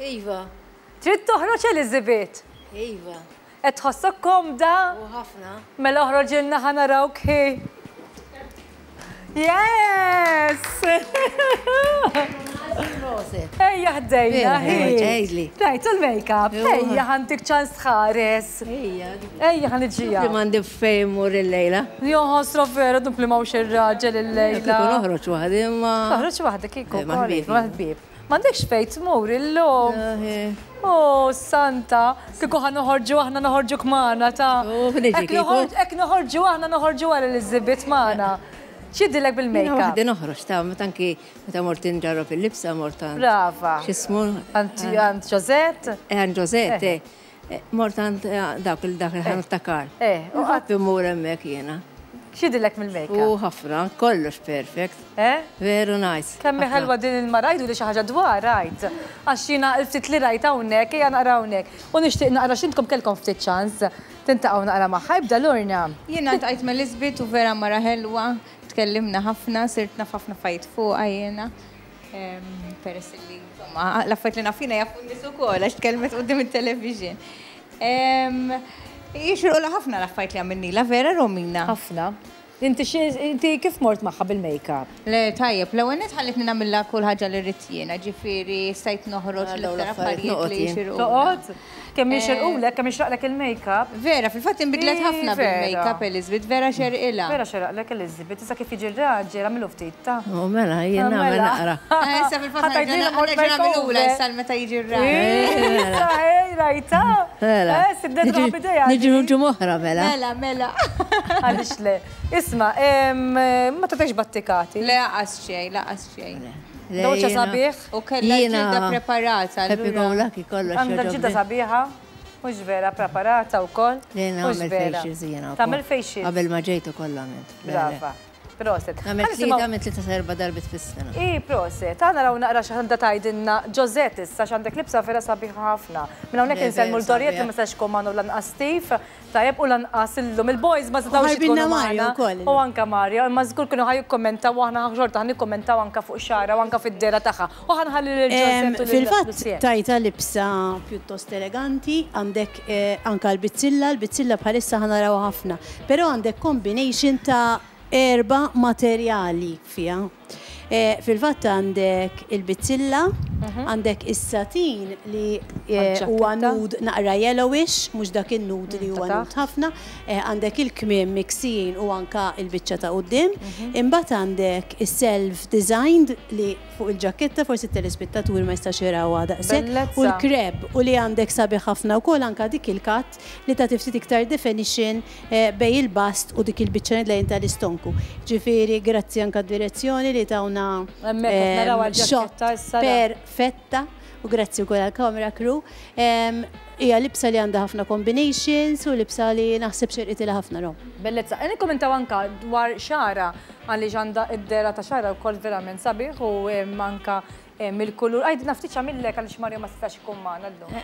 Iva. Trid toħroġ Elizabeth? Iva. Qed tħossok komda? U ħafna. Mela oħroġilna ħa narawk hi. Yes! Proset. Ejja ħdejna hi. Ġejli. Rajt il-makeup. Ejja ħantik ċans tħares. Ejja. Ejja ħa niġija. Li m'għandi fejn mur illejla. Joħosro vera dub li m'hawnx ir-raġel illejla. Kieku noħroġ waħdi imma. Toħroġ waħdek kieku. Eh, mal-ħbieb. M'għandekx fejn tmur illum. Oh, Santa, kieku ħa noħorġu aħna noħorġu kmana ta' oh, Hekk noħorġu aħna noħorġu għal Elizabeth magħna. X'jidilek bil-makeup? Waħdi noħroġ ta' meta anki meta mort inġarrob il-libsa mort għand. Brava. X'ismu? Għand Josette? Eh, għand Josette, eh. eh. Mort għand eh, dak il-dak il-ħanut ta' Karl. Eh, u qatt immur hemmhekk jiena. X'jidilek mill-makeup? U ħafna, kollox perfect. Eh? Veru nice. Kemm ħelwa din il-mara għidu li xi ħaġa dwar rajt. Għax jiena l-ftit li rajt hawnhekk ejja naqra hawnhekk. U nixtieq naqra x'intkom kellkom ftit ċans tintaqgħu naqra magħha. Ibda Lorna. Jiena ltqajt ma' Lisbeth u vera mara ħelwa, tkellimna ħafna, sirt naf ħafna affarijiet fuqha jiena. Peress li, insomma, l-affarijiet li naf jiena jafu n-nies ukoll għax tkellmet quddiem it-television. Jixirqulha ħafna l-affarijiet li għamilnilha, vera Romina? Ħafna. Inti inti kif mort magħha bil-makeup? Le, tajjeb, l-ewwel nett ħallitni nagħmilha kull ħaġa li rrid jiena, ġifieri stajt noħroġ l-iktar affarijiet li jixirqulha. Toqgħod? Kemm jixirqulek, kemm jixraqlek il-makeup. Vera, fil-fatt inbidlet ħafna bil-makeup Elizabeth, vera xerqilha. Vera xeraqlek Elizabeth, issa kif jiġi r-raġel għamilu ftit ta'. U mela, jien nagħmel naqra. Eh, issa fil-fatt nerġa' nagħmilula issa meta jiġi r-raġel. Issa, ej, rajta. Mela. Eh, sibnet ruħha b'idejha. Niġi ġimgħa mela. Mela, mela. Għaliex le. Isma', ma tagħtekx battikati. Le, laqas xejn, laqas xejn. Dawċa sabiħ. U kellha ġilda preparata. Happy go lucky kollox. Għandha ġilda sabiħa, mhux vera, preparata wkoll. Le nagħmel facials jiena. Tagħmel facials. Qabel ma ġejt ukoll għamilt. Brava. Proset. Nagħmel tlieta minn tlieta sa erba' darbiet fis-sena. I proset. Aħna naraw naqra x'għandha tgħidilna Josette issa x'għandek libsa vera sabiħa ħafna. Minn hawnhekk insellmu l-Doriette li ma setax ikun magħna u lanqas Steve. Tajjeb u lanqas illum il-boys ma setgħux ikunu magħna. U anke Mario, imma żgur kienu ħa jikkommentaw u aħna xorta ħa nikkommentaw anke fuq xagħarha u anke fid-dehra tagħha. U ħa nħalli lil Josette u lil Fil-fatt tajtha libsa pjuttost eleganti, għandek anke l-bizzilla, l-bizzilla bħalissa ħa narawha ħafna. Però għandek combination ta' erba' materjali fiha. Fil-fatt għandek il-bizzilla, għandek is-satin li huwa nude naqra yellowish, mhux dak in-nude li huwa nude ħafna, għandek il-kmiem miksijin u anke l-biċċa ta' quddiem. Imbagħad għandek is-self designed li fuq il-ġakketta, forsi t-telespettaturi ma jistax jarawha daqshekk, u l-kreb u li għandek sabiħ ħafna wkoll anke dik il-cut li tagħti ftit iktar definition bejn il-bust u dik il-biċċa lejn tal-istonku. Ġifieri grazzi anke għad-direzzjoni li tawna shot perfetta u grazzi wkoll għall-camera crew. Hija libsa li għandha ħafna combinations u libsa li naħseb xerqitilha ħafna Rom. Bellezza. E nikkommentaw anke dwar xagħarha għaliex għandha d-dehra ta' xagħarha wkoll verament sabiħ u anke mill-kulur. Għidilna ftit x'għamillek għaliex Mario ma setax ikun magħna llum.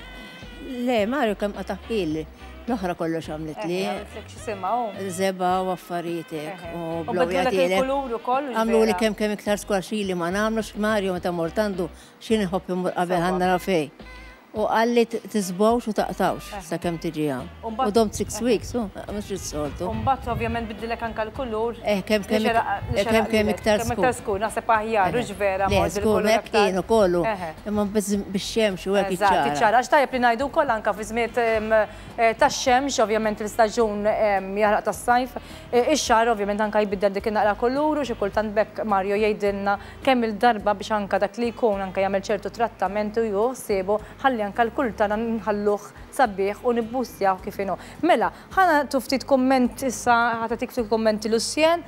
Le, Mario kemm qata' ħil. L-oħra kollox għamlitli. Għamlitlek x'isimha hu? Żebgħa u affarijiet hekk. U bidlulek il-kulur ukoll. Għamluli kemm kemm iktar skwar xili ma nagħmlux Mario meta mort għandu xi nħobb immur qabel ħa nara fejn. U qalli tiżbgħux u taqtgħux sakemm tiġi hawn. U domt 6 weeks, u mhux is-soltu. U mbagħad ovvjament biddillek anke l-kulur. Eh, kemm kemm kemm kemm iktar skur. Kemm iktar skur, naħseb aħjar, hux vera. Le, żgur, hekk kien ukoll. Imma bix-xemx u hekk iċċara. Iċċara, għax tajjeb li ngħidu wkoll anke fi żmiet tax-xemx, ovvjament l-istaġun jaħraq tas-sajf, ix-xagħar ovvjament anke jbiddel dik in-naqra kulur u xi kultant b'hekk Mario jgħidilna kemm-il darba biex anke dak li jkun anke jagħmel ċertu trattament u jieħu ħsiebu ħalli anke l-kulur tagħna nħalluh sabiħ u nibbustjawh kif inhu. Mela, ħa nagħtu ftit kumment issa, ħa tagħtik ftit kummenti Lucienne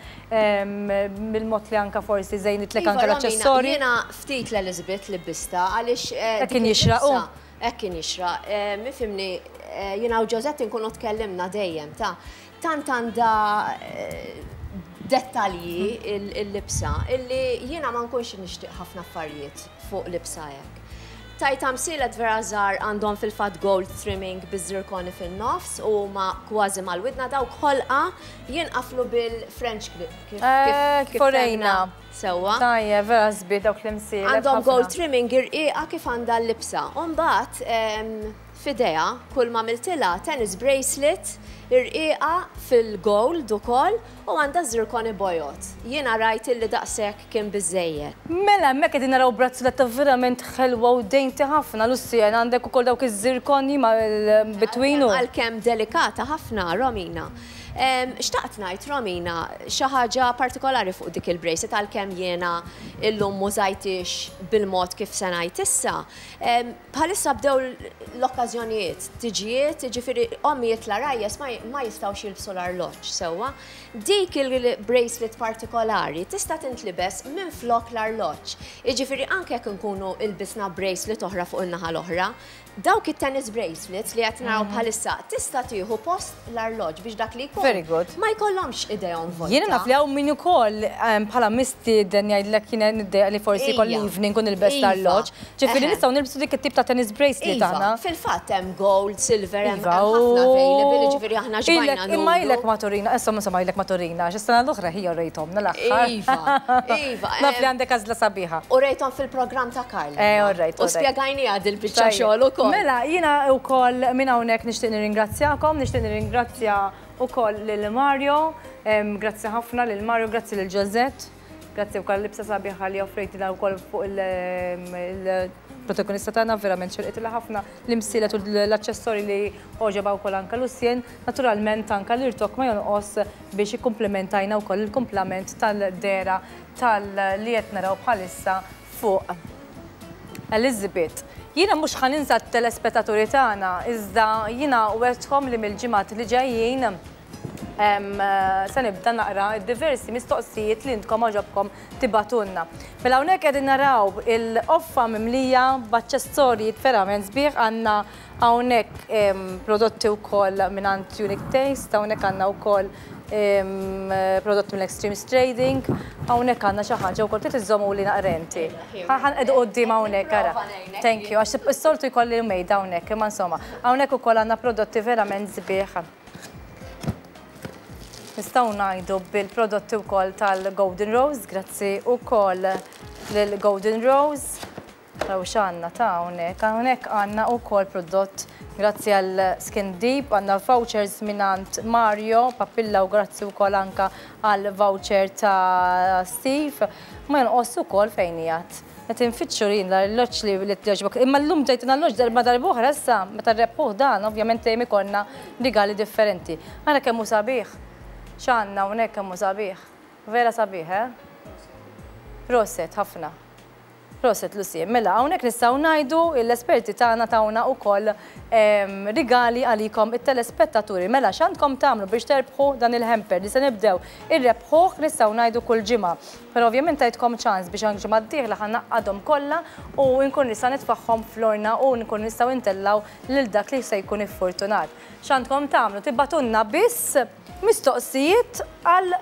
mill-mod li anke forsi żejnitlek anke l-aċċessorji. Iva Romina, jiena ftit l-Elizabeth libbistha għaliex Hekk kien jixraq hu. Hekk kien jixraq. Ifhimni, jiena u Josette inkunu tkellimna dejjem ta' Tant għandha dettalji il-libsa illi jiena ma nkunx nixtieq ħafna affarijiet fuq libsa hekk. Tajt amsielet vera żgħar għandhom fil-fatt gold trimming biż-zirkoni fin-nofs u huma kważi mal-widna dawk ħolqa jinqaflu bil-French clip kif kif urejna. Sewwa. Tajjeb, vera sbieħ dawk l-imsielet. Għandhom gold trimming irqiqa kif għandha l-libsa. U mbagħad F'idejha, kull m'għamiltilha, tennis bracelet irqiqa fil-gold ukoll u għandha zirkoni bojod. Jiena rajt illi daqshekk kien biżżejjed. Mela hemmhekk qegħdin naraw brazzoletta verament ħelwa u dainty ħafna, Lucienne, għandek ukoll dawk iż-zirkoni mal-between u. Għalkemm delikata ħafna, Romina. Xtaqt ngħid, Romina, xi ħaġa partikolari fuq dik il-bracelet għalkemm jiena illum m'użajthiex bil-mod kif se ngħid issa. Bħalissa bdew l-okkażjonijiet, tiġijiet, jiġifieri ommijiet l-għarajjes ma jistgħux jilbsu l-arloġġ sewwa. Dik il-bracelet partikolari tista' tintlibes minflok l-arloġġ. Jiġifieri anke jekk inkunu lbisna bracelet oħra fuq in-naħa l-oħra, dawk it-tennis bracelets li qed naraw bħalissa tista' tieħu post l-arloġġ biex dak li jkun Very good. ma jkollhomx idejhom vojta. Jiena naf li hawn min ukoll bħala mistieden jgħidlek jiena niddejjaq li forsi jkolli evening u nilbes l-arloġġ. Ġifieri nistgħu nilbsu dik it-tip ta' tennis bracelet aħna. Iva, fil-fatt hemm gold, silver, hemm ħafna available, jiġifieri aħna xbajna nuru. Imma ilek ma turina, insomma insomma ilek ma turina, għax is-sena l-oħra hija urejthomna l-aħħar. Iva, iva. Naf li għandek għażla sabiħa. Urejthom fil-programm ta' Karl. Eh, all right. U spjegajniha dil-biċċa xogħol ukoll. Mela, jiena wkoll minn hawnhekk nixtieq nirringrazzjakom, nixtieq nirringrazzja wkoll lil Mario, grazzi ħafna lil Mario, grazzi lil Josette. Grazzi wkoll għal-libsa sabiħa li offrejtilha wkoll fuq il-protagonista tagħna, verament xirqitilha ħafna l-imsielet u l-aċċessorji li għoġobha wkoll anke Lucien. Naturalment anke l-irtokk ma jonqos biex ikkumplimentajna wkoll il-kumplament tal-dehra tal li qed naraw bħalissa fuq Elizabeth. Jiena mhux ħa ninsa t-telespettaturi tagħna, iżda jiena wegħdtkom li mill-ġimgħat li ġejjin se nibda naqra d-diversi mistoqsijiet li intkom għoġobkom tibagħtulna. Mela hawnhekk qegħdin naraw il-qoffa mimlija b'aċċessorji verament sbieħ, għandna hawnhekk prodotti wkoll mingħand Unique Taste, hawnhekk għandna wkoll prodotti mill Extremes Trading, hawnhekk għandna xi ħaġa wkoll trid iżżommuli naqra inti. Ħa nqegħdu quddiem hawnhekk ara. Thank you, għax is-soltu jkolli mejda hawnhekk, imma insomma, hawnhekk ukoll għandna prodotti verament sbieħ. Nistgħu ngħidu bil-prodotti wkoll tal-Golden Rose, grazzi wkoll lil Golden Rose. Raw x'għandna ta' hawnhekk. Hawnhekk għandna wkoll prodott grazzi għal Skin Deep, għandna vouchers mingħand Mario Papilla u grazzi wkoll anka għal voucher ta' Steve. Ma jonqos ukoll fejn qiegħed. Qed infittxu jien l-arloġġ li li jogħġbok. Imma llum ġejtina arloġġ darba darb'oħra issa, meta nrebħuh dan, ovvjament dejjem ikollna rigali differenti. Ara kemm hu sabiħ. X'għandna hawnhekk kemm hu sabiħ. Vera sabiħ, eh? Proset ħafna. Proset Lucy. Mela hawnhekk nistgħu ngħidu l-esperti tagħna tawna wkoll rigali għalikom it-telespettaturi. Mela x'għandkom tagħmlu biex terbħu dan il-hamper li se nibdew irrebħuh nistgħu ngħidu kull ġimgħa. Però ovvjament tajtkom ċans biex anke ġimgħa d-dieħla ħa ngħaqqadhom kollha u nkun nista' nitfagħhom fl-orna u nkun nistgħu ntellgħu lil dak li se jkun iffurtunat. X'għandkom tagħmlu? Tibagħtulna biss mistoqsijiet għal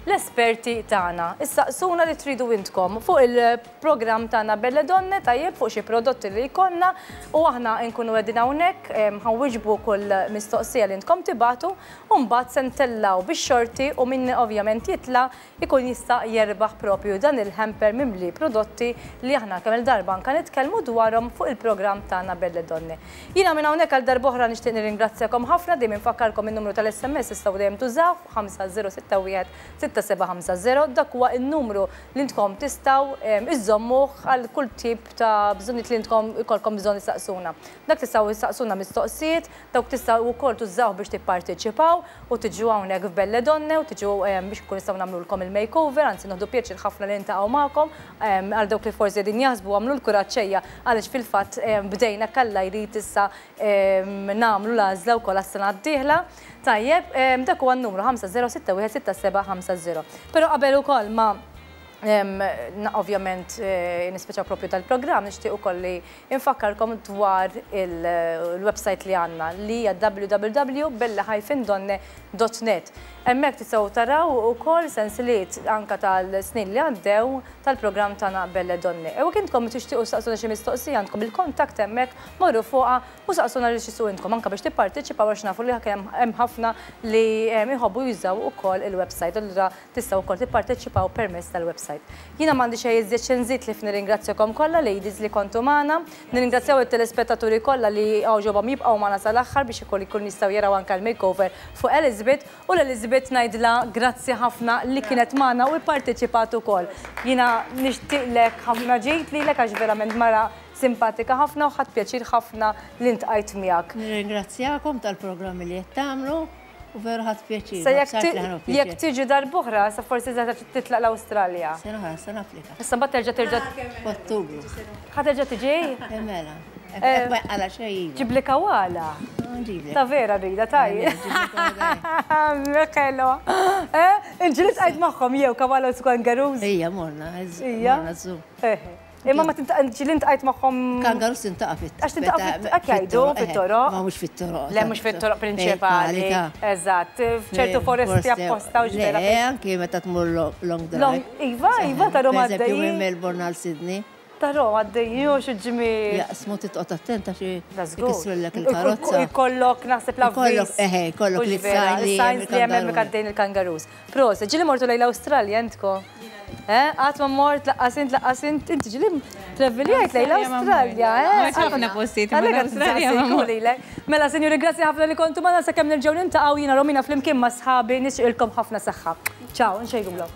l-esperti tagħna. Issaqsuna li tridu intkom fuq il-programm tagħna Belle Donne, tajjeb, fuq xi prodotti li jkollna u aħna nkunu qegħdin hawnhekk ħa nwiġbu kull mistoqsija li intkom tibagħtu u mbagħad se ntellgħu bix-xorti u min ovvjament jitla' jkun jista' jerbaħ propju dan il-hamper mimli prodotti li aħna kemm-il darba anke nitkellmu dwarhom fuq il-programm tagħna Belle Donne. Jiena minn hawnhekk għal darb'oħra nixtieq nirringrazzjakom ħafna, dejjem infakkarkom in-numru tal-SMS tistgħu dejjem tużawh 5061 6750, dak huwa n-numru li intkom tistgħu iżżommuh għal kull tip ta' bżonnijiet li intkom ikollkom bżonn issaqsuna. Dak tistgħu issaqsuna mistoqsijiet, dawk tistgħu wkoll tużawh biex tipparteċipaw u tiġu hawnhekk f'Belle Donne u tiġu biex nkunu nistgħu nagħmlulkom il-makeover, anzi nieħdu pjaċir ħafna li niltaqgħu magħkom għal dawk li forsi qegħdin jaħsbu agħmlu l-kuraġġ ejja għaliex fil-fatt bdejna kalla jrid issa nagħmlu l-għażla wkoll għas-sena d-dieħla. Tajjeb, dak huwa n-numru 50616750. Però qabel ukoll ma ovvjament nispiċċaw propju tal-programm, nixtieq ukoll li infakkarkom dwar il-website li għandna li hija www.bella-donne.net. Hemmhekk tistgħu taraw ukoll sensiliet anka tal-snin li għaddew tal-programm tagħna Belle Donne. U jekk intkom tixtiequ saqsuna xi mistoqsija għandkom il-kontakt hemmhekk, morru fuqha u saqsuna li x'tixtiequ intkom anke biex tipparteċipaw għax nafu li hemm ħafna li jħobbu jużaw ukoll il-website, allura tistgħu wkoll tipparteċipaw permezz tal-website. Jiena m'għandi xejn iżjed xi nżid ħlief nirringrazzjakom kollha ladies li kontu magħna, nirringrazzjaw it-telespettaturi kollha li għoġobhom jibqgħu magħna sal-aħħar biex ukoll ikunu jistgħu jaraw anke l-makeover fuq Elizabeth u l-Elizabeth ngħidilha grazzi ħafna li kienet magħna u pparteċipat ukoll. Jiena nixtieqlek ħafna ġid lilek għax verament mara simpatika ħafna u ħadt pjaċir ħafna li ntqajt miegħek. Nirringrazzjakom tal-programmi li qed tagħmlu u veru ħadt pjaċir. Sa jekk tiġi darb'oħra, sa forsi se titlaq l-Awstralja. Sena oħra, se napplika. Issa mbagħad terġa' terġa' F'Ottubru. Ħa terġa' tiġi? Mela. Hekk ma jqala xejn iva. Ġibli kawala. Nġiblek. Ta' vera rida, taj. Mekelo. Inġieli tqajt magħhom jew kawala u kangaroos? Ija, morna. Ija. Morna zoo. Imma ma ġieli ntqajt magħhom. Kangaroos tintaqa' fit. Għax tintaqa' fit, hekk jgħidu fit-toroq. Ma mhux fit-toroq. Le mhux fit-toroq prinċipali. Eżatt, f'ċertu foresti apposta u ġbera. Le, anki meta tmur long drive. Iva, iva, ta' Roma għaddej. Pereżempju minn Melbourne għal Sydney. Ta' Roma għaddej, jew xi ġmiel. Jaqsmu titqgħod attenta xi jkissrulek il-karozza. Ikollok naħseb l-avviż. Ikollok, eħe, ikollok li signs li hemm hemmhekk għaddejn il-kangaroos. Proset, ġieli mortu lejn l-Awstralja intkom? Qatt ma mort, laqqas int, laqqas int, inti ġieli traveljajt lejn l-Awstralja, eh? Mort ħafna postijiet imma l-Awstralja ma mort. Mela, sinjuri, grazzi ħafna li kontu magħna sakemm nerġgħu niltaqgħu jiena Romina flimkien ma' sħabi nixtieqilkom ħafna saħħa. Ciao, nxejrulhom.